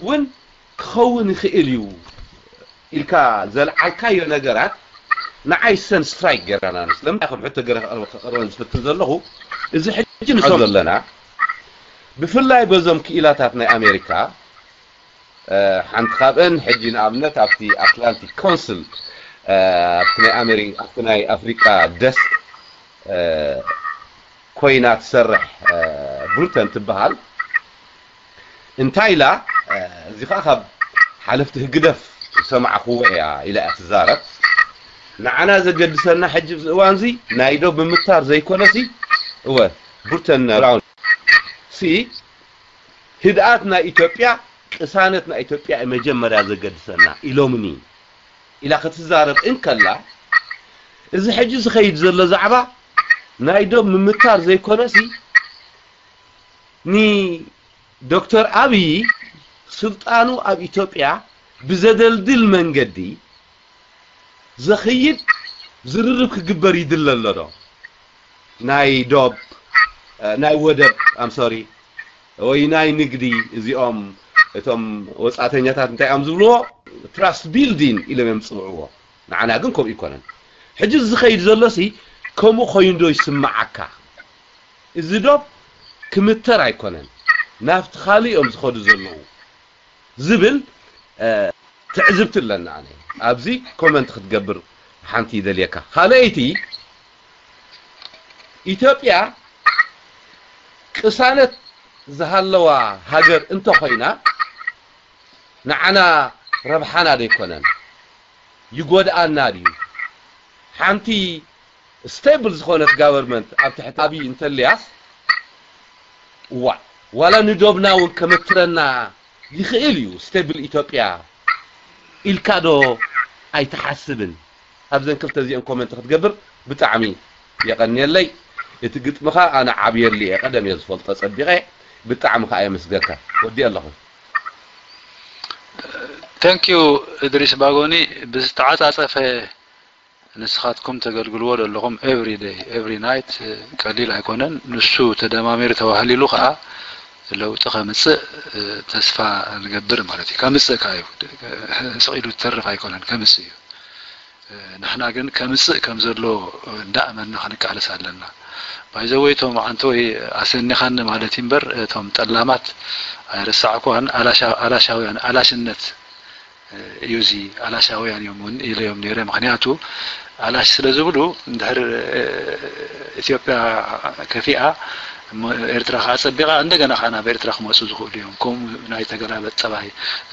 እውን ክኸውን ይኽእል እዩ ኢልካ ዘልዓልካዮ ነገራት ንዓይ ሰን ስትራይክ ገይራና ስለምንታይ ከም ሕቶ ገረ ክቐርበን ዝፍትን ዘለኹ እዚ ሕጂ ንሰም ዘለና ብፍላይ በዞም ክኢላታት ናይ ኣሜሪካ ሓንቲ ካብአን ሕጂ ንኣብነት ኣብቲ ኣትላንቲክ ኮንስል ኣብቲ ናይ ኣሜሪ ኣብቲ ናይ ኣፍሪቃ ደስክ ኮይና ትሰርሕ ብሩተን ትበሃል እንታይ ኢላ እዚ ከዓ ካብ ሓለፍቲ ህግደፍ ዝሰማዕክዎ እያ ኢላ እያ ትዛረብ ንዓና ዘገድሰና ሕጂ ኣብዚ እዋን እዚ ናይ ዶ ብምታር ዘይኮነሲ እወ ቡርተን ብራውን ሲ ህድኣት ናይ ኢትዮጵያ ቅሳነት ናይ ኢትዮጵያ መጀመርያ ዘገድሰና ኢሎምኒ ኢላ ክትዛረብ እንከላ እዚ ሕጂ ዝኸይድ ዘሎ ዛዕባ ናይ ዶብ ምምታር ዘይኮነሲ ንዶክተር ኣብይ ስልጣኑ ኣብ ኢትዮጵያ ብዘደልድል መንገዲ ዘኽይድ ዝርርብ ክግበር ይድለ ኣሎ ዶ ናይ ዶብ ናይ ወደብ ኣምሶሪ ወይ ናይ ንግዲ እዚኦም እቶም ወፃተኛታት እንታይ እዮም ዝብልዎ ትራስት ቢልዲን ኢሎም እዮም ዝፅውዕዎ ንዓና ግን ከምኡ ይኮነን ሕጂ ዝኸይድ ዘሎሲ ከምኡ ኮይንዶ ይስምዓካ እዚ ዶብ ክምተር ኣይኮነን ናብቲ ካልእ እዮም ዝኸዱ ዘለዉ ዝብል ትዕዝብቲ ኣለና ኣነ ኣብዚ ኮመንት ክትገብር ሓንቲ ይደልየካ ካልኣይቲ ኢትዮጵያ ቅሳነት ዝሃለዋ ሃገር እንተኾይና ንዓና ረብሓና ዶ ይኮነን ይጎድኣና ድዩ ሓንቲ ስቴብል ዝኾነት ጋቨርመንት ኣብ ትሕቲ ኣብይ እንተልያስ እዋ ዋላ ንዶብና እውን ከመትረና ይኽእል እዩ ስቴብል ኢትዮጵያ ኢልካ ዶ ኣይትሓስብን ኣብዘን ክልተ እዚአን ኮመንት ክትገብር ብጣዕሚ የቐንየለይ እቲ ግጥምኻ ኣነ ዓብየሉ እየ ቀደም እየ ዝፈልጦ ፀቢቐ ብጣዕሚ ከዓ የመስገካ ወዲእ ኣለኹ Thank you እድሪስ ባጎኒ ብዝተዓፃፀፈ ንስኻትኩም ተገልግልዎ ዘለኹም every day, every night ቀሊል ኣይኮነን። ንሱ ተደማሚሩ ተዋህሊሉ ከዓ ለውጢ ከምፅእ ተስፋ ንገብር ማለት እዩ። ከምፅእ ከዓ እዩ፣ ስቕ ኢሉ ዝተርፍ ኣይኮነን፣ ከምፅእ እዩ። ንሕና ግን ከምፅእ ከም ዘሎ እንዳእመንና ክንቃለስ ኣለና። ባይዘወይ እቶም ዓንተወይ ኣሰኒኻኒ ማለት እዩ እምበር እቶም ጠላማት ኣይረሳዕኳን። ኣላሻውያን ኣላሽነት እዩ እዚ፣ ኣላሻውያን እዮም እውን ኢለዮም ነይረ። ምክንያቱ ኣላሽ ስለ ዝብሉ እንድሕር ኢትዮጵያ ከፊኣ ኤርትራ ከዓ ፀቢቃ እንደገና ከዓ ናብ ኤርትራ ክመፁ ዝኽእሉ እዮም። ከምኡ ናይ ተገላበጥ ጠባይ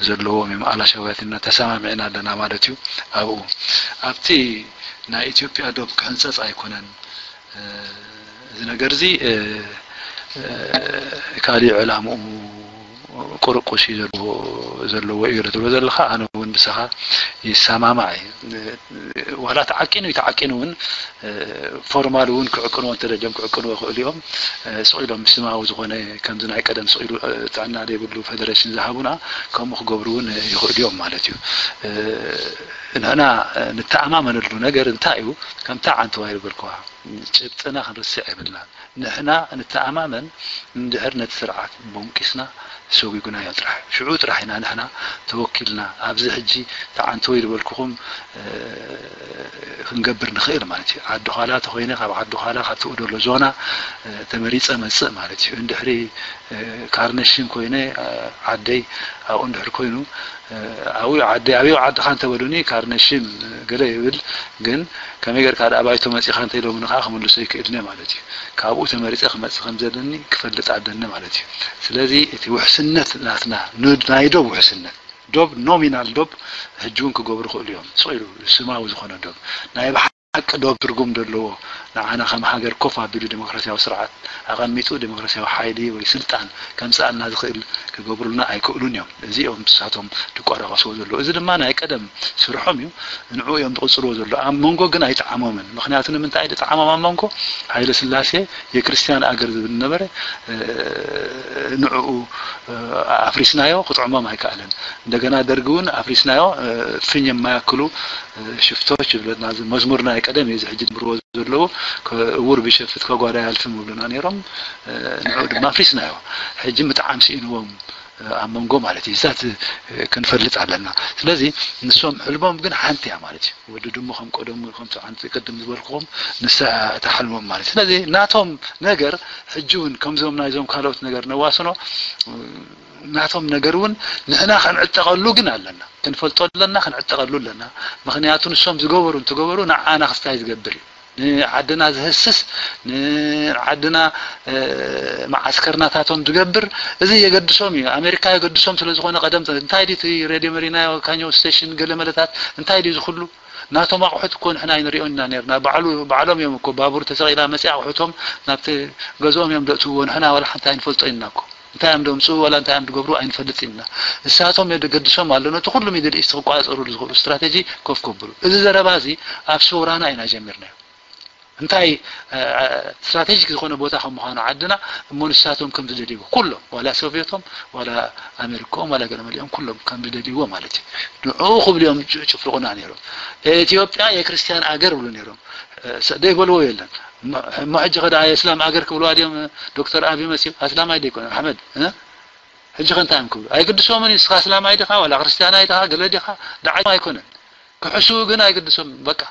ዘለዎም እዮም። ኣላሻውያትና ተሰማሚዕና ኣለና ማለት እዩ። ኣብኡ ኣብቲ ናይ ኢትዮጵያ ዶብ ክሕንፀፅ ኣይኮነን እዚ ነገር እዚ ካሊእ ዕላምኡ ቁርቁስ እዩ ዘለዎ እዩ ትብሎ ዘለኻ። ኣነ እውን ብሳኻ ይሰማማዕ እዩ። ዋላ ተዓቂኑ እዩ ተዓቂኑ እውን ፎርማል እውን ክዕቅንዎ እንተደልዮም ክዕቅንዎ ይኽእሉ እዮም። ስቕ ኢሎም ምስማዊ ዝኾነ ከምዚ ናይ ቀደም ስቕ ኢሉ ጥዕና ዘይብሉ ፌደሬሽን ዝሃቡና ከምኡ ክገብሩ እውን ይኽእሉ እዮም ማለት እዩ። ንሕና ንተኣማመነሉ ነገር እንታይ እዩ? ከምታ ዓንተዋይ ዝበልክዋ ጭብጥና ክንርስዕ የብልናን። ንሕና ንተኣማመን እንድሕር ነቲ ስርዓት ቦንቂስና ሰጒጉናዮ ጥራሕ ሽዑ ጥራሕ ኢና ንሕና ተወኪልና ኣብዚ ሕጂ ተዓንተወይ ዝበልኩኹም ክንገብር ንኽእል ማለት እዩ። ዓዲ ዃላ ተኾይነ ካብ ዓዲ ዃላ ካብ ትኡ ደሎ ዞና ተመሪፀ መፅእ ማለት እዩ። እንድሕሪ ካርነሽም ኮይነ ዓደይ ኣብኡ እንድሕር ኮይኑ ኣብኡ ዓደይ ኣብኡ ዓድኻ እንተበሉኒ ካርነሽም ገለ ይብል ግን ከመይ ጌርካ ደኣ ባይቶ መጺኻ እንተ ኢሎምኒ ከኣ ክምልሶ ይክእልኒ ማለት እዩ። ካብኡ ተመሪጸ ክመጽእ ከም ዘለኒ ክፈልጥ ኣለኒ ማለት እዩ። ስለዚ እቲ ውሕስነት ናትና ናይ ዶብ ውሕስነት ዶብ ኖሚናል ዶብ ሕጂ እውን ክገብሩ ይኽእሉ እዮም። ስቕ ኢሉ ስማዊ ዝኾነ ዶብ ናይ ብሓቂ ዶብ ትርጉም ዘለዎ ንዓና ከም ሃገር ኮፍ ኣቢሉ ዴሞክራሲያዊ ስርዓት ኣቐሚጡ ዴሞክራሲያዊ ሓይሊ ወይ ስልጣን ከምጽኣልና ዝኽእል ክገብሩልና ኣይክእሉን እዮም። እዚኦም ንሳቶም ዝቋራቐስዎ ዘለዉ። እዚ ድማ ናይ ቀደም ስርሖም እዩ። ንዕኡ እዮም ዝቕጽልዎ ዘለዉ። ኣብ መንጎ ግን ኣይጠዓሞምን። ምኽንያቱ ንምንታይ ኣይጠዓሞም ኣብ መንጎ? ሃይለ ስላሴ የክርስትያን ኣገር ዝብል ነበረ። ንዕኡ ኣፍሪስናዮ ክጥዕሞም ኣይከኣለን። እንደገና ደርጊ እውን ኣፍሪስናዮ ፍኝ የማያክሉ ሽፍቶች ዝብለና መዝሙር ናይ ቀደም እዩ። እዚ ሕጂ ዝምርዎ ዘለዉ እውር ቢሸፍት ከጓዳ ያልፍም ይብሉና ነይሮም። ንዕኡ ድማ ኣፍሪስናዮ። ሕጂ ምጥዓም ስኢንዎም ኣብ መንጎ ማለት እዩ። እዛት ክንፈልጥ ኣለና። ስለዚ ንሶም ሕልሞም ግን ሓንቲ እያ ማለት እዩ። ወዲ ድሙ ከም ቀደሙ ከምቲ ዓንቲ ቅድም ዝበልኩኹም ንሳ እታ ሕልሞም ማለት እዩ። ስለዚ ናቶም ነገር ሕጂ እውን ከምዞም ናይዞም ካልኦት ነገር ነዋስኖ ናቶም ነገር እውን ንሕና ክንዕጠቐሉ ግን ኣለና። ክንፈልጦ ኣለና፣ ክንዕጠቐሉ ኣለና። ምኽንያቱ ንሶም ዝገበሩ እንትገበሩ ንዓና ክስታይ ዝገብር እዩ። ንዓድና ዝህስስ ንዓድና መዓስከርናታቶም ዝገብር እዚ የገድሶም እዩ። ኣሜሪካ የገድሶም ስለ ዝኾነ ቀደም እንታይ ድዩ እቲ ሬድዮ መሪናዮ ካኛው ስቴሽን ገለ መለታት እንታይ ድዩ ዝኽሉ ናቶም ኣቑሑት እኮ ንሕና ኣይንሪኦን ኢና ነርና። ባዕሉ ባዕሎም እዮም እኮ ባቡር ተሰቒላ መፂኣ ኣቑሑቶም ናብቲ ገዝኦም እዮም ዘእትውዎ። ንሕና ዋላ ሓንቲ ኣይንፈልጦ ኢና እኮ እንታይ እዮም ደምፅኡ ዋላ እንታይ እዮም ዝገብሩ ኣይንፈልጥ ኢና። ንሳቶም የገድሶም ኣሎ ነቲ ኩሉ ሚድል ኢስት ክቋፀሩ ዝኽእሉ ስትራቴጂ ኮፍ ከብሉ። እዚ ዘረባ እዚ ኣብ ሰውራና ኢና ጀሚርናዮ። እንታይ ስትራቴጂክ ዝኾነ ቦታ ከም ምዃኑ ዓድና እሞ ንሳቶም ከም ዝደልይዎ ኩሎም ዋላ ሶቪየቶም ዋላ ኣሜሪካኦም ዋላ ገለ መሊኦም ኩሎም ከም ዝደልይዎ ማለት እዩ። ንዕኡ ክብሉ እዮም ጭፍልቑና ነይሮም። ኢትዮጵያ የክርስትያን ኣገር ብሉ ነይሮም። ደይበልዎ የለን። እሞ ሕጂ ከዳ የእስላም ኣገር ክብልዋ ድዮም ዶክተር ኣብይ መሲሉ ኣስላማይ ደይኮነ ኣሕመድ ሕጂ ከ እንታይ እዮም ክብሉ ኣይግድሶምን እዩ። ንስኻ ኣስላማይ ዲኻ ዋላ ክርስትያናይ ዲኻ ገለ ዲኻ ደዓይ ኣይኮነን። ክሕስቡ ግን ኣይግድሶምን በቃ።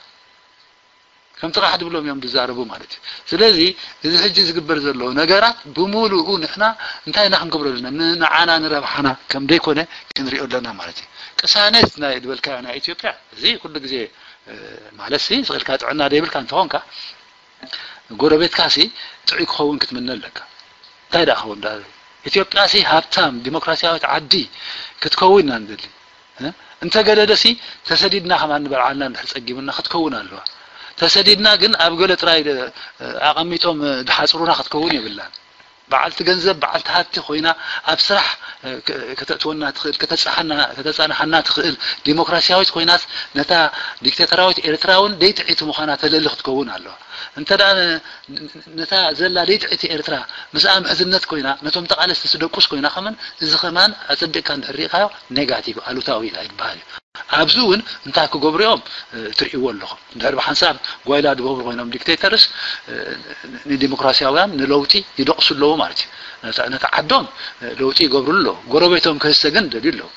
ከም ጥራሕ ድብሎም እዮም ዝዛረቡ ማለት እዩ። ስለዚ እዚ ሕጂ ዝግበር ዘሎ ነገራት ብምሉኡ ንሕና እንታይ ኢና ክንገብሮ ኣለና? ንዓና ንረብሓና ከም ደይኮነ ክንሪኦ ኣለና ማለት እዩ። ቅሳነት ናይ ዝበልካዮ ናይ ኢትዮጵያ እዚ ኩሉ ግዜ ማለት ሲ ስቕልካ ጥዕና ደይብልካ እንተኾንካ ጎረቤትካ ሲ ጥዑይ ክኸውን ክትምነ ኣለካ። እንታይ ደኣ ክኸውን ደኣ ኢትዮጵያ ሲ ሃብታም ዲሞክራሲያዊት ዓዲ ክትከውን ኢና ንደሊ። እንተገደደሲ ተሰዲድና ከማን ንበልዓልና እንድሕር ጸጊቡና ክትከውን ኣለዋ። ተሰዲድና ግን ኣብ ገለ ጥራይ ኣቐሚጦም ድሓጽሩና ክትከውን የብላን። በዓልቲ ገንዘብ በዓልቲ ሃብቲ ኮይና ኣብ ስራሕ ከተእትወና ትኽእል ከተጻሓና ከተጻንሓና ትኽእል ዲሞክራሲያዊት ኮይናስ ነታ ዲክታተራዊት ኤርትራ እውን ደይጥዒቲ ምዃና ተለሊ ክትከውን ኣለዋ። እንተ ደኣ ነታ ዘላ ደይጥዒቲ ኤርትራ ምስኣ ምሕዝነት ኮይና ነቶም ተቓለስቲ ስደቁስ ኮይና ከመን እዚ ከማን ኣጸቢቕካ እንድሕር ርኢኻዮ ኔጋቲቭ ኣሉታዊ ኣይበሃል እዩ። ኣብዚ እውን እንታይ ክገብሩ እዮም ትርእይዎ ኣለኹም። እንድሕር ብሓንሳብ ጓይላ ዝገብሩ ኮይኖም ዲክቴተርስ ንዲሞክራሲያውያን ንለውጢ ይደቕሱ ኣለዉ ማለት እዩ። ነቲ ዓዶም ለውጢ ይገብሩ ኣለዉ። ጎረቤቶም ክህሰ ግን ደልዩ ኣለዉ።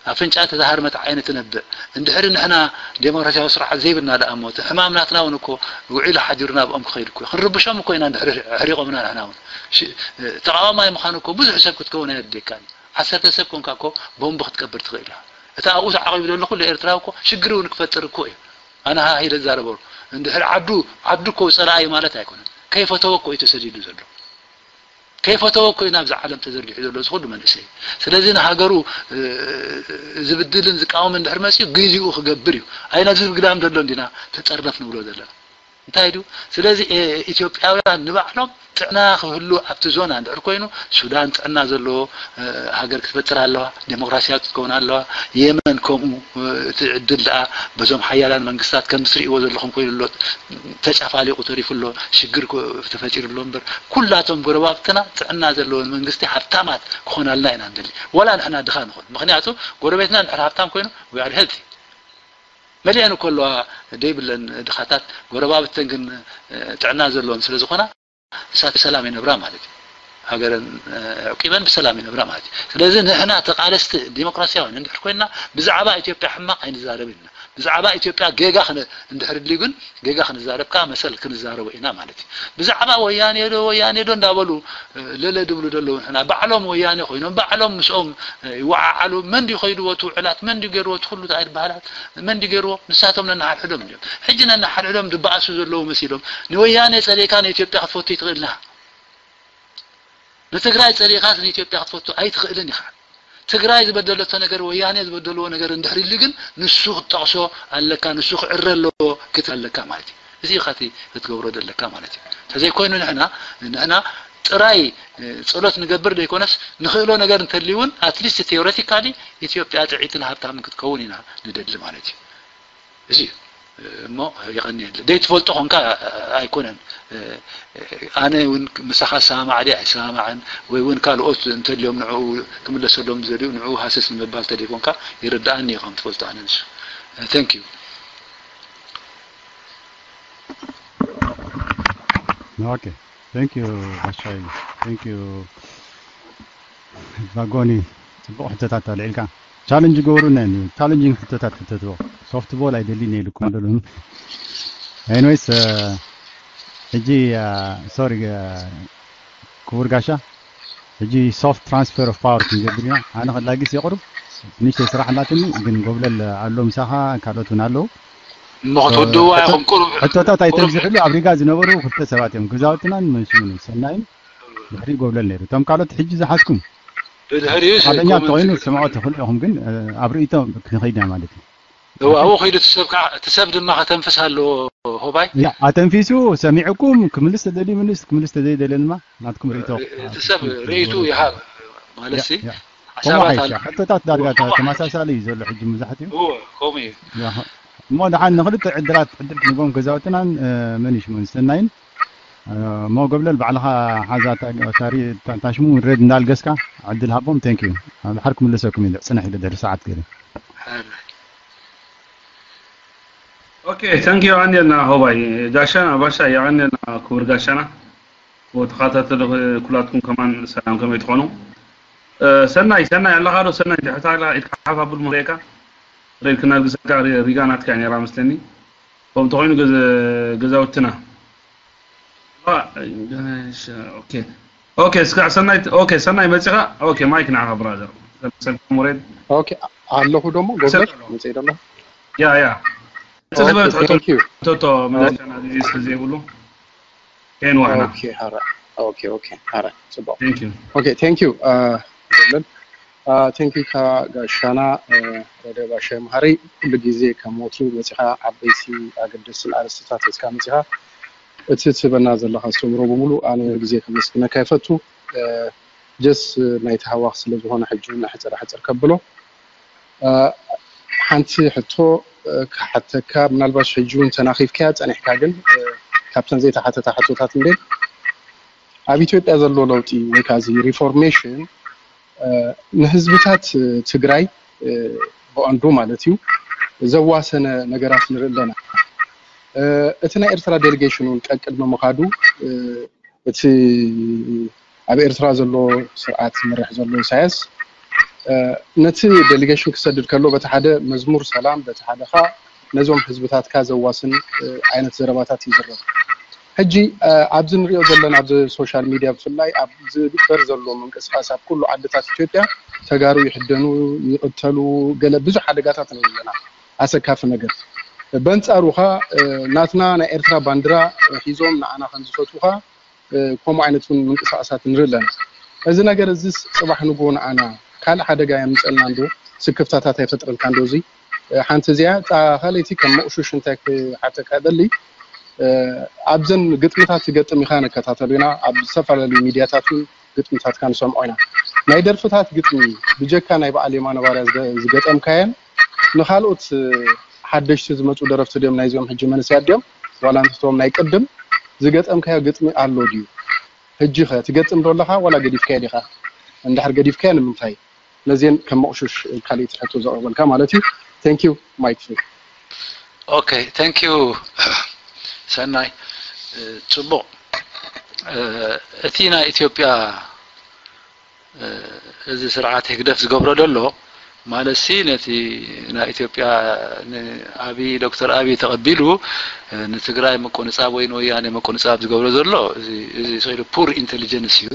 ኣፍንጫ ተዛሃርመት ዓይኒ ትነብዕ። እንድሕሪ ንሕና ዴሞክራሲያዊ ስርዓት ዘይብልና ደኣ እሞ እቲ ሕማም ናትና እውን እኮ ውዒሉ ሓዲሩ ናብኦም ክኸይድ እኮ እዩ። ክንርብሾም እኮ ኢና እንድሕሪ ኣሕሪቖምና ንሕና እውን። ተቃዋማይ ምዃን እኮ ብዙሕ ሰብ ክትከውን ኣየድልየካን። ዓሰርተ ሰብ ኮንካ እኮ ቦምብ ክትቀብር ትኽእል ኢኻ። እቲ ኣብኡ ተዓቒቡ ዘሎ ኩሉ ኤርትራዊ እኮ ሽግር እውን ክፈጥር እኮ እዩ። ኣነ ሃሂለ ዝዛረበሉ እንድሕሪ ዓዱ ዓዱ እኮ ጸላኢ ማለት ኣይኮነን። ከይፈተወ እኮ እዩ ተሰዲዱ ዘሎ። ከይፈተወ እኮ እዩ ናብዚ ዓለም ተዘርጊሑ ዘሎ እዚ ኩሉ መንእሰይ። ስለዚ ንሃገሩ ዝብድልን ዝቃወምን እንድሕር መፅዩ ግዜኡ ክገብር እዩ። ኣይ ነዚ ግዳም ዘሎ እንዲና ተጠርነፍ ንብሎ ዘለና እንታይ ድዩ? ስለዚ ኢትዮጵያውያን ንባዕሎም ጥዕና ክህሉ ኣብቲ ዞና እንድሕር ኮይኑ ሱዳን ጥዕና ዘለዎ ሃገር ክትፈጥር ኣለዋ፣ ዴሞክራሲያዊ ክትከውን ኣለዋ፣ የመን ከምኡ። እቲ ዕድል ደኣ በዞም ሓያላን መንግስታት ከም ትርእይዎ ዘለኹም ኮይኑ ኣሎ፣ ተጫፋሊቑ ተሪፉ ኣሎ፣ ሽግር ተፈጢሩ ኣሎ እምበር ኩላቶም ጎረባብትና ጥዕና ዘለዎን መንግስቲ ሃብታማት ክኾናልና ኢና ንደሊ። ዋላ ንሕና ድኻ ንኹን፣ ምኽንያቱ ጎረቤትና እንድሕር ሃብታም ኮይኑ we are healthy። መሊአን እኮ ኣለዋ ዘይብለን ድኻታት፣ ጎረባብተን ግን ጥዕና ዘለወን ስለ ዝኾና ንሳት ብሰላም ይነብራ ማለት እዩ። ሃገረን ኣዕቂበን ብሰላም ይነብራ ማለት እዩ። ስለዚ ንሕና ተቓለስቲ ዲሞክራሲያውያን እንድሕር ኮይና ብዛዕባ ኢትዮጵያ ሕማቕ ኣይንዛረብን ኢና። ብዛዕባ ኢትዮጵያ ጌጋ እንድሕር ድልዩ ግን ጌጋ ክንዛረብ ከዓ መሰል ክንዛረቦ ኢና ማለት እዩ። ብዛዕባ ወያኔ ዶ ወያኔ ዶ እንዳበሉ ለለ ድብሉ ዘለዉ ንሕና ባዕሎም ወያኔ ኮይኖም ባዕሎም ምስኦም ይወዓዓሉ። መን ድዩ ከይድዎ እቲ ውዕላት? መን ድዩ ገይርዎ እቲ ኩሉ ኣይበሃላት? መን ድዩ ገይርዎ? ንሳቶም ነንሓድሕዶም ድዮም? ሕጂ ነንሓድሕዶም ዝበኣሱ ዘለዉ መሲሎም ንወያኔ ጸሊእካ ንኢትዮጵያ ክትፈቱ ይትኽእልና። ንትግራይ ጸሊእካስ ንኢትዮጵያ ክትፈቱ ኣይትኽእልን ኢኻ። ትግራይ ዝበደለቶ ነገር ወያኔ ዝበደልዎ ነገር እንድሕር ኢሉ ግን ንሱ ክትጠቕሶ ኣለካ፣ ንሱ ክዕረ ኣለዎ ክትብል ኣለካ ማለት እዩ። እዚ ኢኻ እቲ ክትገብሮ ዘለካ ማለት እዩ። እንተዘይኮይኑ ንሕና ንሕና ጥራይ ጸሎት ንገብር ዘይኮነስ ንኽእሎ ነገር እንተልዩ እውን ኣትሊስት ቴዎሬቲካሊ ኢትዮጵያ ጥዕይትን ሃብታምን ክትከውን ኢና ንደሊ ማለት እዩ። እዚ እዩ እሞ የቐንየለ። ዘይትፈልጦ ኾንካ ኣይኮነን። ኣነ እውን ምሳኻ ሰማማዕ ድየ ኣይሰማማዕን ወይ እውን ካልኦት እንተልዮም ንዕኡ ክምለሰሎም ዝደልዩ ንዕኡ ሃሰስ ንምባል ተደይኮንካ ይርድኣኒ እዩ ከም ትፈልጦ ኣነ ንሱ። Thank you። Okay. Thank you ባሻይ። Thank you ባጎኒ። ጽቡቕ ሕቶታት ኣልዒልካ። ቻለንጅ ገብሩና እዩ። ቻለንጂንግ ሕቶታት ሕተትዎ። ሶፍት ቦል ኣይደልን ኢልኩም ኣለኹም። ኤኒዌይስ ሕጂ ሶሪ ክቡር ጋሻ ሕጂ ሶፍት ትራንስፈር ኦፍ ፓወር ክንገብር ኢና። ኣነ ከላጊስ የቕርብ ንእሽተይ ስራሕ ኣላትኒ ግን ጎብለል ኣሎ ምሳኻ ካልኦት እውን ኣለዉ። እሞ ክትውድዋ ኢኹም ቁሩብ ሕቶታት ኣይተብዝሕሉ ኣብ ሪጋ ዝነበሩ ክልተ ሰባት እዮም ገዛውትናን መንሽሙን ሰናይን ድሕሪ ጎብለል ነይሩ እቶም ካልኦት ሕጂ ዝሓዝኩም ብድሕሪኡ ሓደኛ ተኮይኑ ስምዖ ትኽእሉ ኢኹም ግን ኣብ ርእይቶ ክንኸይድ ኢና ማለት እዩ። እዋ ኣብኡ ከይዱ እቲ ሰብ ከዓ እቲ ሰብ ድማ ከተንፍስ ኣለዎ። ሆባይ ያ ኣተንፊሱ ሰሚዕኩም ክምልስ ተደልዩ ምልስ ክምልስ ተዘይደልየ ድማ ናትኩም ርእይቶ እቲ ሰብ ርእይቱ ይሃብ ማለት ሲ ሓሳባት ኣለ ሕቶታት ዳርጋ ተመሳሳሊ እዩ ዘሎ ሕጂ መብዛሕትኡ ከምኡ እዩ። እሞ ደሓን ንክልተ ዕድላት ዕድል ክንቦም ገዛውትናን መን ይሽሙን ሰናይን እሞ ገብለል ባዕልኻ ሓዛ ታሽሙ ሬድ እንዳልገስካ ዕድል ሃቦም። Thank you። ድሓር ክምልሰኩም ኢለ ፅንሕ ኢለ ድሕሪ ሰዓት ገለ ኦኬ። Thank you ኣንየልና ሆባይ ጋሻና ባሻ የቐንየልና ክቡር ጋሻና ተኸታተሉ ኩላትኩም ከማን ሰላም ከመይ ትኾኑ? ሰናይ ሰናይ ኣለኻ ዶ? ሰናይ ድሕታ ኢድካ ሓፍ ኣብሉ መሪአካ ሬድ ክናልግሰካ ሪጋ ናትካ ነራ መስለኒ። ከምኡ ተኾይኑ ገዛውትና ኦኬ እስካዕ ሰናይ ኦኬ ሰናይ መፂኻ ኦኬ ማይክ ንዓኻ ብራዘር ሰልካ ሞሬድ ኦኬ ኣለኹ ደሞ ጎብለል መፅእ ደሎ ያ ያ Thank you. ቶቶ መለሻና ግዜ ስለዘይብሉ ሄን ዋሕና ኦኬ ሀረ ኦኬ ኦኬ ሀረ ፅቡቅ Thank you ኦኬ thank you ጎብለል thank you ካ ጋሻና ረደ ባሻይ መሃሪ ኩሉ ግዜ ከም ወትሩ መፂኻ ዓበይቲ ኣገደስትን ኣርእስትታት ሒዝካ መፂኻ እቲ ትህበና ዘለኻ ኣስተምህሮ ብምሉእ ኣነ ግዜ ከመስግነካ ይፈቱ just ናይቲ ሃዋኽ ስለ ዝኾነ ሕጂ እውን ኣሕፅር ኣሕፅር ከብሎ ሓንቲ ሕቶ ክሓተካ ምናልባሽ ሕጂ እውን ተናኺፍካያ ፀኒሕካ ግን ካብተን ዘይተሓተታ ሕቶታት እንዴ ኣብ ኢትዮጵያ ዘሎ ለውጢ ወይ ከዓ እዚ reformation ንህዝብታት ትግራይ ኣንዱ ማለት እዩ ዘዋሰነ ነገራት ንርኢ ኣለና። እቲ ናይ ኤርትራ ዴሊጌሽን እውን ቀቅድሚ ምኻዱ እቲ ኣብ ኤርትራ ዘሎ ስርዓት ዝመርሕ ዘሎ ኢሳያስ ነቲ ዴሊጌሽን ክሰድድ ከሎ በቲ ሓደ መዝሙር ሰላም በቲ ሓደ ካ ነዞም ህዝብታትካ ዘዋስን ዓይነት ዘረባታት ይዝረብ። ሕጂ ኣብዚ ንሪኦ ዘለና ኣብዚ ሶሻል ሚድያ ብፍላይ ኣብ ዝግበር ዘሎ ምንቅስቃስ ኣብ ኩሉ ዓድታት ኢትዮጵያ ተጋሩ ይሕደኑ፣ ይቕተሉ፣ ገለ ብዙሕ ሓደጋታት ንርኢ ኣለና። ኣሰካፊ ነገር። በንጻሩ ኻ ናትና ናይ ኤርትራ ባንዲራ ሒዞም ንዓና ከም ዝፈትዉ ኻ ከምኡ ዓይነት እውን ምንቅስቃሳት ንርኢ ኣለና። እዚ ነገር እዚስ ጽባሕ ንግሆ ንዓና ካልእ ሓደጋ የምጸልና እንዶ ስክፍታታት ኣይፈጥረልካ እንዶ እዚ ሓንቲ እዚኣ እታ ካልኣይቲ ከም መቑሹሽ እንታይ ክሓተካ ደሊ ኣብዘን ግጥምታት ትገጥም ኢኻ ንከታተሉ ኢና ኣብ ዝተፈላለዩ ሚድያታት እውን ግጥምታትካ ንሰምዖ ኢና ናይ ደርፍታት ግጥሚ ብጀካ ናይ በዓል የማነ ባርያ ዝገጠምካየን ንኻልኦት ሓደሽቲ ዝመፁ ደረፍቲ ድዮም ናይዚኦም ሕጂ መንስያት ድዮም ዋላ እንተቶም ናይ ቅድም ዝገጠምካዮ ግጥሚ ኣሎ ድዩ ሕጂ ኸ ትገጥም ዶ ኣለኻ ዋላ ገዲፍካዮ ዲኻ እንድሕር ገዲፍካዮ ንምንታይ ነዚን ከም መቑሹሽ ካልእ ትሕቶ ዘቕርበልካ ማለት እዩ thank you mic free okay thank you ሰናይ ጽቡቕ እቲ ናይ ኢትዮጵያ እዚ ስርዓት ህግደፍ ዝገብሮ ዘሎ ማለት ሲ ነቲ ናይ ኢትዮጵያ ንኣቢ ዶክተር ኣቢ ተቐቢሉ ንትግራይ መቆንጻብ ወይ ንወያኔ መቆንጻብ ዝገብሮ ዘሎ እዚ ስኢሉ ፑር ኢንቴሊጀንስ እዩ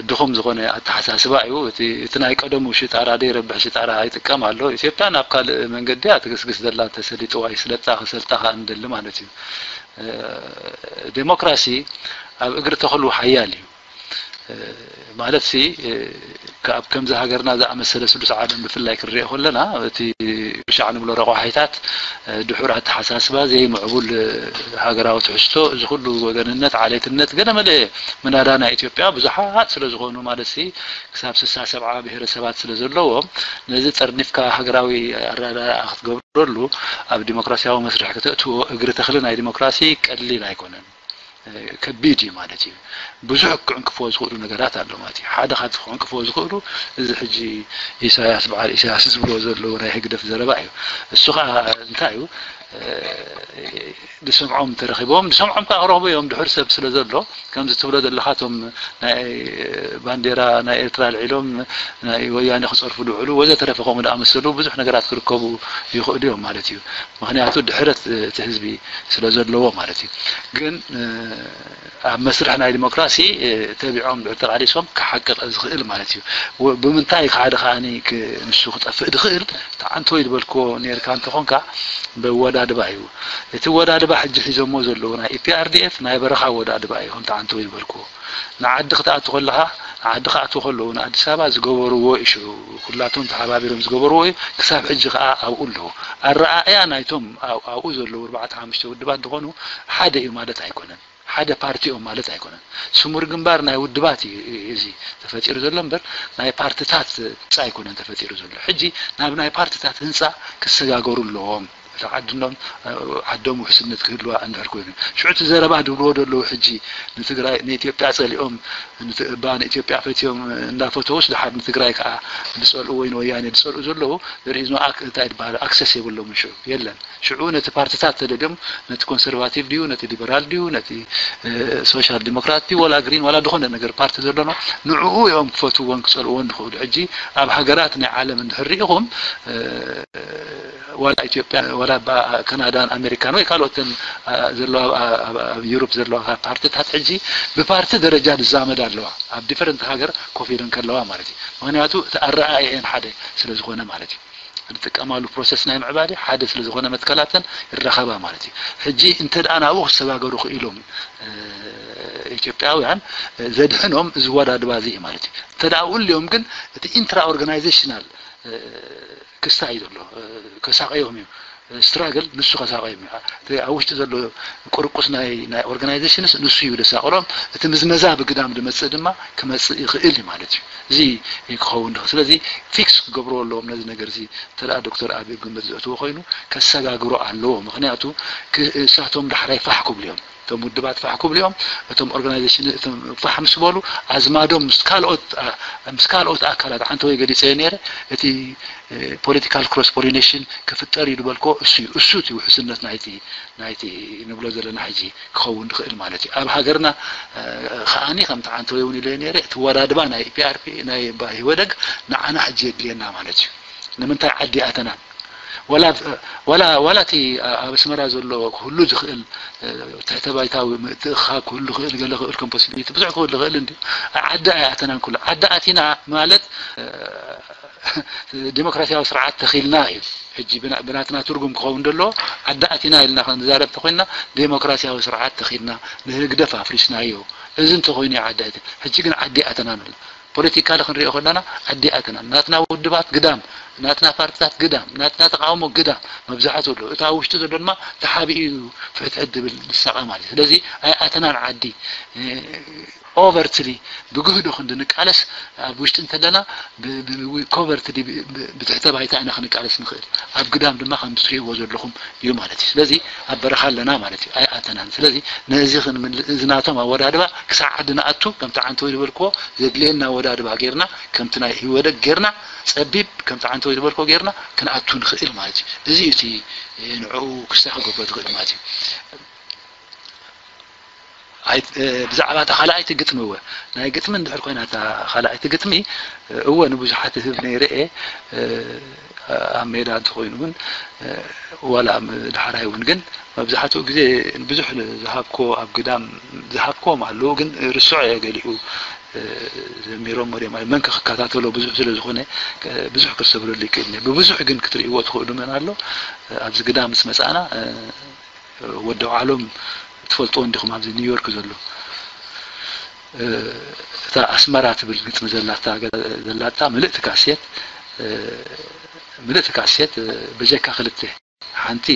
ድኹም ዝኾነ ኣተሓሳስባ እዩ እቲ ናይ ቀደሙ ሽጣራ ደይ ረብሕ ሽጣራ ይጥቀም ኣሎ ኢትዮጵያ ናብ ካልእ መንገዲ እያ ትግስግስ ዘላ ተሰሊጥዋ ይስለጣ ክሰልጣ ከኣ እንደሊ ማለት እዩ ዴሞክራሲ ኣብ እግሪ ተኽሉ ሓያል እዩ ማለት ሲ ካብ ከምዚ ሃገርና ዝኣመሰለ ስሉስ ዓለም ብፍላይ ክንሪኦ ከለና እቲ ሻዕ ንብሎ ረቋሒታት ድሑር ኣተሓሳስባ ዘይምዕቡል ሃገራዊ ትሕዝቶ እዚ ኩሉ ወገንነት ዓሌትነት ገለ መለ ምናዳ ናይ ኢትዮጵያ ብዙሓት ስለ ዝኾኑ ማለት ሲ ክሳብ ስሳ ሰብዓ ብሄረሰባት ስለ ዘለዎም ነዚ ጠርኒፍካ ሃገራዊ ኣረዳድኣ ክትገብረሉ ኣብ ዲሞክራሲያዊ መስርሕ ከተእትዎ እግሪ ተኽሊ ናይ ዲሞክራሲ ቀሊል ኣይኮነን ከቢድ እዩ ማለት እዩ ብዙሕ ክዕንቅፍዎ ዝኽእሉ ነገራት ኣሎ ማለት እዩ ሓደ ካብቲ ክዕንቅፍዎ ዝኽእሉ እዚ ሕጂ ኢሳያስ በዓል ኢሳያስ ዝብሎ ዘለዉ ናይ ህግደፍ ዘረባ እዩ እሱ ከዓ እንታይ እዩ ዝሰምዖም ተረኺቦም ዝሰምዖም ከዓ ክረኽቡ እዮም ድሕር ሰብ ስለ ዘሎ ከምዚ ትብሎ ዘለኻ እቶም ናይ ባንዴራ ናይ ኤርትራ ልዒሎም ናይ ወያኔ ክፀርፉ ድውዕሉ ወዘተረፈ ከምኡ ዝኣመሰሉ ብዙሕ ነገራት ክርከቡ ይኽእሉ እዮም ማለት እዩ ምክንያቱ ድሕረት እቲ ህዝቢ ስለ ዘለዎ ማለት እዩ ግን ኣብ መስርሕ ናይ ዲሞክራሲ ተቢዖም ድሕር ተቃሊሶም ክሓቅቅ ዝኽእል ማለት እዩ ብምንታይ ሓደ ከዓኒ ንሱ ክጠፍእ ድኽእል ተዓንቶ ይድበልክዎ ነርካ እንተኾንካ በወዳድባ እዩ እቲ ወዳድባ ሕጂ ሒዞሞ ዘለዉ ናይ ኢፒኣርዲኤፍ ናይ በረኻ ወዳድባ እዩ ከም ተዓንቶ ይድበልክዎ ንዓዲ ክትኣቱ ከለኻ ንዓዲ ክኣትዉ ከለዉ ንኣዲስ ኣበባ ዝገበርዎ እዩ ሽዑ ኩላቶም ተሓባቢሮም ዝገበርዎ እዩ ክሳብ ሕጂ ከዓ ኣብኡ ኣለዉ ኣረኣእያ ናይቶም ኣብኡ ዘለዉ ኣርባዕተ ሓሙሽተ ውድባት ዝኾኑ ሓደ እዩ ማለት ኣይኮነን ሓደ ፓርቲ እዮም ማለት ኣይኮነን ስሙር ግንባር ናይ ውድባት እዩ እዚ ተፈጢሩ ዘሎ እምበር ናይ ፓርትታት ፃ ኣይኮነን ተፈጢሩ ዘሎ ሕጂ ናብ ናይ ፓርትታት ህንፃ ክሰጋገሩ ኣለዎም እቲ ዓድኖም ዓዶም ውሕስነት ክህልዋ እንድሕር ኮይኑ ሽዑ እቲ ዘረባ ድብልዎ ዘለዉ ሕጂ ንትግራይ ንኢትዮጵያ ፀሊኦም ንትእባ ንኢትዮጵያ ፈትዮም እንዳፈተውስ ድሓር ንትግራይ ከዓ ዝፀልኡ ወይ ንወያኔ ዝፀልኡ ዘለዉ there is no እንታይ ዝበሃል ኣክሰስ የብሎምን ሽዑ የለን ሽዑ ነቲ ፓርትታት ተደልዮም ነቲ ኮንሰርቫቲቭ ድዩ ነቲ ሊበራል ድዩ ነቲ ሶሻል ዲሞክራት ድዩ ወላ ግሪን ወላ ዝኾነ ነገር ፓርቲ ዘሎኖ ንዕኡ እዮም ክፈትዎን ክፀልእዎን ዝኽእሉ ሕጂ ኣብ ሃገራት ናይ ዓለም እንድሕር ሪኢኹም ዋላ ኢትዮጵያ ዋላ ካናዳን ኣሜሪካን ወይ ካልኦትን ዘለዋ ኣብ ዩሮፕ ዘለዋ ፓርትታት ሕጂ ብፓርቲ ደረጃ ዝዛመድ ኣለዋ ኣብ ዲፈረንት ሃገር ኮፍ ኢለን ከለዋ ማለት እዩ ምክንያቱ እቲ ኣረኣእየን ሓደ ስለ ዝኾነ ማለት እዩ ዝጥቀማሉ ፕሮሰስ ናይ ምዕባለ ሓደ ስለ ዝኾነ መትከላተን ይራኸባ ማለት እዩ ሕጂ እንተ ደኣ ናብኡ ክሰጋገሩ ክኢሎም ኢትዮጵያውያን ዘድሕኖም ዝወዳድባ እዚ ማለት እዩ እንተ ደኣ ውልዮም ግን እቲ ኢንትራ ኦርጋናይዜሽናል ክስታይ ዘሎ ከሳቀዮም እዩ ስትራግል ንሱ ከሳቐዮም እዩ። እቲ ኣብ ውሽጢ ዘሎ ቁርቁስ ናይ ናይ ኦርጋናይዜሽንስ ንሱ እዩ ደሳቕሎም። እቲ ምዝመዛ ብግዳም ዝመጽእ ድማ ክመጽእ ይኽእል እዩ ማለት እዩ። እዚ እዩ ክኸውን ድኽ ስለዚ ፊክስ ክገብርዎ ኣለዎም ነዚ ነገር እዚ። እንተ ደኣ ዶክተር ኣቢ ኣብ ግምት ዘእትዎ ኮይኑ ከሰጋግሮ ኣለዎ። ምኽንያቱ እሳቶም ዳሕራይ ፋሕ ክብሉ እዮም። እቶም ውድባት ፋሕ ክብሉ እዮም። እቶም ኦርጋናይዜሽን እቶም ፋሕ ምስ በሉ ኣዝማዶም ምስ ካልኦት ምስ ካልኦት ኣካላት ዓንተወይ ገሊፀዮ ነይረ። እቲ ፖለቲካል ክሮስ ፖሊኔሽን ክፍጠር እዩ ዝበልኮ እሱ እዩ። እሱ እቲ ውሕስነት ናይቲ ናይቲ ንብሎ ዘለና ሕጂ ክኸውን ዝኽእል ማለት እዩ። ኣብ ሃገርና ከዓኒ ከምቲ ዓንተወይ እውን ኢለ ነይረ እቲ ወዳድባ ናይ ፒኣርፒ ናይ ህወደግ ንዓና ሕጂ የድልየና ማለት እዩ። ንምንታይ ዓዲ ኣተናን ዋላ ዋላ ዋላ እቲ ኣብ ኣስመራ ዘሎ ክህሉ ዝኽእል ትሕተ ባይታዊ ምትእኽኻብ ክህሉ ክእል ገለ ክእል ከም ፖሲቢሊቲ ብዙሕ ክህሉ ክእል እንዲ ዓዲ ኣይኣተናን ኩሉ ዓዲ ኣቲና ማለት ዲሞክራሲያዊ ስርዓት ተኺልና እዩ። ሕጂ ብናትና ትርጉም ክኸውን ደሎ ዓዲ ኣቲና ኢልና ክንዛረብ ተኮይንና ዲሞክራሲያዊ ስርዓት ተኺልና ንህግደፍ ኣፍሪስናዮ። እዚ እንተኮይኑ ዓዲ ኣቲ ሕጂ ግን ዓዲ ኣተናን ኣሎ። ፖለቲካሊ ክንሪኦ ከለና ዓዲ ኣተናን ናትና ውድባት ግዳም ናትና ፓርትታት ግዳም ናትና ተቃውሞ ግዳም መብዛሕትኡ ኣሎ። እታ ውሽጢ ዘሎ ድማ ተሓቢኡ እዩ ፍሕትሕት ድብል ዝሳቐ ማለት እዩ። ስለዚ ኣይኣተናን ዓዲ ኦቨርትሊ ብግህዶ ክንዲ ንቃለስ ኣብ ውሽጢ እንተለና ኮቨርትሊ ብትሕተ ባይታ ኢና ክንቃለስ ንኽእል። ኣብ ግዳም ድማ ከም ትሪእዎ ዘለኹም እዩ ማለት እዩ። ስለዚ ኣብ በረኻ ኣለና ማለት እዩ። ኣይኣተናን። ስለዚ ነዚ ክንምል እዚ ናቶም ኣወዳድባ ክሳዕ ዓዲ ንኣቱ ከምቲ ዓንተወይ ዝበልክዎ ዘድልየና ኣወዳድባ ጌርና ከምቲ ናይ ህወደግ ጌርና ጸቢብ ከምቲ ዓንተወይ ዝበልክዎ ጌርና ክንኣቱ ንኽእል ማለት እዩ። እዚ እዩ እቲ ንዕኡ ክስታይ ክገብሮ ዝኽእል ማለት እዩ። ብዛዕባ እታ ካልኣይቲ ግጥሚ እወ ናይ ግጥሚ እንድሕር ኮይና እታ ካልኣይቲ ግጥሚ እወ ንብዙሓት ህብ ነይረ እየ ኣብ ሜዳ እንተኮይኑ እውን ዋላ ዳሕራይ እውን ግን መብዛሕትኡ ግዜ ብዙሕ ዝሃብኮ ኣብ ግዳም ዝሃብኮም ኣለዉ ግን ርስዖ እየ ገሊኡ ዘሚሮም ወደ ማለት መን ክከታተሎ ብዙሕ ስለ ዝኾነ ብዙሕ ክሰብረሉ ይክእል ብብዙሕ ግን ክትርእይዎ ትኽእሉ መን ኣሎ ኣብዚ ግዳም ምስ መፃእና ወዲ ዓሎም ትፈልጥዎ እንዲኹም ኣብዚ ኒውዮርክ ዘሎ እታ ኣስመራ ትብል ግጥሚ ዘላታ ዘላታ ምልእቲ ካሴት ምልእቲ ካሴት ብጀካ ክልተ ሓንቲ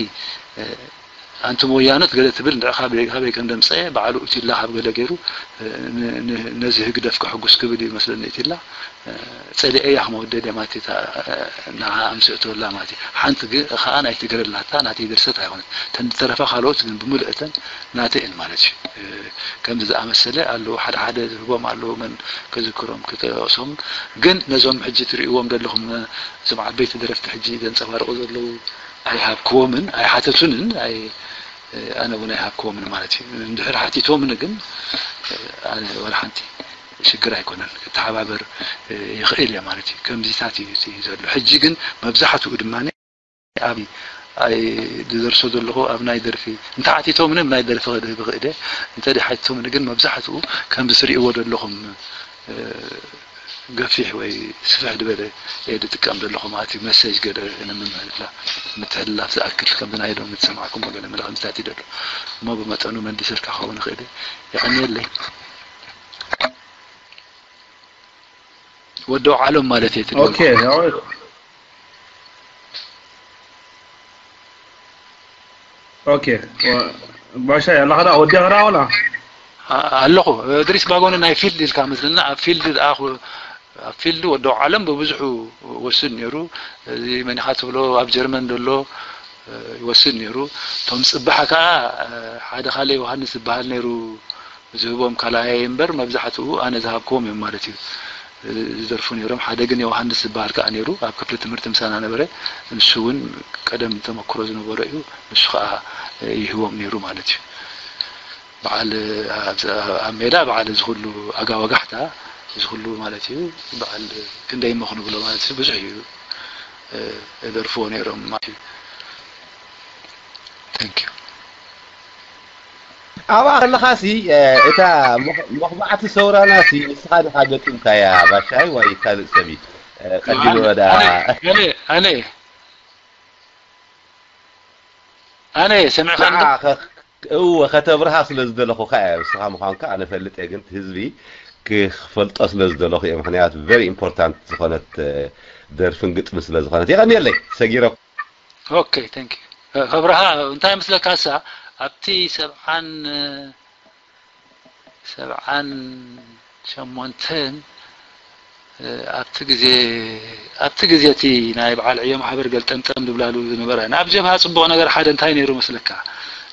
ኣንቱም ወያኖት ገለ ትብል ንዕኻ ካበይ ከም ደምፀየ በዓሉ እቲላ ካብ ገለ ገይሩ ነዚ ህግደፍ ከሕጉስ ክብል እዩ መስለኒ እቲላ ጸሊዐያ ከመወደደ ማለት እዩ ንዓ ኣምስእተወላ ማለት እዩ ሓንቲ ከዓ ናይ ትግረ ናታ ናተይ ድርሰት ኣይኮነት ተን ዝተረፋ ካልኦት ግን ብምልእተን ናተይ እን ማለት እዩ ከምዚ ዝኣመሰለ ኣለዉ ሓደ ሓደ ዝህቦም ኣለዉ መን ክዝክሮም ክጠቅሶም ግን ነዞም ሕጂ ትርእይዎም ዘለኹም እዞም ዓበይቲ ደረፍቲ ሕጂ ዘንጸባርቑ ዘለዉ ኣይሃብክዎምን ኣይሓተቱንን ኣነ እውን ኣይሃብክዎምን ማለት እዩ እንድሕር ሓቲቶምኒ ግን ኣነ ወላ ሓንቲ ሽግር ኣይኮነን ክተሓባበር ይኽእል እየ ማለት እዩ ከምዚታት እዩ ዘሎ ሕጂ ግን መብዛሕትኡ ድማ ኣብ ዝደርሶ ዘለኹ ኣብ ናይ ደርፊ እንተ ሓቲቶምኒ ናይ ደርፊ ክድህብ ክእደ እንተ ሓቲቶምኒ ግን መብዛሕትኡ ከም ዝትርእይዎ ዘለኹም ገፊሕ ወይ ስፍሕ ዝበለ እየ ዝጥቀም ዘለኹ ማለት እዩ መሰጅ ገለ ንምምሕልላ ምትሕልላፍ ዝኣክል ከምዚ ናይ ሎሚ ዝሰማዕኩሞ ገለ መልእኽትታት እዩ ዘሎ እሞ ብመጠኑ መሊሰልካ ክኸውን ይኽእል የቐንየለይ ወዲ ዓሎም ማለት እየ ትደግሞ። ኦኬ፣ ያው፣ ኦኬ። ወ-፣ ባሻ ያላኸዳ ወዲ ኸዳ ወላ? ኣ-፣ ኣለኹ። እድሪስ ባጎኒ ናይ ፊልድ ኢልካ መስልና፣ ኣብ ፊልድ ዝኣኹ-፣ ኣብ ፊልድ ወዲ ዓለም ብብዝሑ ወስድ ነይሩ። እዚ መን ኢኻ ትብሎ ኣብ ጀርመን ዘሎ፣ እ፣ ይወስድ ነይሩ። እቶም ጽባሕ ከኣ፣ እ፣ ሓደ ካልእ ዮሃንስ ዝበሃል ነይሩ። ዝህቦም ካልኣየይ እምበር መብዛሕትኡ ኣነ ዝሃብክዎም እዮም ማለት እዩ ዝደርፉ ነይሮም ሓደ ግን ዮሃንስ ዝበሃል ከዓ ነይሩ ኣብ ክፍሊ ትምህርቲ ምሳና ነበረ ንሱ እውን ቀደም ተመክሮ ዝነበሮ እዩ ንሱ ከዓ ይህቦም ነይሩ ማለት እዩ በዓል ኣብ ሜዳ በዓል እዚ ኩሉ ኣጋወጋሕታ እዚ ኩሉ ማለት እዩ በዓል ክንደይ እሞ ክንብሎ ማለት እዩ ብዙሕ እዩ የደርፍዎ ነይሮም ማለት እዩ Thank you. ኣብኣ ከለኻሲ እታ መኽባዕቲ ሰውራናሲ ንስኻ ዲኻ ገጢምካያ ባሻይ ወይ ካልእ ሰብ እዩ ቀዲሙ ወዳ ኣነ ኣነ ኣነ ሰሚዕካ ንዓ እወ ከተብርሃ ስለ ዝደለኹ ከኣ ንስኻ ምዃንካ ኣነ ፈልጥ እየ ግን ህዝቢ ክፈልጦ ስለ ዝደለኹ እየ ምክንያቱ very important ዝኾነት ደርፍን ግጥሚ ስለ ዝኾነት የቐንየለይ ሰጊረኩም Okay, thank you. ከብርሃ እንታይ መስለካሳ ኣብቲ ሰብዓን ሰብዓን ሸሞንተን ኣብቲ ግዜ ኣብቲ ግዜ እቲ ናይ በዓል ዕዮ ማሕበር ገልጠምጠም ዝብላሉ ዝነበረ ናብ ጀብሃ ጽቡቕ ነገር ሓደ እንታይ ነይሩ መስለካ?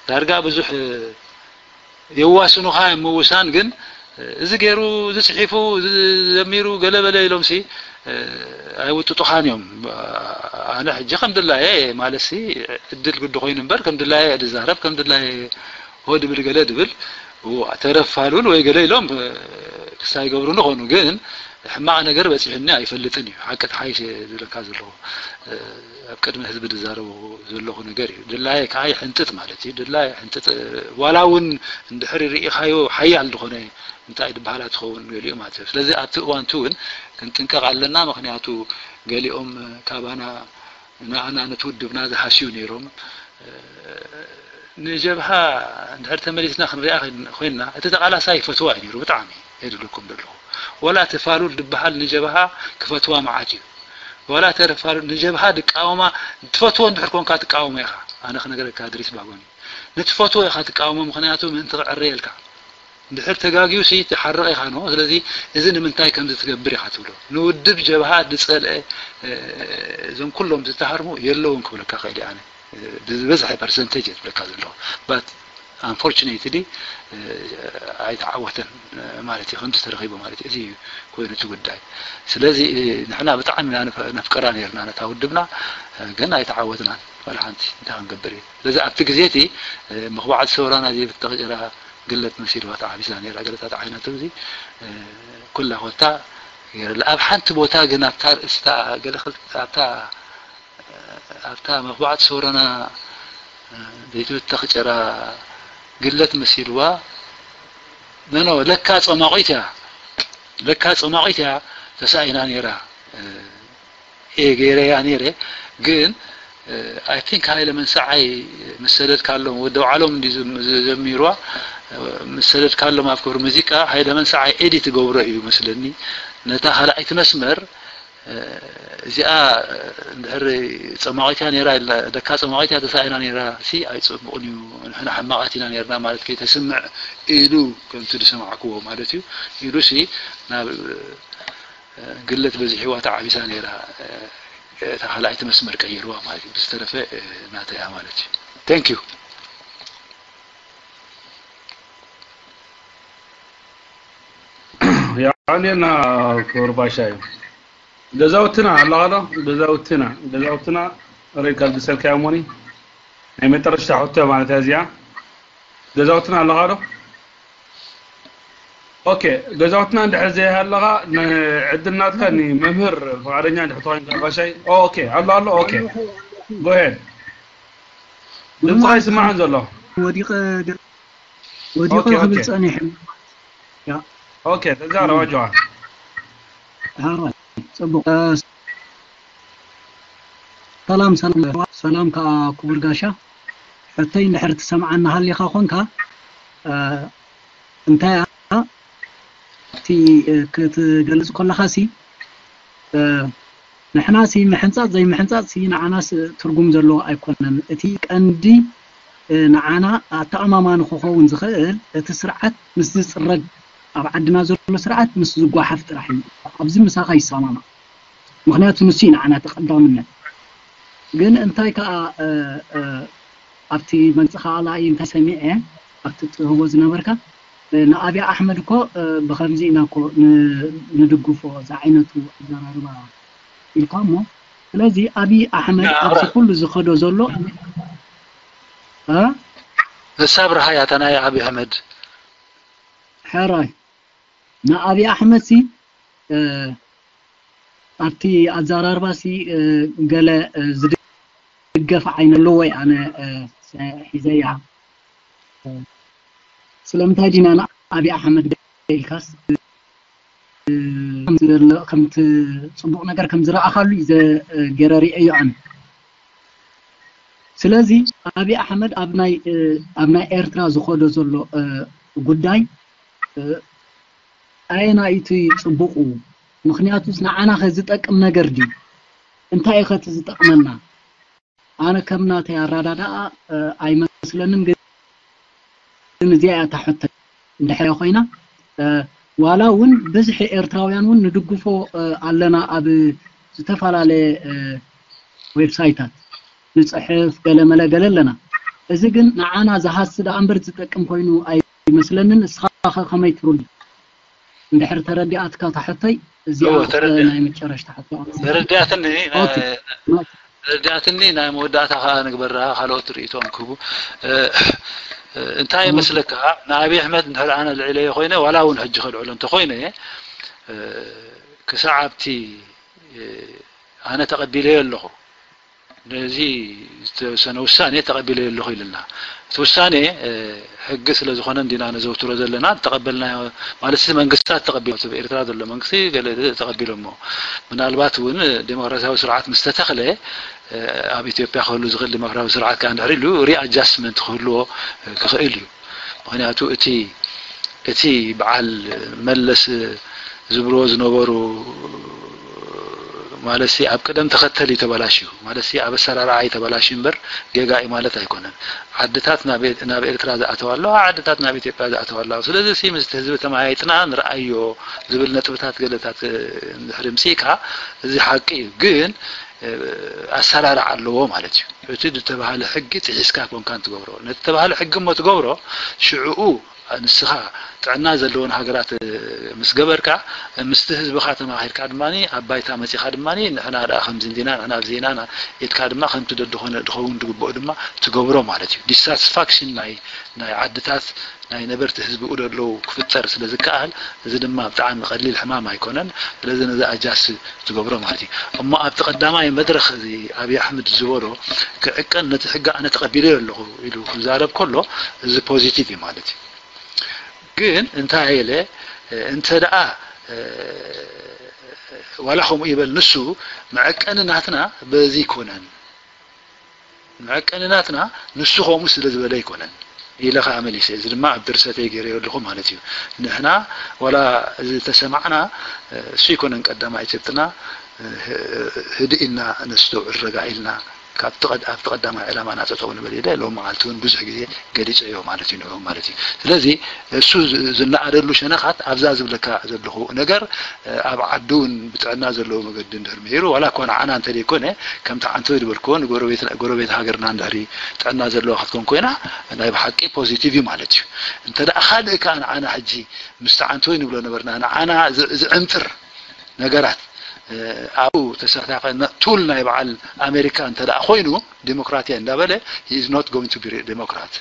ዳርጋ ብዙሕ የዋስኑኻ እዮም ምውሳን ግን እዚ ገይሩ እዚ ጽሒፉ እዚ ዘሚሩ ገለ በለ ኢሎም ሲ ኣይውጥጡኻን እዮም። ኣነ ሕጂ ከም ድላየ ማለት ሲ እድል ግዲ ኮይኑ እምበር ከም ድላየ ድዛረብ ከም ድላየ ሆ ድብል ገለ ድብል ተረፋሉል ወይ ገለ ኢሎም ክሳይ ገብሩ ንኾኑ ግን ሕማቕ ነገር በጺሑኒ ኣይፈልጥን እዩ። ሓቂ ተሓይሽ ዝብለካ ዘለኹ ኣብ ቅድሚ ህዝቢ ዝዛረቡ ዘለኹ ነገር እዩ። ድላየ ከዓ ይሕንጥጥ ማለት እዩ። ድላየ ይሕንጥጥ ዋላ እውን እንድሕር ርኢኻዮ ሓያል ዝኾነ እንታይ ድበሃላ ትኸውን ገሊኡ ማለት እዩ። ስለዚ ኣብቲ እዋንቲ እውን ክንጥንቀቕ ኣለና። ምክንያቱ ገሊኦም ካባና ንኣና ነቲ ውድብና ዝሃስዩ ነይሮም። ንጀብሃ እንድሕር ተመሊስና ክንሪኣ ኮይንና እቲ ተቓላሳይ ይፈትዋ እዩ ነይሩ ብጣዕሚ የድልኩም ዘለኹ ወላ እቲ ፋሉል ድበሃል ንጀብሃ ክፈትዋ መዓት እዩ። ዋላ ተረፋሉ ንጀብሃ ድቃወማ ትፈትዎ እንድሕር ኮንካ ትቃወሞ ኢኻ። ኣነ ክነገረካ ድሪስ ባጎኒ ንትፈትዎ ኢኻ ትቃወሞ ምክንያቱ ምእንቲ ክዕረየልካ እንድሕር ተጋግዩ ሲ ትሓርቕ ኢኻ ኖ ስለዚ እዚ ንምንታይ ከምዚ ትገብር ኢኻ ትብሎ ንውድብ ጀብሃ ድጸልአ እዞም ኩሎም ዝተሃርሙ የለውን ክብለካ ኸእል ኣነ ዝበዝሐ ፐርሰንቴጅ የትብለካ ዘለኹ but unfortunately ኣይተዓወተን ማለት እዩ ከምዚ ተረኺቡ ማለት እዩ እዚ ኮይኑ እቲ ጉዳይ ስለዚ ንሕና ብጣዕሚ ነፍቀራ ነርና ነታ ውድብና ግን ኣይተዓወትናን ወላ ሓንቲ እንታይ ክንገብር እዩ ስለዚ ኣብቲ ግዜ እቲ መኽባዕቲ ሰውራና ዘይብተቕ ጭራ ግለት መሲልዋ ተዓቢሳ ነራ ገለታት ዓይነቱ እዚ ኩላ ኮታ ገይረላ ኣብ ሓንቲ ቦታ ግን ኣብታ ርእስታ ገለ ኣብታ ኣብታ መኽባዕቲ ሰውራና ዘይትብተኽ ጨራ ግለት መሲልዋ ነኖ ለካ ጸማቒት እያ ለካ ጸማቒት እያ ተሳኢና ነይራ እየ ገይረያ ነይረ ግን I think ሃይለ መንሰዓይ ምስ ሰደድካሎም ወዲ ባዕሎም እንዲ ዘሚርዋ ምስ ሰደድካሎም ኣብ ክብሪ ሙዚቃ ሃይለ መንሰዓይ ኤዲት ገብሮ እዩ መስለኒ ነታ ካልኣይቲ መስመር እዚኣ እንድሕር ጸማቒት እያ ነይራ ኢልና ደካ ጸማቒት እያ ተሳኢና ነይራ ሲ ኣይጸቡቕን እዩ ንሕና ሕማቓት ኢና ነርና ማለት ከይተስምዕ ኢሉ ከምቲ ዝሰማዕክዎ ማለት እዩ ኢሉ ሲ ናብ ግለት በዚሕዋ ተዓቢሳ ነይራ እታ ካልኣይቲ መስመር ቀይርዋ ማለት እዩ ብዝተረፈ ናተያ ማለት እዩ thank you የቐንየልና ክቡር ባሻ እዩ። ገዛውትና ኣለኻ ዶ? ገዛውትና ገዛውትና ሬድ ካልግሰልካ እሞኒ ናይ መጨረሽታ ሕቶ ማለት እያ እዚኣ። ገዛውትና ኣለኻ ዶ? ኦኬ ገዛውትና እንድሕር ዘይሃለኻ ዕድል ናትካ ንመምህር ፍቓደኛ እንድሕር ተኾይንካ ባሻይ። ኦኬ ኣሎ ኣሎ ኦኬ go ahead ድምፅኻ ይስማዕን ዘሎ ወዲቐ ወዲቐ ክብል ጸኒሐ። ኦኬ፣ ተዛረብ ኣጆኻ። ጽቡቕ። ሰላም ሰላም ሰላም ከኣ ክቡር ጋሻ። ሕቶይ እንድሕር ትሰምዓና ሃሊኻ ኾንካ እንታይ እያ እቲ ክትገልጽ ከለኻሲ ንሕናሲ ምሕንጻጽ ዘይምሕንጻጽሲ ንዓናስ ትርጉም ዘለዎ ኣይኮነን። እቲ ቀንዲ ንዓና ኣተኣማማኒ ክኸውን ዝኽእል እቲ ስርዓት ምስ ዝጽረግ ኣብ ዓድና ዘሎ ስርዓት ምስ ዝጓሓፍ ጥራሕ እዩ። ኣብዚ ምሳኻ ይሰማማዕ። ምኽንያቱ ንሱ እዩ ንዓና እቲ ቀዳምነት። ግን እንታይ ከኣ ኣብቲ መግለጺኻ ላኢ እንታይ ሰሚዐ ኣብቲ ትህቦ ዝነበርካ ንኣብይ ኣሕመድ እኮ ብኸምዚ ኢና እኮ ንድግፎ ዝዓይነቱ ኣዘራርባ ኢልካ እሞ ስለዚ ኣብይ ኣሕመድ ኣብዚ ኩሉ ዝኸዶ ዘሎ እሳ ብርሃያ እታ ናይ ኣብይ ኣሕመድ ሕራይ ንኣብይ ኣሕመድ ሲ ኣብቲ ኣዘራርባ ሲ ገለ ዝድገፍ ዓይነ ኣለዎ ኣነ ሒዘያ ስለምንታይ ዲና ንኣብይ ኣሕመድ ኢልካስ ከምቲ ጽቡቕ ነገር ከም ዝረኣኻሉ እዩ ገይረ ሪኤዮ ኣነ። ስለዚ ኣብይ ኣሕመድ ኣብ ናይ ኣብ ናይ ኤርትራ ዝኸዶ ዘሎ ጉዳይ ኣየናይ እቲ ጽቡቑ? ምኽንያቱስ ንዓና ከ ዝጠቅም ነገር ድዩ? እንታይ እዩ ከ እቲ ዝጠቕመና? ኣነ ከም ናተይ ኣረዳድኣ ኣይመስለንን። ግን እዚኣ እያ እታ ሕቶ እንድሕር ኮይና፣ ዋላ እውን ብዝሒ ኤርትራውያን እውን ንድግፎ ኣለና፣ ኣብ ዝተፈላለየ ዌብሳይታት ንፅሕፍ ገለመለ ገለ ኣለና። እዚ ግን ንዓና ዝሃሲ ደኣ እምበር ዝጠቅም ኮይኑ ኣይመስለንን። እስኻ ከ ከመይ ትርዱ? እንድሕር ተረዲኣትካ እታ ሕቶይ፣ እዚኣ ናይ መጨረሽታ ሕቶ። ተረዲኣትኒ። ተረዲኣትኒ። ናይ መወዳእታ ከዓ ንግበራ፣ ካልኦት ርእይቶም ክህቡ። እንታይ ይመስለካ? ንኣብይ ኣሕመድ እንድሕር ኣነ ልዕለዮ ኮይነ፣ ዋላ እውን ሕጂ ከልዕሎ እንተኮይነ፣ ክሳዕ ኣብቲ ኣነ ተቐቢለዮ ኣለኹ፣ ነዚ ዝተወሰነ ውሳኔ ተቐቢለዮ ኣለኹ ኢልና። እቲ ውሳኔ ሕጊ ስለ ዝኾነ እንዲና ነዘውትሮ ዘለና። ተቐበልናዮ ማለት መንግስታት ተቐቢሎ፣ ኣብ ኤርትራ ዘሎ መንግስቲ ገለ ተቐቢሎሞ። ምናልባት እውን ዴሞክራሲያዊ ስርዓት ምስ ተተኽለ፣ ኣብ ኢትዮጵያ ክህሉ ዝኽእል ዴሞክራሲያዊ ስርዓት ከዓ እንድሕር ኢሉ ሪኣጃስትመንት ክህልዎ ክኽእል እዩ። ምኽንያቱ እቲ እቲ በዓል መለስ ዝብልዎ ዝነበሩ ማለት ኣብ ቅደም ተኸተል እዩ ተበላሽዩ፣ ማለት ኣብ ኣሰራርዓ እዩ ተበላሽዩ እምበር ጌጋ እዩ ማለት ኣይኮነን። ዓድታት ናብ ኤርትራ ዝኣተዋ ኣለዋ፣ ዓድታት ናብ ኢትዮጵያ ዝኣተዋ ኣለዋ። ስለዚ ምስቲ ህዝቢ ተመያይጥና ንርኣዮ ዝብል ነጥብታት ገለታት እንድሕር ምፅእካ እዚ ሓቂ እዩ። ግን ኣሰራርዓ ኣለዎ ማለት እዩ። እቲ ዝተባህለ ሕጊ ጥሒስካ ኮንካን ትገብሮ። ነቲ ተባህለ ሕጊ እሞ ትገብሮ፣ ሽዕኡ ንስኻ ጥዕና ዘለዎን ሃገራት ምስ ገበርካ፣ ምስቲ ህዝብኻ ተማኺርካ ድማ ኣብ ባይታ መጺኻ ድማ ንሕና ደኣ ከምዚ እንዲና፣ ንሕና ኣብዚ ኢና ኢልካ ድማ ከምቲ ደድኾነ ድኸውን ዝግብኦ ድማ ትገብሮ ማለት እዩ። ዲሳትስፋክሽን ናይ ናይ ዓድታት ናይ ነበርቲ ህዝቢ ኡደለዉ ክፍጠር ስለ ዝከኣል፣ እዚ ድማ ብጣዕሚ ቀሊል ሕማም ኣይኮነን። ስለዚ ነዚ ኣጃስ ትገብሮ ማለት እዩ። እሞ ኣብቲ ቀዳማይ መድረኽ እዚ ኣብይ ኣሕመድ ዝበሎ ክዕቀን ነቲ ሕጊ ኣነ ተቐቢለዮ ኣለኹ ኢሉ ክዛረብ ከሎ እዚ ፖዚቲቭ እዩ ማለት እዩ። ግን እንታይ ኢለ እንተ ደኣ ዋላ ከምኡ ይበል ንሱ መዐቀኒ ናትና በዚ ይኮነን መዐቀኒ ናትና ንሱ ከምኡ ስለ ዝበለ ኣይኮነን ኢለ ከዓ መሊሰ። እዚ ድማ ኣብ ድርሰተይ ገይረዮ ኣለኹ ማለት እዩ። ንሕና ዋላ ዝተሰማዕና እሱ ኣይኮነን ቀዳማይ ጭብጥና፣ ህድእ ኢልና ነስተውዕል፣ ረጋ ኢልና ካብቲ ቀድ- ኣብቲ ቀዳማይ ዕላማና ጠጠው ንበል ኢለ ሎም መዓልቲ እውን ብዙሕ ግዜ ገሊፀዮ ማለት እዩ ንዕኡ ማለት እዩ። ስለዚ እሱ ዝ- ዝነኣደሉ ሸነኻት ኣብዛ ዝብለካ ዘለኹ ነገር ኣብ ዓዱ እውን ብጥዕና ዘለዎ መገዲ እንድሕር ምሂሩ ዋላ እኳ ንዓና እንተደይኮነ ከምቲ ዓንተወይ ዝበልክዎ ንጎረቤት ጎረቤት ሃገርና እንድሕሪ ጥዕና ዘለዋ ክትኮን ኮይና ናይ ብሓቂ ፖዚቲቭ እዩ ማለት እዩ። እንተ ደኣ ካልእ ከኣ ንዓና ሕጂ ምስቲ ዓንተወይ ንብሎ ነበርና ንዓና ዝ- ዝዕምጥር ነገራት ኣብኡ ተሳታፊ ቱል ናይ በዓል ኣሜሪካ እንተ ደኣ ኮይኑ ዴሞክራትያ እንዳበለ he is not going to be ዴሞክራት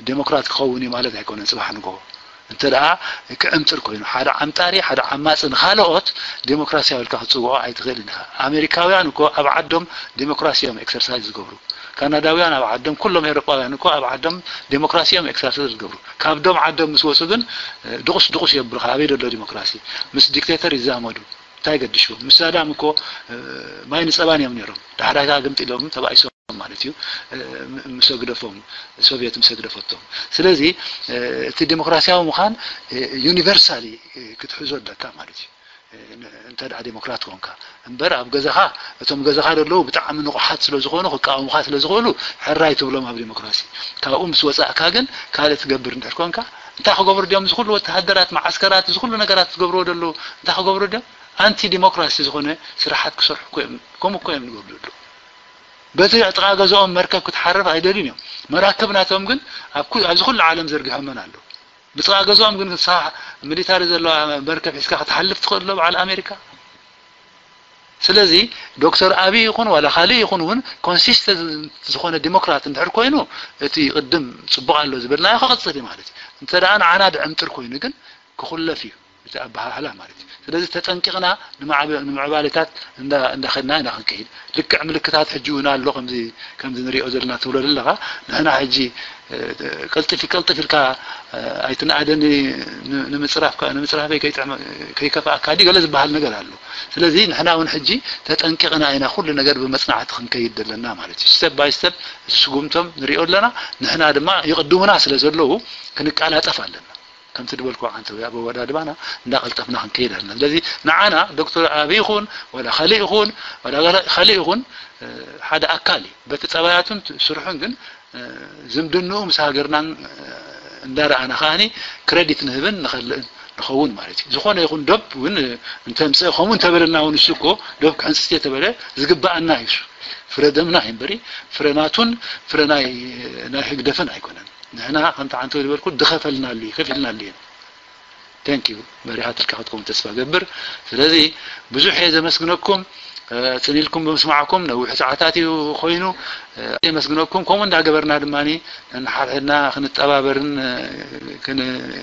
ዴሞክራት ክኸውን እዩ ማለት ኣይኮነን። ፅባሕ ንጎ እንተ ደኣ ክዕምጥር ኮይኑ ሓደ ዓምጣሪ ሓደ ዓማፂ ንካልኦት ዴሞክራሲያዊ ኢልካ ክትፅውዖ ኣይትኽእልን ኢኻ። ኣሜሪካውያን እኮ ኣብ ዓዶም ዴሞክራሲ እዮም ኤክሰርሳይዝ ዝገብሩ። ካናዳውያን ኣብ ዓዶም ኩሎም ኤውሮጳውያን እኮ ኣብ ዓዶም ዴሞክራሲ እዮም ኤክሰርሳይዝ ዝገብሩ። ካብዶም ዓዶም ምስ ወፁ ግን ድቑስ ድቑስ የብሉኻ። ኣበይ ደሎ ዲሞክራሲ? ምስ ዲክቴተር ይዛመዱ። እንታይ ገድሽዎም? ምስ ሳዳም እኮ ማይን ፀባን እዮም ነይሮም። ዳሕዳጋ ግምጢሎም ተባኢሶም ማለት እዩ። ምስ ህግደፎም ሶቭየት ምስ ህግደፈቶም። ስለዚ እቲ ዲሞክራሲያዊ ምዃን ዩኒቨርሳሊ ክትሕዞ ኣለካ ማለት እዩ። እንተ ደኣ ዲሞክራት ኮንካ እምበር ኣብ ገዛኻ እቶም ገዛኻ ዘለዉ ብጣዕሚ ንቑሓት ስለ ዝኾኑ ክቃወሙኻ ስለ ዝኽእሉ ሕራይ ትብሎም ኣብ ዲሞክራሲ። ካብኡ ምስ ወፃእካ ግን ካልእ ትገብር እንድሕር ኮንካ እንታይ ክገብሩ ድዮም? እዚ ኩሉ ወተሃደራት መዓስከራት እዚ ኩሉ ነገራት ዝገብርዎ ዘለዉ እንታይ ክገብሩ ድዮም? ኣንቲ ዲሞክራሲ ዝኾነ ስራሓት ክሰርሑ እኮ እዮም። ከምኡ እኮ እዮም ዝገብሩ ዘለዉ። በቲ ጥቓ ገዝኦም መርከብ ክትሓርፍ ኣይደልዩን እዮም። መራክብ ናቶም ግን ኣብ ኩ- ኣብዚ ኩሉ ዓለም ዘርጊሖመን ኣለዉ። ብጥቓ ገዝኦም ግን ንስኻ ሚሊታሪ ዘለዋ መርከብ ሒዝካ ክትሓልፍ ትኽእል ዶ በዓል ኣሜሪካ? ስለዚ ዶክተር ኣብይ ይኹን ዋላ ካልእ ይኹን እውን ኮንሲስተንት ዝኾነ ዲሞክራት እንድሕር ኮይኑ እቲ ቅድም ፅቡቕ ኣሎ ዝበልናዮ ክቕፅል እዩ ማለት እዩ። እንተ ደኣ ንዓና ድዕምጥር ኮይኑ ግን ክኹለፍ እዩ እቲ ኣበሃህላ ማለት እዩ። ስለዚ ተጠንቂቕና ንምዕባሌታት እንዳኸድና ኢና ክንከይድ። ልክዕ ምልክታት ሕጂ እውን ኣሎ ከምዚ ከምዚ ንሪኦ ዘለና ትብሎ ዘለኻ ንሕና ሕጂ ቀልጥፊ ቀልጥፍ ኢልካ ኣይትንኣደኒ ንምፅራፍካ ንምፅራፈይ ከይከፍኣካ ዲ ገለ ዝበሃል ነገር ኣሎ። ስለዚ ንሕና እውን ሕጂ ተጠንቂቕና ኢና ኩሉ ነገር ብመፅናዕቲ ክንከይድ ዘለና ማለት እዩ። ስቴፕ ባይ ስቴፕ እቲ ስጉምቶም ንሪኦ ኣለና። ንሕና ድማ ይቕድሙና ስለ ዘለዉ ክንቀላጠፍ ኣለና። ከምቲ ዝበልኩ ዓንተው ኣብ ኣወዳድባና እንዳቐልጠፍና ክንከይድ ኣለና። ስለዚ ንዓና ዶክተር ኣቢ ይኹን ወላ ካልእ ይኹን ወላ ካልእ ይኹን ሓደ ኣካል እዩ። በቲ ጸባያቱን ስርሑን ግን ዝምድንኡ ምስ ሃገርናን እንዳረኣና ከዓኒ ክረዲት ንህብን ንኸልእን ንኸውን ማለት እዩ። ዝኾነ ይኹን ዶብ እውን እንተምፅእ ከምኡ እንተበለና እውን እሱ እኮ ዶብ ክሕንፅስ እየ ተበለ ዝግበኣና እዩ። ፍረ ደምና እዩ እምበሪ ፍረ ናቱን ፍረ ናይ ህግደፍን ኣይኮነን። ንሕና ከምቲ ዓንተው ዝበልኩ ድኸፈልናሉ እዩ፣ ከፊልናሉ እዩ። Thank you መሪሓት ኢልካ ክትከውን ተስፋ ገብር። ስለዚ ብዙሕ እየ ዘመስግነኩም። ጽን ኢልኩም ብምስማዕኩም ነዊሕ ሰዓታት እዩ ኮይኑ። የመስግነኩም። ከምኡ እንዳገበርና ድማ ንሓድሕድና ክንጠባበርን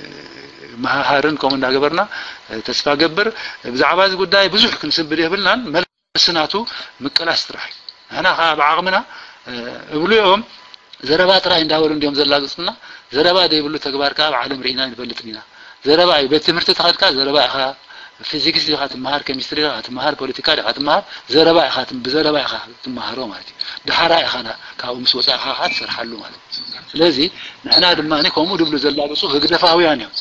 ክንመሃሃርን ከምኡ እንዳገበርና ተስፋ ገብር። ብዛዕባ እዚ ጉዳይ ብዙሕ ክንስንብድ የብልናን። መልሲ ናቱ ምቅላስ ጥራሕ እዩ። ንሕና ከዓ ብዓቕምና እብሉ እዮም። ዘረባ ጥራይ እንዳበሉ እንዲዮም ዘላግፁና። ዘረባ ዘይብሉ ተግባር ከዓ ኣብ ዓለም ርኢና ንፈልጥን ኢና። ዘረባ እዩ። ቤት ትምህርቲ ተኸድካ ዘረባ ኢኻ። ፊዚክስ ዲኻ ትመሃር፣ ኬሚስትሪ ዲኻ ትመሃር፣ ፖለቲካ ዲኻ ትመሃር፣ ዘረባ ኢኻ ትም- ብዘረባ ኢኻ ትመሃሮ ማለት እዩ። ድሓራ ኢኻ ና- ካብኡ ምስ ወፃእኻ ከዓ ትሰርሓሉ ማለት እዩ። ስለዚ ንሕና ድማ ከምኡ ድብሉ ዘላግፁ ህግደፋውያን እዮም።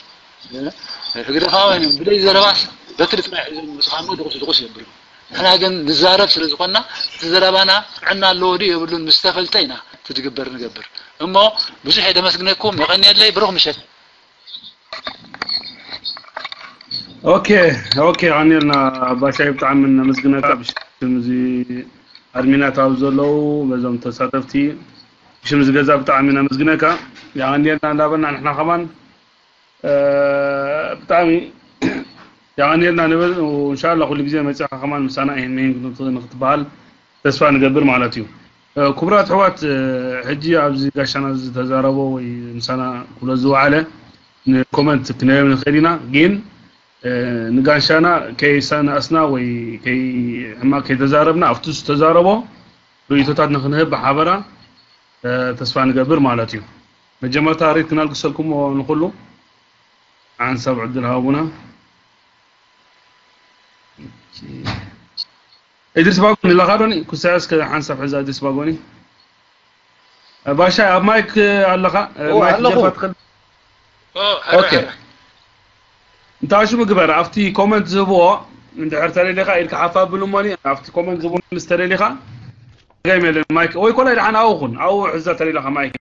ህግደፋውያን እዮም። ብዘይ ዘረባስ በትሪ ጥራይ ሒዞም ዝመፁ ከዓ ድቑስ ድቑስ የብሉ። ንሕና ግን ንዛረብ ስለ ዝኾንና እቲ ዘረባና ጥዕና ኣለዎ ድዩ የብሉን ምስ ተፈልጠ ኢና እቲ ዝግበር ንገብር። እሞ ብዙሕ የደመስግነኩም። የቐንየለይ። ብሩኽ ምሸት። ኦኬ ኦኬ፣ ኣኔልና ባሻይ ብጣዕሚ ነመስግነካ ብሽም እዚ ኣድሚናት ኣብ ዘለዉ በዞም ተሳተፍቲ ብሽም እዚ ገዛ ብጣዕሚ ነመስግነካ። የቐንየልና እንዳበልና ንሕና ከማን ብጣዕሚ የቐንየልና ንብል። እንሻላ ኩሉ ግዜ መፂኻ ከማን ምሳና ይህን መሂን ንክትበሃል ተስፋ ንገብር ማለት እዩ። ክቡራት ኣሕዋት፣ ሕጂ ኣብዚ ጋሻና ዝተዛረቦ ወይ ምሳና ክብሎ ዝወዓለ ንኮመንት ክንህብ ንኽእል ኢና፣ ግን ንጋሻና ከይሰናእስና ወይ ሕማቅ ከይተዛረብና ኣብቲ ዝተዛረቦ ርእይቶታት ንክንህብ ብሓበራ ተስፋ ንገብር ማለት እዩ። መጀመርታ ሬት ክነልግሰልኩሞ ንኩሉ ሓንሳብ ዕድል ሃቡና። እድሪስ ባጎኒ ኣለኻ ዶኒ? ኩሳያ እስከ ሓንሳብ ሕዛ እድሪስ ባጎኒ። ባሻ ኣብ ማይክ ኣለኻ? ማይክ ኣለኹ። ጀርባ ትኸል- ኦኬ። እንታይ ሽሙ ግበር ኣብቲ ኮመንት ዝህብዎ እንድሕር ተደሊኻ ኢድካ ሓፍ ኣብሉ እሞኒ ኣብቲ ኮመንት ዝህብዎ ምስ ተደሊኻ ጸገም የለን። ማይክ ወይ ኮላይ ደሓን ኣብኡ ኩን ኣብኡ ሕዛ ተደሊኻ ማይክ